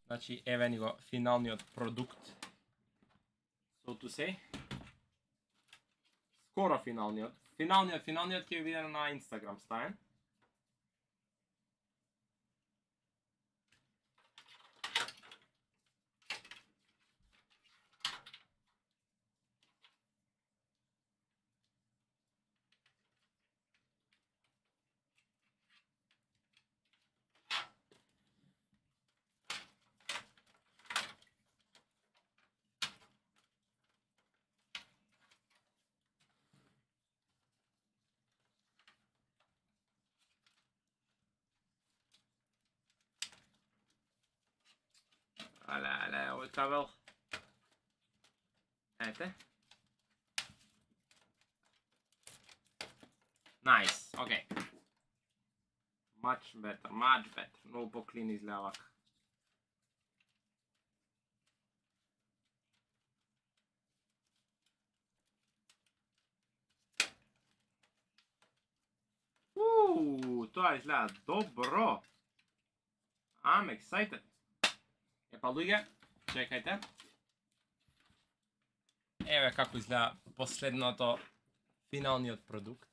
Значи, еве ни го финалниот продукт. So to say. Скоро финалниот. Финалниот ќе ви биде на Инстаграм ставен. Але, овој кабел. Ете. Nice, окей. Much better. Многу поклин изгледа вака. Тоа изгледа добро. I'm excited. Епа луѓе, чекајте. Еве како изгледа последното, финалниот продукт.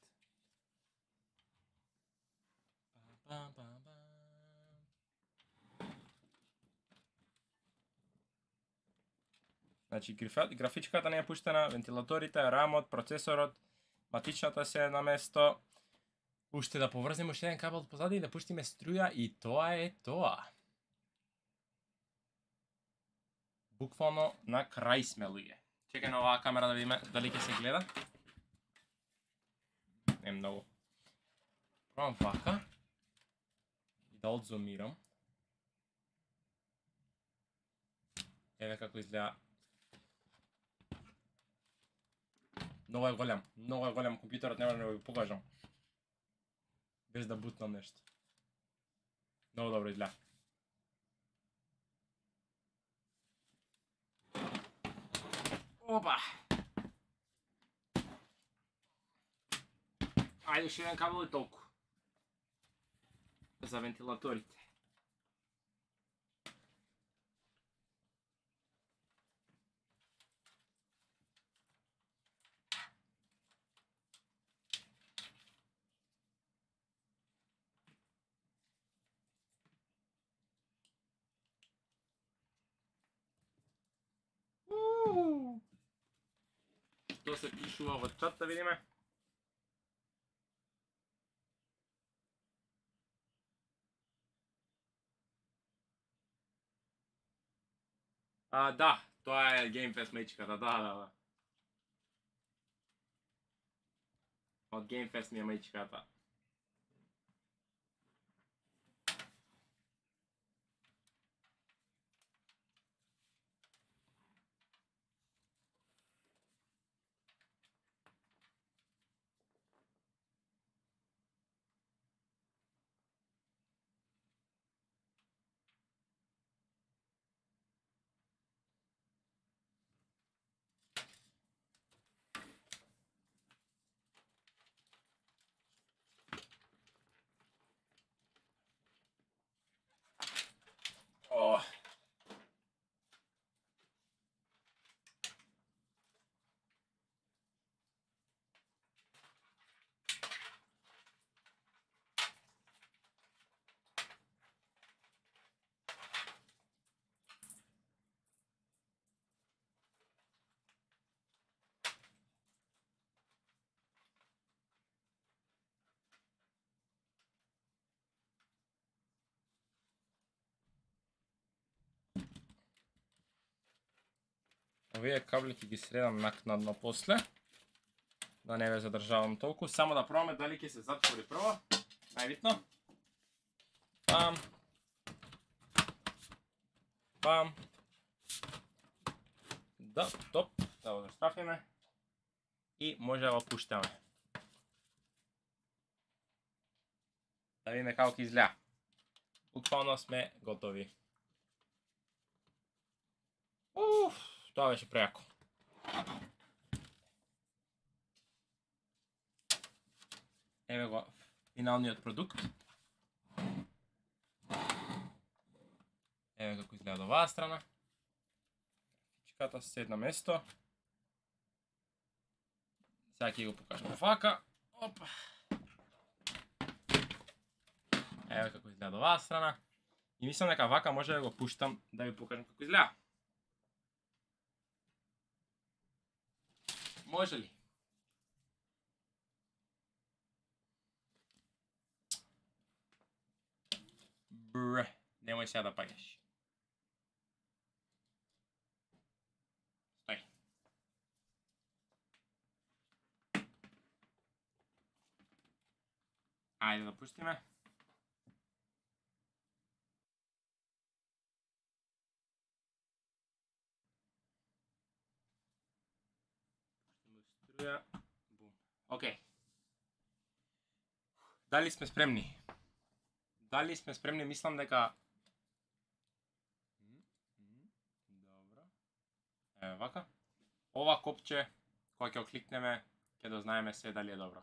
Значи, графичката не е пуштена, вентилаторите, рамот, процесорот, матичната се на место. Уште да поврземе уште еден кабел позади и да пуштиме струја и тоа е тоа. Буквално на крај сме, луѓе. Чекај на оваа камера да видиме дали ќе се гледа. Не многу. Пробам вака. И да одзумирам. Еве како изгледа. Многу е голем компјутерот, нема да ви покажам. Без да бутнам нешто. Многу добро изгледа. Опа! Ајде уште еден кабел и толку. За вентилаторите. Што се пишува во чат, да видиме. Да, тоа е Game Fest мајчката, да. Од Game Fest ми е мајчката. Овие кабли ќе ги средам накнадно после. Да не ве задржавам толку. Само да пробаме дали ќе се затвори прво. Најбитно. Пам. Пам. Да, топ. Да го застрафиме. И може да го пуштаме. Да видиме како ќе изгледа. Буквално сме готови. Тоа беше прејако. Еве го финалниот продукт. Еве како изгледа од оваа страна. Чиката се на место. Сега ќе го покажам вака. Опа. Еве како изгледа од оваа страна. И мислам дека вака може да го пуштам да ви покажам како изгледа. Може ли? Бре, немој сега да паѓаш. Стој. Ајде да пуштиме. Бум. Океј. Дали сме спремни? Дали сме спремни? Мислам дека... Добро. Еве вака. Ова копче, кога ќе окликнеме, ќе дознаеме се дали е добро.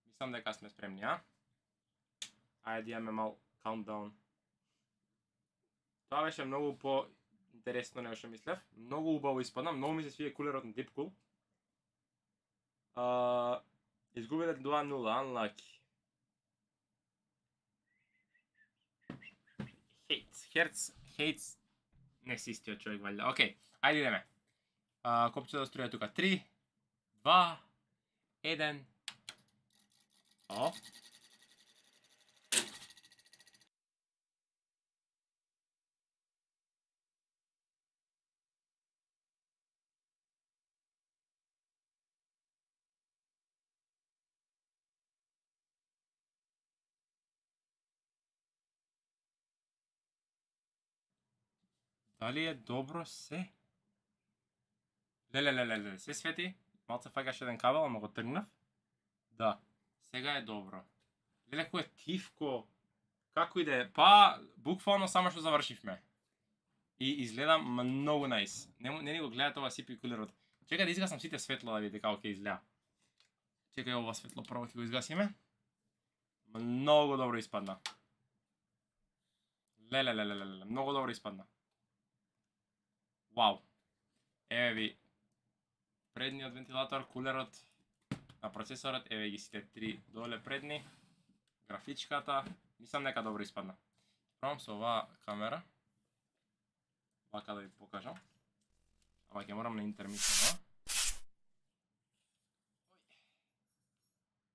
Мислам дека сме спремни, а? Ајде имаме мал countdown. Тоа беше многу по-интересно него што мислев. Многу убаво испадна, многу ми се свие кулерот на Deepcool. Изгубиле 2-0, unlucky. Hates не си истиот човек валјда. Океј, ајде идеме. Копче да струја тука. 3, 2, 1. О. Дали е добро се? Леле, се свети. Малце фаќаш еден кабел, ама го тргнав. Да, сега е добро. Леле, кој е тивко. Како иде? Па, буквално само што завршивме. И изгледа многу најс. Не ни го гледате ова CPU кулерот. Чекај да изгасам сите светла да видите како ќе изгледа. Чекај ова светло прво ќе го изгасиме. Многу добро испадна. Леле, многу добро испадна. Вау. Еве ви предниот вентилатор, кулерот на процесорот, еве ги сите три доле предни, графичката, мислам дека добро испадна. Пробам со оваа камера, вака да ви покажам, ама ќе морам на интермисено.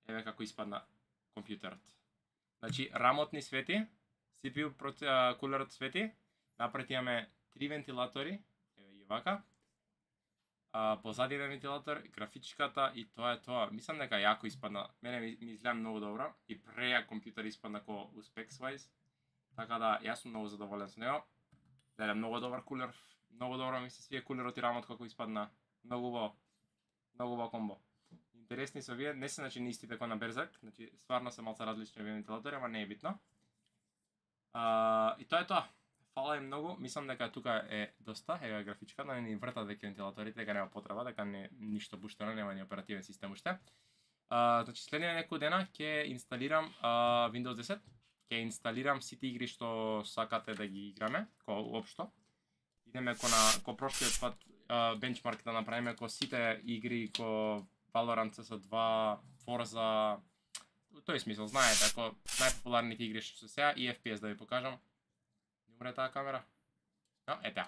Еве како испадна компјутерот. Значи, рамот ни свети, CPU кулерот свети, напред имаме 3 вентилатори, еве ги вака, позади еден вентилатор, графичката и тоа е тоа. Мислам дека јако испадна. Мене ми изгледа многу добро и прејак компјутер испадна ко specs wise. Така да јас сум многу задоволен со него. Леле, многу добар кулер, многу добро ми се свие кулерот и рамот како испадна. Многу убаво комбо. Интересни се овие, не се значи не истите кој на Berserk, значи стварно се малку различни овие вентилатори, ама не е битно. И тоа е тоа. Фала е многу, мислам дека тука е доста, еве графичка, да не ни вртат дека вентилаторите, дека нема потреба, дека не ништо буштено, нема ни оперативен систем уште. Значи следниве некој дена ќе инсталирам Windows 10, ќе инсталирам сите игри што сакате да ги играме, општо. Идеме ко прошлиот пат бенчмарк да направиме ко сите игри, ко Valorant, CS2, Forza, во тој смисол, знаете, ако најпопуларните игри што се сега и FPS да ви покажам. Не умре таа камера? No, е таа.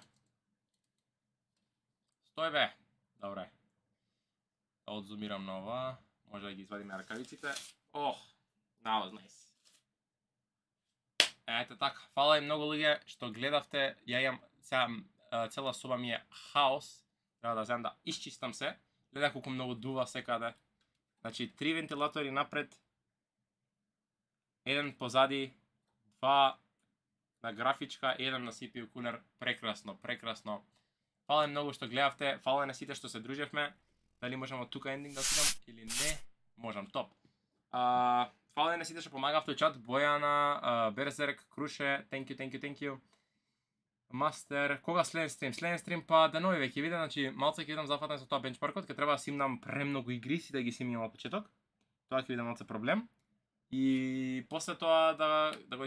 Стој бе. Добре. Да одзумирам на ова. Може да ги извадиме ракавиците. Ох, that was nice. Ете така. Фала и многу луѓе што гледавте. Ја имам сега цела соба ми е хаос. Треба да земам да исчистам се. Гледа колку многу дува секаде. Значи 3 вентилатори напред, 1 позади, 2 на графичка, 1 на CPU кулер. Прекрасно, прекрасно. Фала многу што гледавте, фала на сите што се дружевме. Дали можам од тука ендинг да отидам или не? Можам, топ. Фала на сите што помагавте чат, Бојана, Берзерк, Круше, thank you. Мастер, кога следен стрим? Следен стрим па денови веќе виде, значи малце ќе видам зафатен со тоа бенчмаркот, ќе треба да симнам премногу игри, си да ги симнам на почеток. Тоа ќе биде малце проблем. И после тоа да го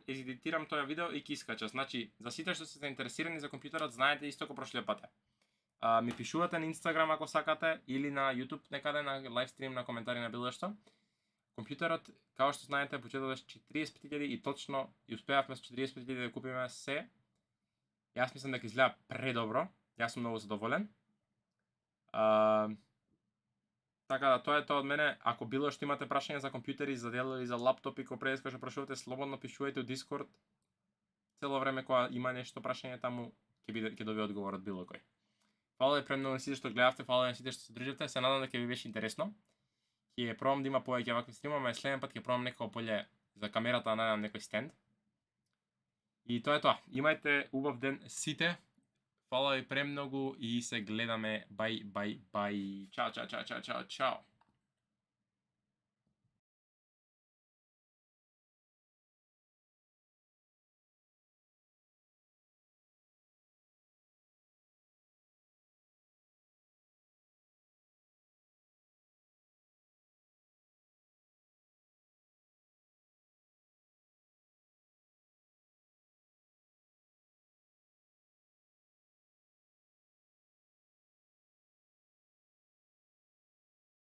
едитирам тоа видео и ќе искача. Значи, за сите што се заинтересирани за компјутерот, знаете исто како прошлиот пат. Ми пишувате на Instagram ако сакате или на YouTube некаде на лайвстрим, на коментари на било што. Компјутерот, како што знаете, почетот беше 45.000 и точно и успеавме со 45.000 да купиме се. Јас мислам дека изгледа предобро. Јас сум многу задоволен. Така да, тоа е тоа од мене. Ако било што имате прашања за компјутери, за дел или за лаптопи, кој предиска што прашувате, слободно пишувајте у Discord. Цело време кога има нешто прашање таму, ќе добие одговор од било кој. Фала и премногу на сите што гледавте, фала на сите што се држите. Се надам дека ви беше интересно. Ќе пробам да има повеќе вакви стримови, а следен пат ќе пробам некако поле за камерата да најдам некој стенд. И тоа е тоа. Имајте убав ден сите. Фала ви премногу и се гледаме. Бај. Чао.